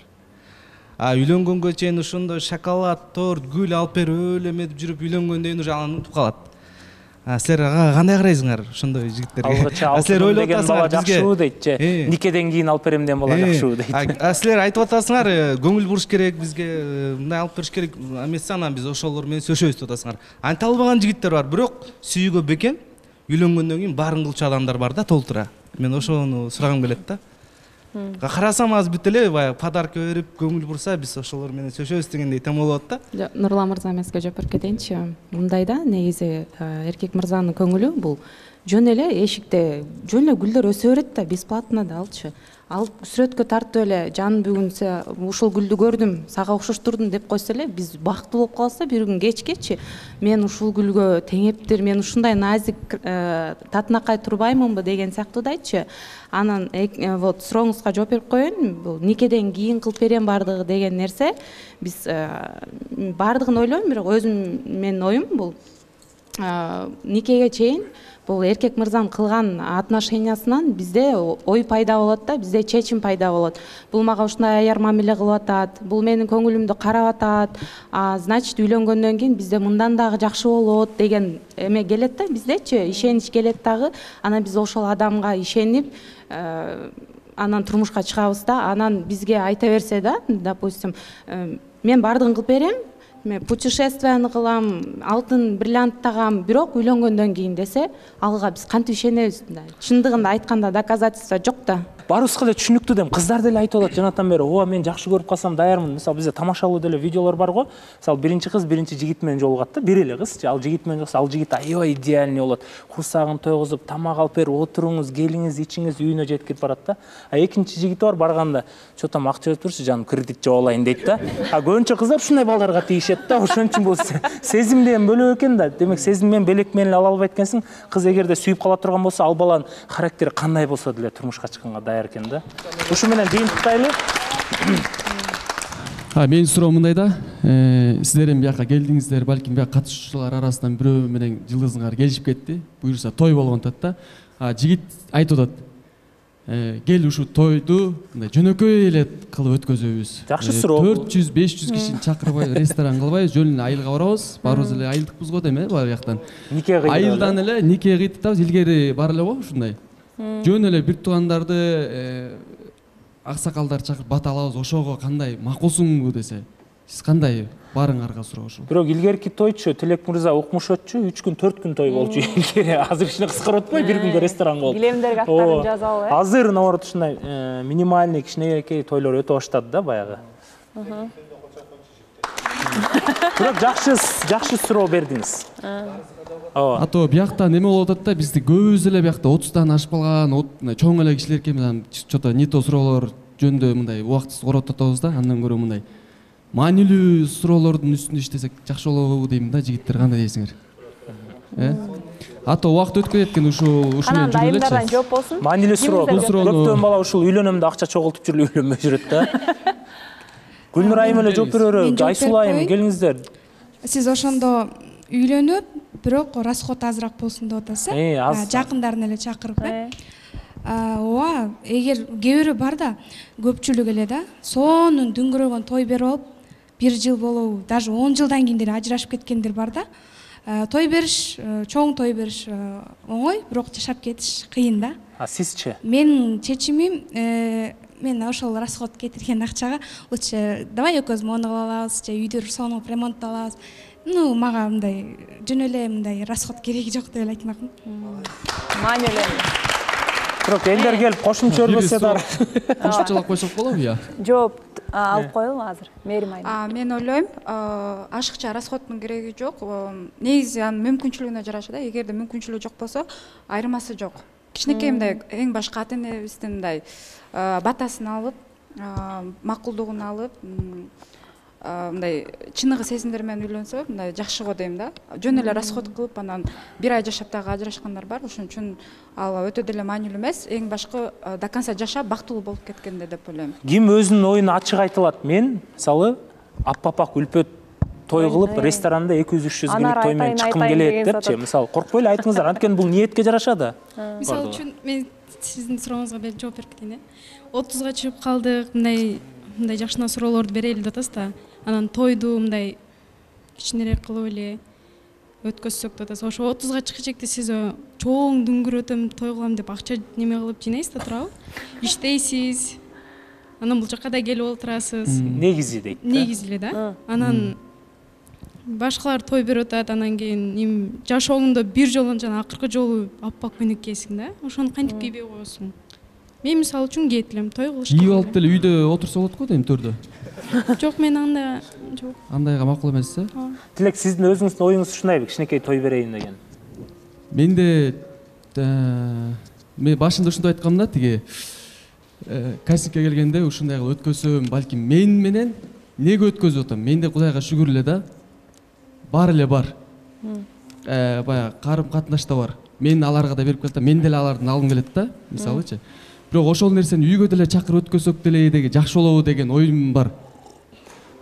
А үйлөнгөнгө чейин ошондой шоколад, торт, гүл алып берип өлө эметип жүрүп үйлөнгөндөн кийин уже анан унутуп калат. А силер кандай карайсыңар ошондой жигиттерге? Алгача алтын деген бала жакшыбы дейт же, никеден кийин алып берем деген бала жакшыбы дейт. А силер айтып атасыңар, көңүл буруш керек, бизге мындай алып бериш керек эмес, анан биз ошолор менен сөшөбүз деп атасыңар. Анта албаган жигиттер бар, бирок сүйүүгө бекем, үйлөнгөндөн кийин баарын кылчу адамдар бар да, толтура. Мен ошону сурагым келет да. Карасам азыр бүт эле баягы подарка берип, көңүл бурса, биз ошолор менен сөшөбүз дегендей тем болуп атат да. Нурлан мырза эмеске жооп берип кетейинчи. Мындай да, негизи эркек мырзанын көңүлү бул жөн эле эшикте жөн эле гүлдөр өсө берет да, бесплатно да алчы. Ал сүрөткө тартып эле жаным бүгүн ушул гүлдү көрдүм, сага окшоштурдум деп койсо эле биз бактылуу болуп калабыз да. Бир күн кечкечи мен ушул гүлгө теңептир, мен ушундай назик татынакай турбаймынбы деген сыяктуудайчы. Анан вот сурооңузга жооп берип коеюн, бул никеден кийин кылып берем баардыгы деген нерсе биз баардыгын ойлойм, бирок өзүм менин оюм бул никеге чейин бул эркек мырзанын кылган отношениясынан бизде ой пайда болот да, бизде чечим пайда болот. Бул мага ушундай аяр мамиле кылып атат, бул менин көңүлүмдү карап атат, значит үйлөнгөндөн кийин бизде мындан дагы жакшы болот деген эме келет да, биздечи ишенич келет дагы. Анан биз ошол адамга ишенип анан турмушка чыгабыз да. Анан бизге айта берсе да, допустим, мен баардыгын кылып берем, мен путешествияны кылам, алтын бриллиант тагам, бирок үйлөнгөндөн кийин десе, алга биз кантип ишенебиз? Чындыгында айтканда доказательство жок да. Барыбызга эле түшүнүктүү дейм, кыздар деле айтып атат жанатан бери, ооба мен жакшы көрүп калсам даярмын. Мисалы бизде тамашалуу деле видеолор бар го. Мисалы биринчи кыз биринчи жигит менен жолугат да, бир эле кыз, ал жигит менен жолукса, ал жигит аябай идеальный болот. Курсагын тойгузуп, тамак алып берип, отуруңуз, келиңиз, ичиңиз үйүнө жеткирип барат да. А экинчи жигити бар, барганда, "Чо там акча берип турчу, жаным, кредит жаап алайын" дейт да. А көбүнчө кыздар ушундай балдарга тийишет да. Ошон үчүн бул сезим деген бөлөк экен да. Демек сезим менен белек менен ала албайт экенсиң. Кыз эгерде сүйүп кала турган болсо, ал баланын характери кандай болсо деле турмушка чыкканга даяр экен да. Ушу менен жыйынтыктайлы. Менин суроом мындай да, сиздер эми бияка келдиңиздер, балким бияка катышуучулар арасынан бирөө менен жылдызыңар келишип кетти, буюрса той болгон атат да. Жигит айтып атат, кел ушу тойду мындай жөнөкөй эле кылып өткөзөбүз. Жакшы суроо. төрт жүз беш жүз кишини чакырбай ресторан кылбайбыз, жөн эле айылга барабыз, барыбыз эле айылдыкпыз го дейм, э, бул жактан. Айылдан эле нике кыйтабыз, илгери бар эле го ушундай. Жөн эле бир туугандарды, аксакалдар чакырып бата алабыз, ошого кандай макулсуңбу десе, сиз кандай барыңарга суроо ушул. Бирок илгерки тойчу Тилек мырза укмуш өтчү, үч күн төрт күн той болчу илгери. Азыр кичине кыскарып атпайбы, бир күнгө ресторан болуп. Килемдерге аттарын жазалы, э? Азыр наоборот ушундай минимальный кичинекей тойлор өтө баштады да баягы. Бирок жакшы жакшы суроо бердиңиз. А то биякта неме болуп атат да, бизди көбүбүз эле биякта отуздан ашып калган, чоң эле кишилер экен, чото не то суроолор жөнүндө мындай убактысыз коротуп атабыз да, андан көрө мындай маанилүү суроолордун үстүндө иштесек жакшы болобу дейм да, жигиттер кандай дейсиңер? Э? ато убакыт өтүп кетет экен ушул ушу менен жүрүп элечи. Айымдардан жооп болсун. Маанилүү суроо. Көптөн бала ушул үйлөнөм да акча чогултуп жүрүп үйлөнбөй жүрөт да. Гүлнур айым эле жооп берөбүрө. Айсул айым келиңиздер. Сиз ошондо үйлөнүп, бирок расход азыраак болсун деп атасыз э? Жакындарын эле чакырып э? Ооба, эгер кээ бирөө бар да, көпчүлүк эле да, сонун дүңгүрөгөн той берип алып, бир жыл болобу, даже он жылдан кийин деле ажырашып кеткендер бар да. Той бериш, чоң той бериш оңой, бирок жашап кетиш кыйын да. А сизчи? Менин чечимим, мен ошол расход кетирген акчага лучше давай экөөбүз мону кылып алабыз, же үйдү сонуп ремонтталабыз. Ну, мага мындай жөн эле мындай расход кереги жок деп эле айтмакмын. Маанилүү. Бирок элдер келип кошумча өрбөсө да. Кошумчалап койсок болобу я? Жооп алып коелу азыр. Мээрим айым. Мен ойлойм, ашыкча расходдун кереги жок. Негизи анын мүмкүнчүлүгүнө жараша да. Эгерде мүмкүнчүлүгү жок болсо, айырмасы жок. Кичинекей мындай эң башкы ата энебиздин мындай батасын алып, макулдугун алып, мындай чыныгы сезимдер менен үйлөнсө, мындай жакшы го дейм да. Жөн эле расход кылып, анан бир ай жашап дагы ажырашкандар бар. Ошон үчүн ал өтө деле маанилүү эмес. Эң башкы до конца жашап бактылуу болуп кеткенде деп ойлойм. Ким өзүнүн оюн ачык айта алат? Мен, мисалы, аппапак үлпөт той кылып, ресторанда эки жүз үч жүз килик той менен чыккым келет депчи. Мисалы, коркпой эле айтыңыздар, анткени бул ниетке жарашады. Мисалы үчүн мен сиздин сурооңузга жооп берип кетейин. отузга чыгып калдык, мындай мындай жакшына суроолорду берели деп атасыз да. Анан тойду мындай кичинерээк кылып эле өткөзсөк деп атасыз. Ошо отузга чыкчекте сиз чоң дүңгүр өтөм той кылам деп акча неме кылып жыйнайсыз да турабы? Иштейсиз. Анан бул жакка да келип отурасыз. Негизи дейт. Негизи эле да. Анан башкалар той берип атат, анан кийин эми жашооңдо бир жолу жана акыркы жолу аппак көйнөк кийесиң да. Ошону кантип кийбей коесуң? Мен мисалы үчүн кийет элем, той кылышка. Кийип алып деле үйдө отурса болот го дейм төрдө. Жок, мен анда жок. Андайга макул эмес э? Тилек, сиздин өзүңүздүн оюңуз ушундайбы? Кичинекей той берейин деген. Менде мен башында ушундай айткам да, тиги кастингке келгенде ушундай кылып өткөзсөм, балким мен менен неге өткөзүп атам? Менде Кудайга шүгүр эле да. Бар эле бар. Э, баягы карым катнаш да бар. Мен аларга да берип келем, мен деле алардын алгым келет да, мисалычы. Бирок ошол нерсени үйгө деле чакырып өткөзсөк деле деги жакшы болобу деген оюм бар.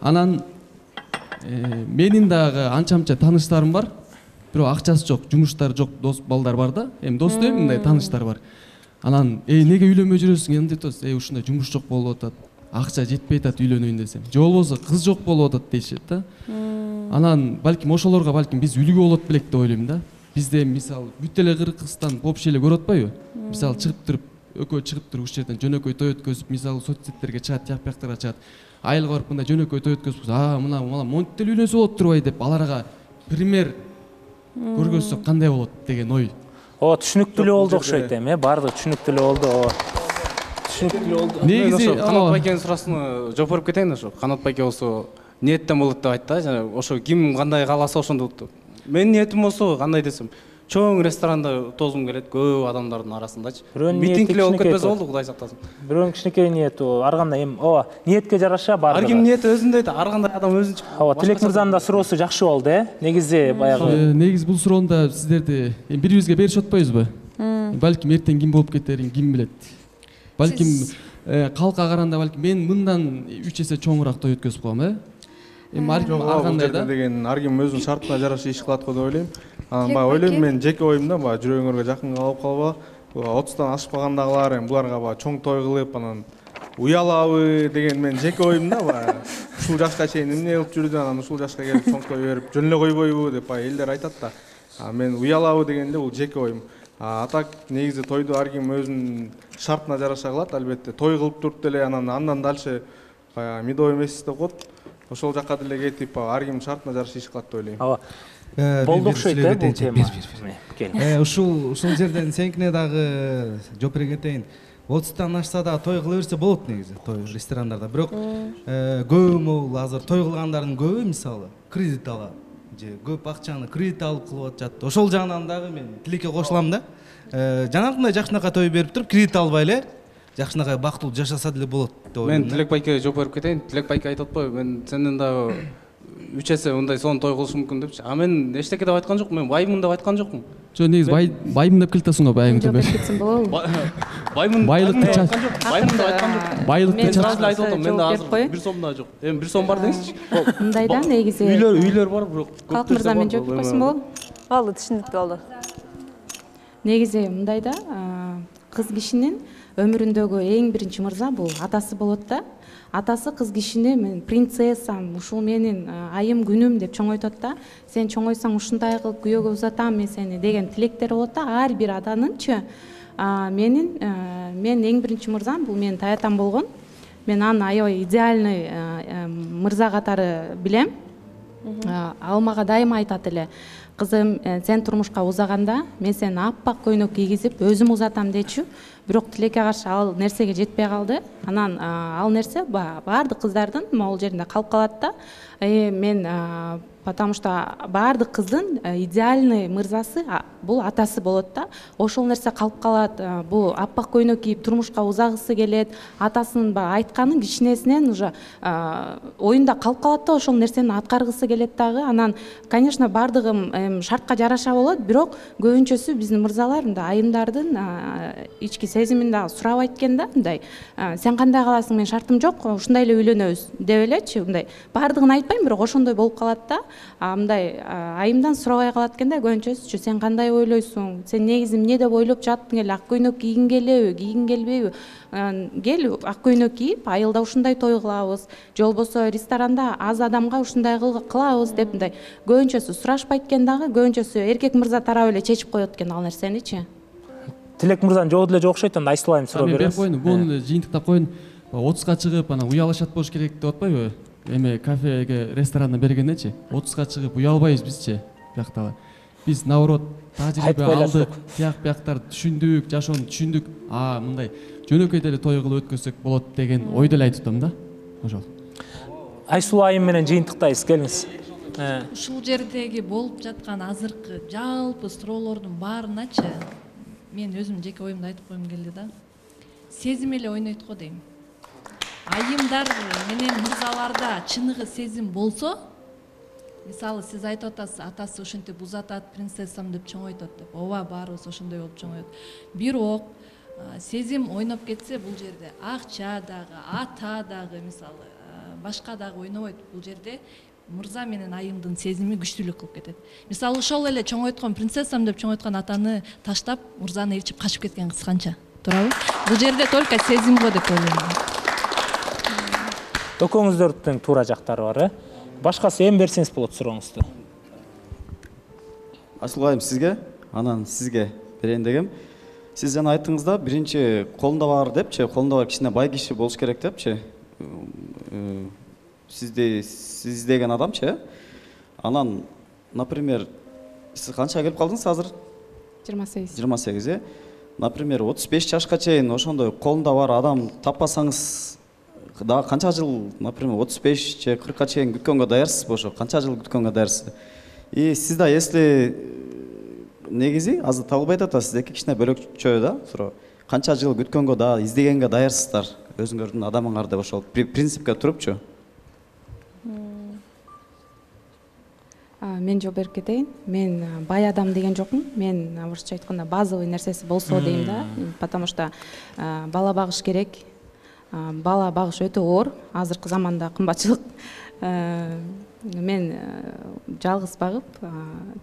Анан менин дагы анча-мынча тааныштарым бар. Бирок акчасы жок, жумуштары жок, дос балдар бар да. Эми дос дейм, мындай тааныштар бар. Анан, "Эй, неге үйлөнбөй жүрөсүң?" Эми деп атасыз. "Эй, ушундай жумуш жок болуп атат. Акча жетпей атат үйлөнөйүн десем. Же болбосо кыз жок болуп атат" дейшет да. Анан балким ошолорго балким биз үлгү болот белек деп ойлойм да. Бизде мисалы бүт эле Кыргызстан вообще эле көрүп атпайбы? Мисалы чыгып туруп, экөө чыгып туруп ушул жерден жөнөкөй той өткөзүп, мисалы соцсеттерге чыгат, жак бияктарга чыгат. Айылга барып мындай жөнөкөй той өткөзүп, "А, мына мына монтип деле үйлөнсө болот турбай" деп аларга пример көргөзсөк кандай болот деген ой. О, түшүнүктүү эле болду окшойт эми, э? Бардыгы түшүнүктүү эле болду. Түшүнүктүү эле болду. Негизи Канат байкенин суроосуна жооп берип кетейин ошо. Канат байке болсо ниеттен болот деп айтты, жана ошо ким кандай кааласа ошондо. Менин ниетим болсо кандай десем, чоң ресторанда тозум келет, көп адамдардын арасындачы. Митинг эле болуп кетпесе болду, Кудай сактасын. Бирөөнүн кичинекей ниети, ар кандай эми, ооба, ниетке жараша бардыгы. Ар ким ниети өзүндөй да, ар кандай адам өзүнчө. Ооба, Тилек мырзанын да суроосу жакшы болду, э? Негизи баягы. Негизи бул суроондо сиздерди бири-бирибизге беришип атпайбызбы? Балким эртең ким болуп кетерин ким билет. Балким калкка караганда балким мен мындан үч эсе чоңураак той өткөзүп коем, э? Эми ар кандай да деген ар ким өзүнүн шартына жараша иш кылат го деп ойлойм. Анан баягы ойлойм мен жеке оюмда баягы жүрөгүңөргө жакын калып калба, отуздан ашпагандагылар эми буларга баягы чоң той кылып анан уялабы деген мен жеке оюмда баягы ушул жашка чейин эмне кылып жүрдү, анан ушул жашка келип чоң той берип жөн эле койбойбу деп баягы элдер айтат да. А мен уялабы дегенде бул жеке оюм. А так негизи тойду ар ким өзүнүн шартына жараша кылат, албетте. Той кылып туруп деле анан андан дальше баягы медовый месяц деп коет. Ошол жакка деле кетип ар ким шартына жараша иш кылат деп ойлойм. Ооба. Болду окшойт э бул тема. Э, ушул ушул жерден сеникине дагы жооп бере кетейин. отуздан ашса да той кыла берсе болот негизи, той ресторандарда. Бирок көбү могул азыр той кылгандардын көбү мисалы кредит алат же көп акчаны кредит алып кылып атышат. Ошол жагынан дагы мен Тилекке кошулам да. Жанагындай жакшынакай той берип туруп кредит албай эле жакшынакай бактылуу жашаса деле болот деп ойлойм. Мен Тилек байке жооп берип кетейин. Тилек байке айтып атпайбы, мен сенден дагы үч эсе мындай сонун той кылышы мүмкүн депчи. А мен эчтеке деп айткан жокмун, мен баймын деп айткан жокмун. Жо, негизи баймын деп келатасың го, байың деп. Баймын. Байлыкты чач. Баймын деп айткан жокмун. Байлыкты чач эле айтып атам. Менде азыр бир сом да жок. Эми бир сом бар деңизчи. Мындай да негизи. Үйлөр, үйлөр бар, бирок Калк мырза мен жооп берип койсом болобу? Болду, түшүнүктүү болду. Негизи мындай да, кыз кишинин өмүрүндөгү эң биринчи мырза бул атасы болот да. Атасы кыз кишини мен принцессам, ушул менин айым күнүм деп чоңойтот да. Сен чоңойсаң ушундай кылып күйөөгө узатам мен сени деген тилектер болот да. Ар бир аданынчы менин мен эң биринчи мырзам бул менин таятам болгон. Мен аны аябай идеальный мырза катары билем. Ал мага дайыма айтат эле: кызым, сен турмушка узаганда мен сени аппак көйнөк кийгизип өзүм узатам дечү. Бирок тилекке каршы ал нерсеге жетпей калды. Анан ал нерсе баардык кыздардын могул жеринде калып калат да. Мен потому что баардык кыздын идеальный мырзасы бул атасы болот да. Ошол нерсе калып калат. Бул аппак көйнөк кийип турмушка узагысы келет. Атасынын баягы айтканын кичинесинен уже оюнда калып калат да, ошол нерсени аткаргысы келет дагы. Анан, конечно, баардыгы шартка жараша болот, бирок көбүнчөсү биздин мырзалар мындай айымдардын ички сезимин дагы сурабайт экен да. Мындай сен кандай каласың, мен шартым жок, ушундай эле үйлөнөбүз деп элечи. Мындай баардыгын айтпайм, бирок ошондой болуп калат да. Мындай айымдан сурабай калат экен да көбүнчөсү. Сен кандай ойлойсуң? Сен негизи эмне деп ойлоп жаттың эле? Ак көйнөк кийгиң келеби, кийгиң келбейби? Кел ак көйнөк кийип, айылда ушундай той кылабыз. Же болбосо ресторанда аз адамга ушундай кылабыз деп мындай көбүнчөсү сурашпайт экен дагы. Көбүнчөсү эркек мырза тарабы эле чечип коет экен ал нерсеничи. Тилек мырзанын жообу деле жок окшойт, анда Айсыл айым суроо беребиз. Мен койдум, буну жыйынтыктап коюн. отузга чыгып, анан уялышат болуш керек деп атпайбы? Эме кафеге, ресторанда бергендечи, отузга чыгып уялбайбыз бизчи, бияктагы. Биз наоборот тажрыйба алдык, тияк бияктарды түшүндүк, жашоону түшүндүк. А, мындай жөнөкөй деле той кылып өткөрсөк болот деген ойду эле айтып атам да. Ошол. Айсул айым менен жыйынтыктайбыз, келиңиз. Ушул жердеги болуп жаткан азыркы жалпы суроолордун баарыначы мен өзүм жеке оюмду айтып койгум келди да. Сезим эле ойнойт го дейм. Айымдар менен мырзаларда чыныгы сезим болсо, мисалы сиз айтып атасыз, атасы ушинтип узатат, принцессам деп чоңойтот деп. Ооба, баарыбыз ошондой болуп чоңоет. Бирок сезим ойноп кетсе бул жерде акча дагы, ата дагы, мисалы башка дагы ойнобойт. Бул жерде мырза менен айымдын сезими күчтүүлүк кылып кетет. Мисалы ошол эле чоңойткон принцессам деп чоңойткон атаны таштап, мырзаны ээрчип качып кеткен кыз канча? Туурабы? Бул жерде только сезим го деп ойлойм. Экөөңүздөрдүн туура жактары бар, э? Башкасы эми берсеңиз болот сурооңузду. Айсыл айым сизге, анан сизге берейин дегем. Сиз жана айттыңыз да, биринчи колунда бар депчи, колунда бар кичине бай киши болуш керек депчи. Сизде сиз деген адамчы, анан, например, сиз канчага келип калдыңыз азыр? жыйырма сегиз. жыйырма сегиз, э? Например, отуз беш жашка чейин ошондой колунда бар адам таппасаңыз, дагы канча жыл, например, отуз беш же кыркка чейин күткөнгө даярсызбы ошо? Канча жыл күткөнгө даярсыз? И сиз да если негизи азыр табылбай атат, сиздеки кичине бөлөкчө да суроо. Канча жыл күткөнгө да издегенге даярсыздар өзүңөрдүн адамыңар деп ошол принципке турупчу. Мен жооп берип кетейин. Мен бай адам деген жокмун. Мен орусча айтканда базовый нерсеси болсо дейм да. Потому что бала багыш керек. Бала багыш өтө оор. Азыркы заманда кымбатчылык. Мен жалгыз багып,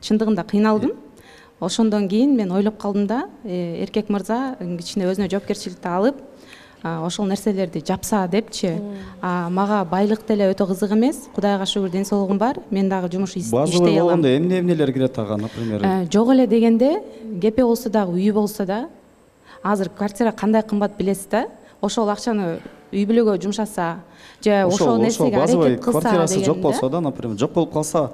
чындыгында кыйналдым. Ошондон кийин мен ойлоп калдым да, эркек мырза кичине өзүнө жоопкерчиликти алып, ошол нерселерди жапса депчи. Мага байлык деле өтө кызык эмес. Кудайга шүгүр ден соолугум бар. Мен дагы жумуш иштей алам. Базовый болгондо эмне эмнелер кирет ага, например? Жок эле дегенде, кепе болсо дагы, үй болсо да, азыр квартира кандай кымбат билесиз да? Ошол акчаны үй бүлөгө жумшаса, же ошол нерсеге аракет кылса деген. Квартирасы жок болсо да, например, жок болуп калса,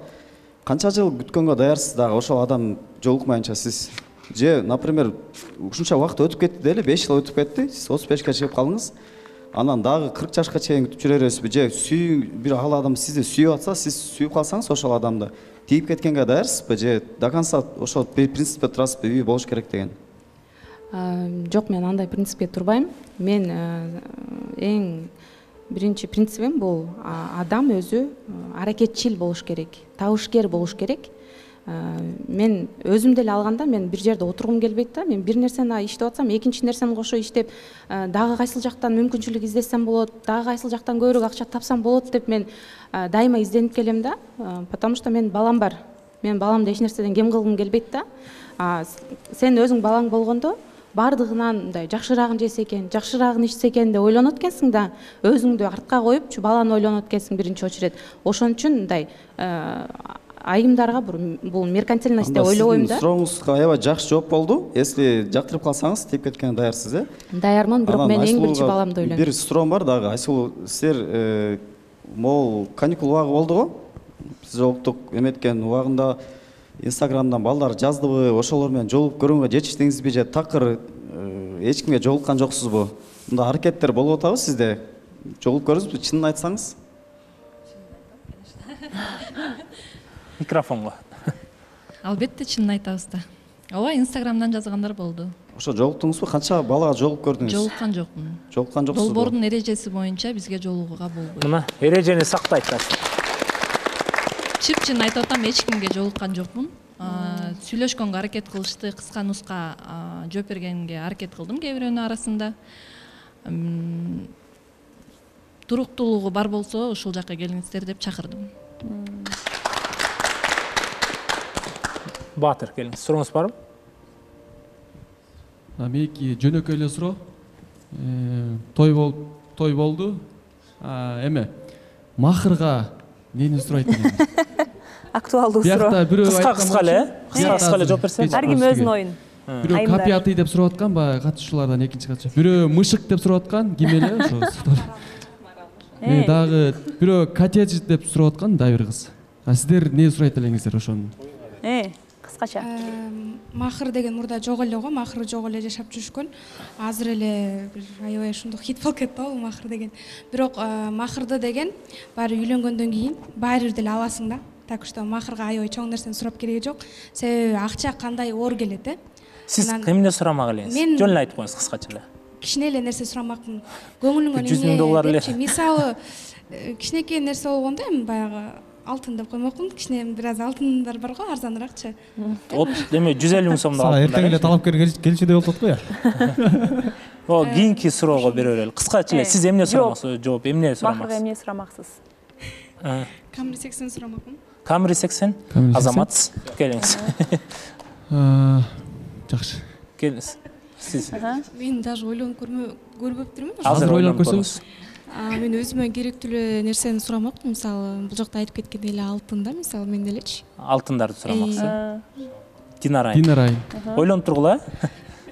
канча жыл күткөнгө даярсыз дагы ошол адам жолукмайынча сиз? Же, например, ушунча убакыт өтүп кетти деле, беш жыл өтүп кетти, сиз отуз бешке чыгып калдыңыз. Анан дагы кырк жашка чейин күтүп жүрө бересизби? Же сүйүү бир ал адам сизди сүйүп атса, сиз сүйүп калсаңыз ошол адамды тийип кеткенге даярсызбы? Же до конца ошол принципте турасызбы, үй болуш керек деген? Жок, мен андай принципке турбайм. Мен эң биринчи принцибим бул адам өзү аракетчил болуш керек, табышкер болуш керек. Мен өзүм деле алганда мен бир жерде отургум келбейт да. Мен бир нерсени иштеп атсам, экинчи нерсени кошо иштеп, дагы кайсыл жактан мүмкүнчүлүк издесем болот, дагы кайсыл жактан көбүрөөк акча тапсам болот деп мен дайыма изденип келем да. Потому что мен балам бар. Мен баламды эч нерседен кем кылгым келбейт да. Сен өзүң балаң болгондо бардыгынан мындай жакшыраагын жесе экен, жакшыраагын ичсе экен деп ойлонот экенсиң да, өзүңдү артка коюп, баланы ойлонот экенсиң биринчи очередь. Ошон үчүн мындай айымдарга бул меркантильность деп ойлобойм да. Сурооңузга аябай жакшы жооп болду. Если жактырып калсаңыз, тип кеткенге даярсыз, э? Даярмын, бирок мен эң биринчи баламды ойлойм. Бир суроом бар дагы. Айсулуу, силер могул каникул убагы болду го? Биз жолуктук эметкен убагында Инстаграмдан балдар жаздыбы, ошолор менен жолугуп көргөнгө жетиштиңизби же такыр эч кимге жолуккан жоксузбу? Мындай аракеттер болуп атабы сизде? Жолугуп көрдүңүзбү, чынын айтсаңыз? Микрофонго. Албетте чынын айтабыз да. Ооба, Инстаграмдан жазгандар болду. Ошо жолуктуңузбу? Канча балага жолугуп көрдүңүз? Жолуккан жокмун. Жолуккан жоксузбу? Долбоордун эрежеси боюнча бизге жолугууга болбойт. Мына эрежени сактайт. Чып-чын айтып атам, эч кимге жолуккан жокмун. Сүйлөшкөнгө аракет кылышты, кыска нуска жооп бергенге аракет кылдым кээ бирөөнүн арасында. Туруктуулугу бар болсо, ушул жакка келиңиздер деп чакырдым. Батыр, келиңиз. Сурооңуз барбы? Меники жөнөкөй эле суроо. Той бол, той болду. Эме, махырга нени сурайт экен? Актуалдуу суроо. Кыска-кыска эле, кыска-кыска эле жооп берсеңиз. Ар ким өзүнүн оюн. Бирөө копиятый деп сурап аткан, баягы катышуулардан экинчи катча. Бирөө мышык деп сурап аткан, ким эле ошо. Дагы бирөө котедж деп сурап аткан, да бир кыз. А сиздер эмне сурайт элеңиздер ошону? Э, кыскача. Махыр деген мурда жок эле го, махыр жок эле жашап жүрүшкөн. Азыр эле бир аябай ушундук хит болуп кетти бул махыр деген. Бирок махырды деген баары үйлөнгөндөн кийин баары бир деле аласың да. Так что махырга аябай чоң нерсени сурап кереги жок. Себеби акча кандай оор келет, э? Сиз эмне сурамак элеңиз? Жөн эле айтып коюңуз кыскача эле. Кичине эле нерсе сурамакмын. Көңүлүңөн жүз миң доллар эле. Мисалы, кичинекей нерсе болгондо эми баягы алтын деп коймокмун. Кичине бир аз алтындар бар го, арзаныраакчы. От эме жүз элүү миң сомдон алтын. Эртең эле талапкер келчүдөй болуп атат го я. О, кийинки суроого бере берели. Кыскача эле сиз эмне сурамаксыз? Жооп, эмне сурамаксыз? Махырга эмне сурамаксыз? Камри сексен сурамакмын. Камри сексен? Азамат, келиңиз. Жакшы. Келиңиз. Сиз. Мен даже ойлонуп көрбөптүрмүн. Азыр ойлонуп көрүңүз. Мен өзүмө керектүү эле нерсени сурамакмын. Мисалы, бул жакта айтып кеткендей эле алтын да, мисалы мен делечи. Алтындарды сурамаксыз. Динара. Динара. Ойлонуп тургула.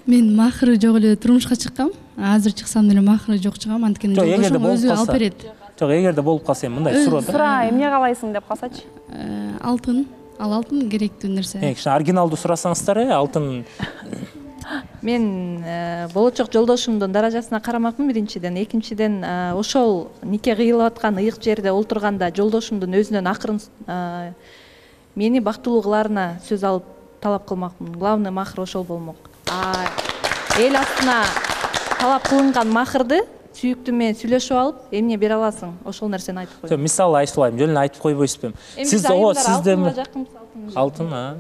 Мен махыры жок эле турмушка чыккам. Азыр чыксам деле махыры жок чыгам, анткени жолдошум өзү алып берет. Жок, эгерде болуп калса эми мындай суроо да. Сура, эмне каалайсың деп калсачы? Алтын. Ал алтын керектүү нерсе. Э, кичине оригиналдуу сурасаңыздар, э, алтын. Мен болочок жолдошумдун даражасына карамакмын биринчиден, экинчиден ошол нике кыйылып аткан ыйык жерде олтурганда жолдошумдун өзүнөн акырын мени бактылуу кылаарына сөз алып талап кылмакмын. Главный махыр ошол болмок. Эл астына талап кылынган махырды сүйүктүү менен сүйлөшүп алып, эмне бере аласың? Ошол нерсени айтып кой. Мисалы айтылайм, жөн эле айтып койбойсузбу? Сиз ого, сиздеби? Алтын, а?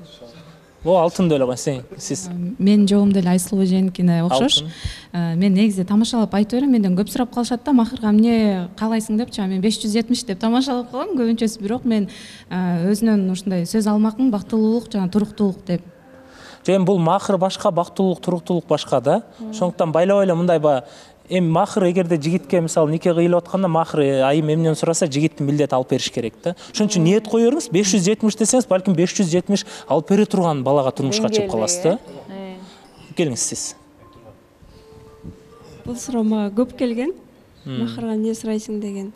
О, алтын деле го сен, сиз. Мен жогум деле Айсулуу эженикине окшош. Мен негизи тамашалап айтып берем, менден көп сурап калышат да, махырга эмне каалайсың депчи, мен беш жүз жетимиш деп тамашалап калам көбүнчөсү, бирок мен өзүнөн ушундай сөз алмакмын, бактылуулук жана туруктуулук деп. Эми бул махыр башка, бактылуулук, туруктуулук башка да. Ошондуктан байлап эле мындай ба эми махыр эгерде жигитке мисалы нике кыйылып атканда махыр айым эмнени сураса жигиттин милдети алып бериш керек да. Ошон үчүн ниет кое бериңиз, беш жүз жетимиш десеңиз, балким беш жүз жетимиш алып бере турган балага турмушка чыгып каласыз да. Келиңиз сиз. Бул суроо мага көп келген. Махырга эмне сурайсың деген.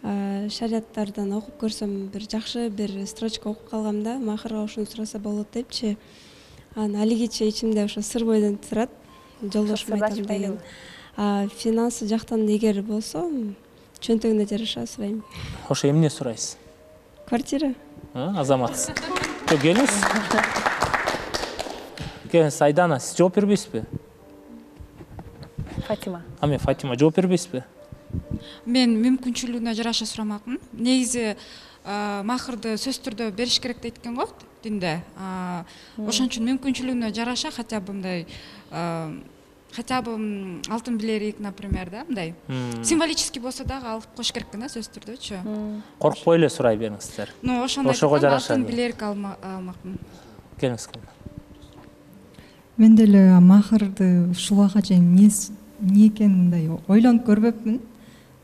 Шарияттардан окуп көрсөм бир жакшы бир строчка окуп калгам да, махырга ушуну сураса болот депчи. Анан алигиче ичимде ошо сыр бойдон турат. Жолдошум айтам деген. Финансы жактан эгер болсо, чөнтөгүнө жараша сурайм. Ошо эмне сурайсыз? Квартира. Азамат. Келиңиз. Келиңиз, Айдана, сиз жооп бербейсизби? Фатима. Аме, Фатима, жооп бербейсизби? Мен мүмкүнчүлүгүнө жараша сурамакмын. Негизи махырды сөзсүз түрдө бериш керек дейт экен го динде. Ошон үчүн мүмкүнчүлүгүнө жараша хотя бы мындай хотя бы алтын билерик, например, да, мындай символический болсо дагы алып коюш керек экен да, сөзсүз түрдөчү. Коркпой эле сурай бериңиздер. Ну, ошого жараша алтын билерик алмакмын. Келиңиз. Мен деле махырды ушул убакка чейин эмне экенин мындай ойлонуп көрбөпмүн.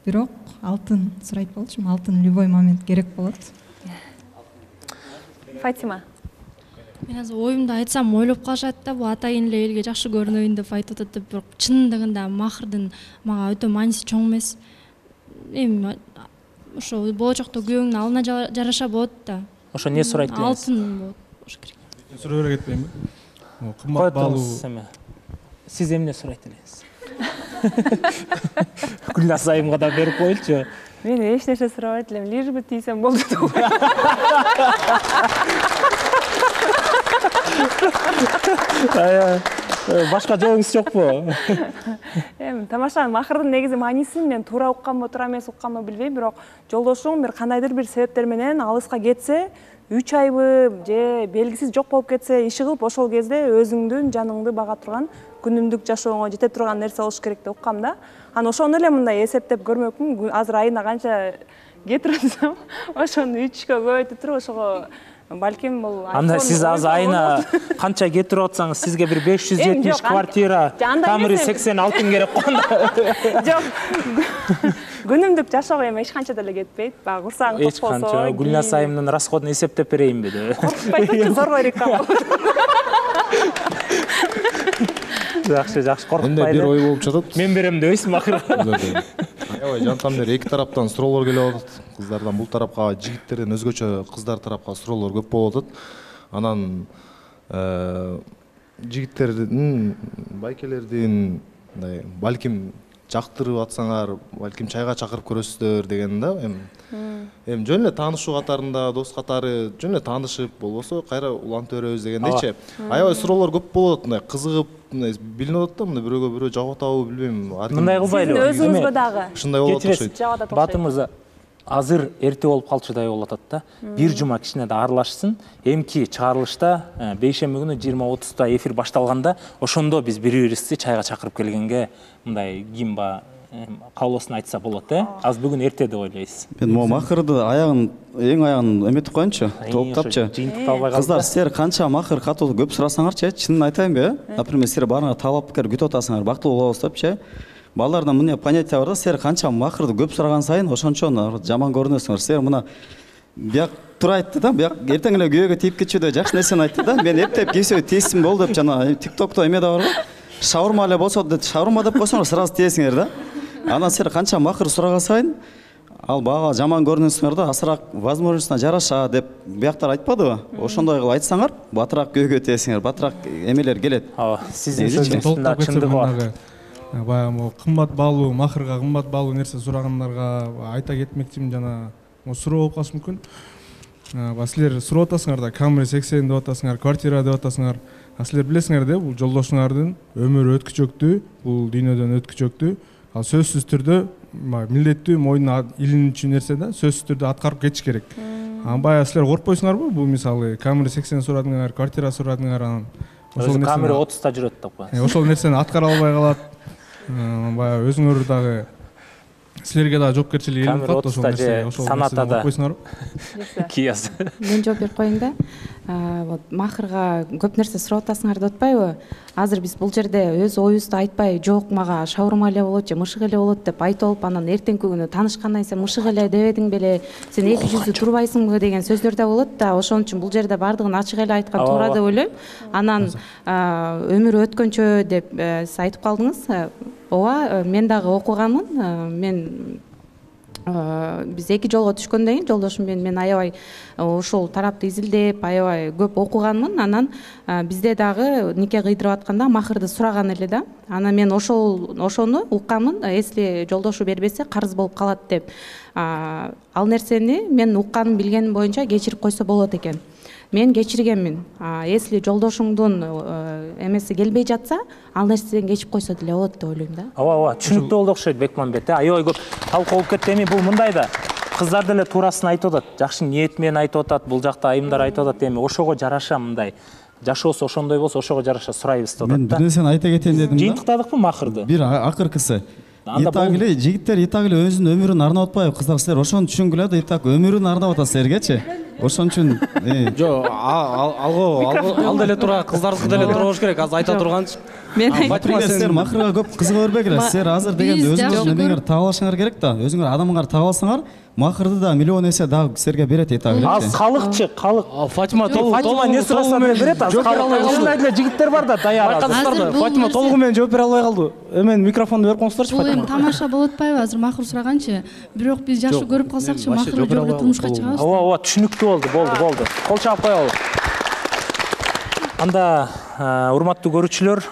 Бирок алтын сурайт болчумун. Алтын любой момент керек болот. Фатима. Мен азыр оюмду айтсам ойлоп калышат да, бул атайын эле элге жакшы көрүнөйүн деп айтып атат деп, бирок чындыгында махырдын мага өтө мааниси чоң эмес. Эми ошо болочокто күйөөңдүн алына жараша болот да. Ошо эмне сурайт элеңиз? Алтын болот. Ошо керек. Суроо бере кетпейинби? Кымбат баалуу. Сиз эмне сурайт элеңиз? Гүлназ айымга да берип коелучу. Мен эч нерсе сурабайт элем, лишь бы тийсем болду. Башка жообуңуз жокпу? Эми тамаша, махырдын негизи маанисин мен туура укканбы, туура эмес укканбы билбейм, бирок жолдошуң бир кандайдыр бир себептер менен алыска кетсе, үч айбы же белгисиз жок болуп кетсе, иши кылып ошол кезде өзүңдүн жаныңды бага турган, күнүмдүк жашооңо жете турган нерсе болуш керек деп уккам да. Анан ошону эле мындай эсептеп көрмөкмүн. Азыр айына канча кетирсем, ошону үчкө көбөйтүп туруп ошого балким бул анда сиз азыр айына канча кетирип атсаңыз, сизге бир беш жүз жетимиш квартира, камери сексен алтын керек кonda. Жок. Күнүмдүк жашоого эми эч канча деле кетпейт. Бага курсаң топ болсо. Эч канча. Гүлназ айымдын расходун эсептеп берейинби деп. Коркпойсучу, зорго рекам. Жакшы, жакшы, коркпайды. Менде бир ой болуп жатат. Мен берем дебейсизби акыры? Аябай жантам бери эки тараптан суроолор келип атат. Кыздардан бул тарапка, жигиттерден өзгөчө кыздар тарапка суроолор көп болуп атат. Анан жигиттердин, байкелердин мындай балким жактырып атсаңар, балким чайга чакырып көрөсүздөр деген да. Эми эми жөн эле таанышуу катарында, дос катары жөн эле таанышып, болбосо кайра улантып беребиз дегендейчи. Аябай суроолор көп болуп атат, мындай кызыгып, мындай билинип атат да, мындай бирөөгө бирөө жагып атабы билбейм. Мындай кылбайлы. Өзүңүзгө дагы. Ушундай болот окшойт. Батыр мырза, азыр эрте болуп калчудай болуп атат да. Бир жума кичине да аралашсын. Эмки чыгарылышта бейшемби күнү жыйырма отузда эфир башталганда, ошондо биз бири-бирибизди чайга чакырып келгенге мындай кимба каалоосун айтса болот, э? Азыр бүгүн эрте деп ойлойсуз. Мен могу махырды аягын, эң аягын эметип коеюнчу, топтапчы. Кыздар, силер канча махыр катуу көп сурасаңарчы, чынын айтайынбы, э? Например, силер барыңар талапкер күтүп атасыңар, бактылуу болобуз депчи. Балдардан мына понятие бар да, силер канча махырды көп сураган сайын ошончо жаман көрүнөсүңөр. Силер мына бияк тура айтты да, бияк эртең эле күйөөгө тийип кетчү жакшы нерсени айтты да. Мен эптеп кийсем тийсин болду деп жана тиктокто эме да бар го. Шаурма эле болсо деп шаурма деп койсоңор сразу тиесиңер да. Анан силер канча махыр сураган сайын ал бага жаман көрүнөсүңөр да, асыраак возможностуна жараша деп бияктар айтпадыбы? Ошондой кылып айтсаңар, батыраак күйөөгө тиесиңер, батыраак эмелер келет. Ооба, сиздин сөзүңүздө чындыгы бар. Баягы могу кымбат баалуу, махырга кымбат баалуу нерсе сурагандарга айта кетмекчимин, жана суроо болуп калышы мүмкүн. Силер сурап атасыңар да, камера сексен деп атасыңар, квартира деп атасыңар. Силер билесиңер да, бул жолдошуңардын өмүрү өткүчөктүү, бул дүйнөдөн өткүчөктүү. Ал сөзсүз түрдө милдеттүү, мойнуна илинүүчү нерсе да, сөзсүз түрдө аткарып кетиш керек. Анан баягы силер коркпойсуңарбы? Бул мисалы камера сексен сурадыңар, квартира сурадыңар, анан ошол камера отузда жүрөт деп коесуз. Ошол нерсени аткара албай калат. Баягы өзүңөр дагы силерге дагы жоопкерчилик илинип калат ошол нерсе. Ошол нерседен коркпойсуңарбы? Кияз. Мен жооп берип коеюн да. Вот махырга көп нерсе сурап атасыңар деп атпайбы? Азыр биз бул жерде өз оюбузду айтпай, жок мага шаурма эле болот же мышык эле болот деп айтып алып, анан эртеңки күнү таанышкандан сен мышык эле дебедиң беле, сен эки жүздүү турбайсыңбы деген сөздөр да болот да. Ошон үчүн бул жерде бардыгын ачык эле айткан туура деп ойлойм. Анан өмүр өткөнчө деп сиз айтып калдыңыз. Ооба, мен дагы окуганмын. Мен биз эки жолго түшкөндөн кийин жолдошум менен мен аябай ушул тарапты изилдеп, аябай көп окуганмын. Анан бизде дагы нике кыйдырып атканда махырды сураган эле да. Анан мен ошол ошону укканмын, если жолдошу бербесе карыз болуп калат деп. Ал нерсени мен уккан билгеним боюнча кечирип койсо болот экен. Мен кечиргенмин. Если жолдошуңдун эмеси келбей жатса, ал нерседен кечип койсо деле болот деп ойлойм да. Ооба, ооба, түшүнүктүү болду окшойт Бекмамбет. Аябай көп талкуу болуп кетти. Эми бул мындай да. кыздар деле туурасын айтып атат, жакшы ниет менен айтып атат, бул жакта айымдар айтып атат, эми ошого жараша мындай жашоосу ошондой болсо ошого жараша сурайбыз деп атат. Мен бир нерсени айта кетейин дедим да. Жыйынтыктадыкпы Махырды? Бир акыркысы. Итак эле жигиттер итак эле өзүнүн өмүрүн арнап атпайбы, кыздар силер ошону түшүнгүлө да, итак өмүрүн арнап атат силергечи. Ошон үчүн жок, алго ал деле туура, кыздардыкы деле туура болуш керек. Азыр айта турганчы. Мен силер Махырга көп кызыга бербегиле. Силер азыр дегенде өзүңүз эмеңер таап алышыңар керек да. Өзүңөр адамыңар таап алсаңар, Махырды да миллион эсе дагы силерге берет итак эле. Ал халыкчы, халык. Фатима толугу Фатима не сураса берет, азыр ушундай эле жигиттер бар да, даяр. Байкадыңыздарбы? Фатима толугу менен жооп бере албай калды. Эмен микрофонду берип коңуздарчы Бул Фатима. эми тамаша болуп атпайбы азыр Махыр сураганчы? Бирок биз жакшы көрүп калсакчы Махыр жогору турмушка чыгабыз. Ооба, ооба, түшүнүктүү болду, болду, болду. Кол чаап коелу. Анда урматтуу көрүүчүлөр,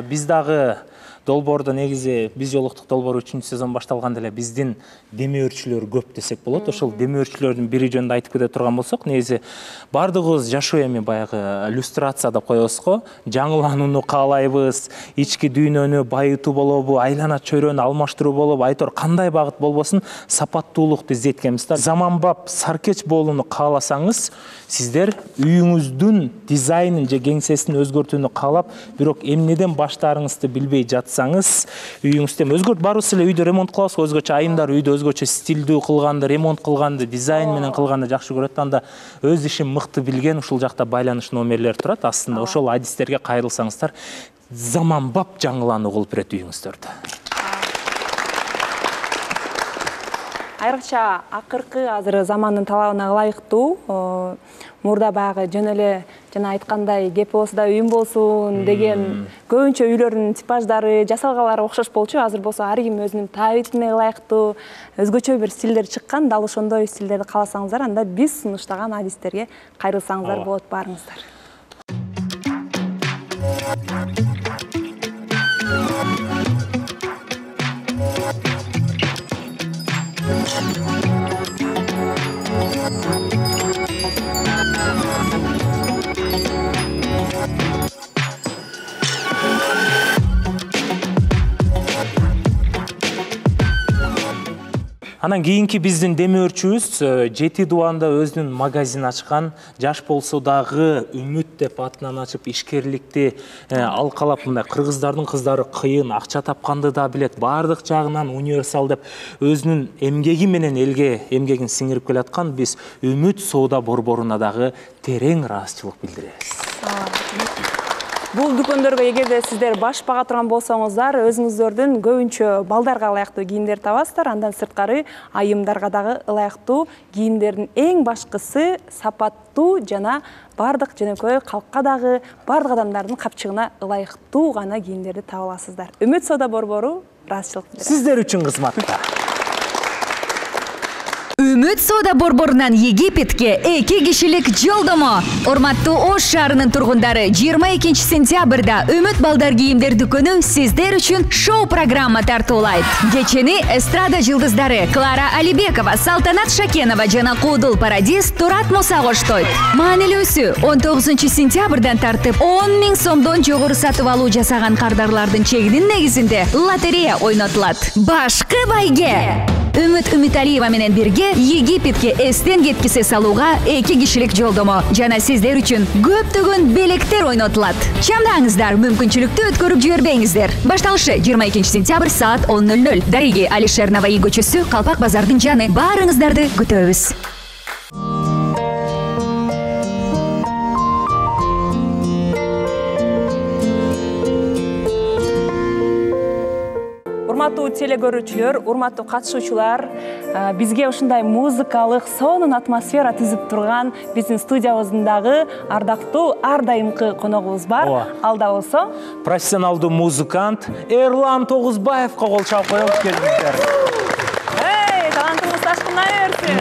биз дагы долбоордо негизи биз жолуктук долбоор үчүнчү сезон башталганда эле биздин демөөрчүлөр көп десек болот. Ошол демөөрчүлөрдүн бири жөнүндө айтып кете турган болсок, негизи баардыгыбыз жашоо эми баягы иллюстрация деп коебуз го. Жаңыланууну каалайбыз, ички дүйнөнү байытуу болобу, айлана чөйрөнү алмаштыруу болобу, айтор кандай багыт болбосун сапаттуулукту издеткенбиз да. Заманбап саркеч болууну кааласаңыз, сиздер үйүңүздүн дизайнын же кеңсесин өзгөртүүнү каалап, бирок эмнеден баштаарыңызды билбей жатсаңыз, үйүңүздө өзгөрт барыбыз эле үйдө ремонт кылабыз, өзгөчө айымдар үйдө өзгөчө стилдүү кылганды, ремонт кылганды, дизайн менен кылганды жакшы көрөт. Анда өз ишин мыкты билген ушул жакта байланыш номерлери турат. Астында ошол адистерге кайрылсаңыздар, заманбап жаңылануу кылып берет үйүңүздөрдү. Айрыкча акыркы азыр замандын талабына ылайыктуу, мурда баягы жөн эле жана айткандай кепи болсо да үйүм болсун деген көбүнчө үйлөрдүн типаждары, жасалгалары окшош болчу. Азыр болсо ар ким өзүнүн табитине ылайыктуу өзгөчө бир стилдер чыккан. Дал ошондой стилдерди кааласаңыздар, анда биз сунуштаган адистерге кайрылсаңыздар болот баарыңыздар. Анан кийинки биздин демөөрчүбүз жети дубанда өзүнүн магазин ачкан, жаш болсо дагы үмүт деп атынан ачып ишкерликти алкалап, мындай кыргыздардын кыздары кыйын, акча тапканды да билет, баардык жагынан универсал деп өзүнүн эмгеги менен элге эмгегин сиңирип келаткан биз Үмүт соода борборуна дагы терең ыраазычылык билдиребиз. Бул дүкөндөргө эгерде сиздер баш бага турган болсоңуздар, өзүңүздөрдүн көбүнчө балдарга ылайыктуу кийимдер табасыздар. Андан сырткары айымдарга дагы ылайыктуу кийимдердин эң башкысы сапаттуу жана бардык жөнөкөй калкка дагы бардык адамдардын капчыгына ылайыктуу гана кийимдерди таба аласыздар. Үмүт соода борбору ыраазычылык билдирет. Сиздер үчүн кызматта. Үмүт соода борборунан Египетке эки кишилик жолдомо. Урматтуу Ош шаарынын тургундары, жыйырма экинчи сентябрда Үмүт балдар кийимдер дүкөнү сиздер үчүн шоу программа тартуулайт. Кечени эстрада жылдыздары Клара Алибекова, Салтанат Шакенова жана Куудул Парадис Турат Муса коштойт. Маанилүүсү, он тогузунчу сентябрдан тартып он миң сомдон жогору сатып алуу жасаган кардарлардын чегинин негизинде лотерея ойнотулат. Башкы байге Үмүт Үмүталиева менен бирге Египетке эстен кеткисе салууга эки кишилик жолдомо жана сиздер үчүн көптөгөн белектер ойнотулат. Чамдаңыздар, мүмкүнчүлүктү өткөрүп жибербеңиздер. Башталышы жыйырма экинчи сентябрь саат он ноль ноль. Дариги Алишер Наваи көчөсү, Калпак базардын жаны. Баарыңыздарды күтөбүз. Урматтуу теле көрүүчүлөр, урматтуу катышуучулар, бизге ушундай музыкалык сонун атмосфера түзүп турган биздин студиябыздагы ардактуу ар дайымкы коногубуз бар. Ал да болсо профессионалдуу музыкант Эрлан Тогузбаевга кол чаап коелук, келиңиздер. Эй, талантыңыз ташкындай берсин.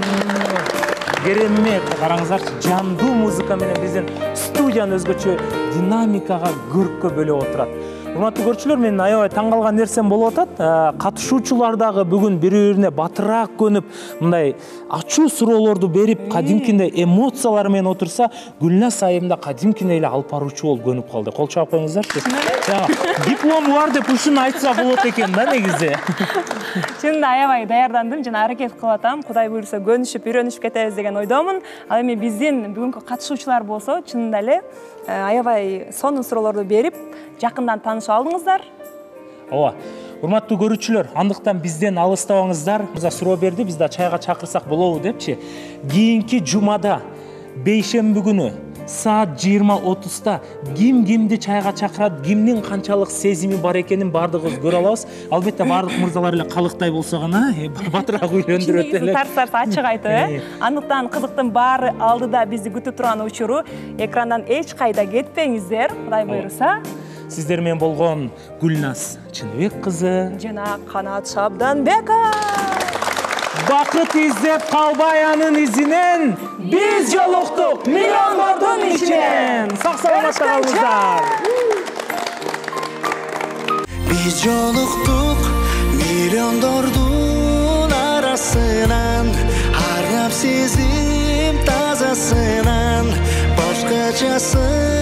Керемет, караңыздарчы, жандуу музыка менен биздин студияны өзгөчө динамикага, көрккө бөлөп отурат. Урматтуу көрүүчүлөр, менин аябай таң калган нерсем болуп атат. Катышуучулар дагы бүгүн бири-бирине батыраак көнүп, мындай ачуу суроолорду берип, кадимкиндей эмоциялар менен отурса, Гүлназ айымда кадимкиндей эле алып баруучу болуп көнүп калды. Кол чаап коюңуздарчы. Диплом бар деп ушуну айтса болот экен да негизи. Чынында аябай даярдандым жана аракет кылып атам. Кудай буйруса көнүшүп, үйрөнүшүп кетебиз деген ойдомун. Ал эми биздин бүгүнкү катышуучулар болсо, чынында эле аябай сонун суроолорду берип, жакындан таанышып алдыңыздар. Ооба. Урматтуу көрүүчүлөр, андыктан бизден алыстабаңыздар. Мырза суроо берди, биз да чайга чакырсак болобу депчи. Кийинки жумада, бейшемби күнү саат жыйырма отузда ким кимди чайга чакырат, кимдин канчалык сезими бар экенин баардыгыбыз көрө алабыз. Албетте баардык мырзалар эле калыктай болсо гана батыраак үйлөндүрөт эле. Тарс-тарс ачык айтып, э? Андыктан кызыктын баары алдыда бизди күтүп турган учуру. Экрандан эч кайда кетпеңиздер, Кудай буйруса. Сиздер менен болгон Гүлназ Чыныбек кызы жана Канат Шабданбеков. Бакыт издеп калбай анын изинен биз жолуктук миллиондордун ичинен. Сак саламатта калыңыздар. Биз жолуктук миллиондордун арасынан, арнап сезим тазасынан, башкачасы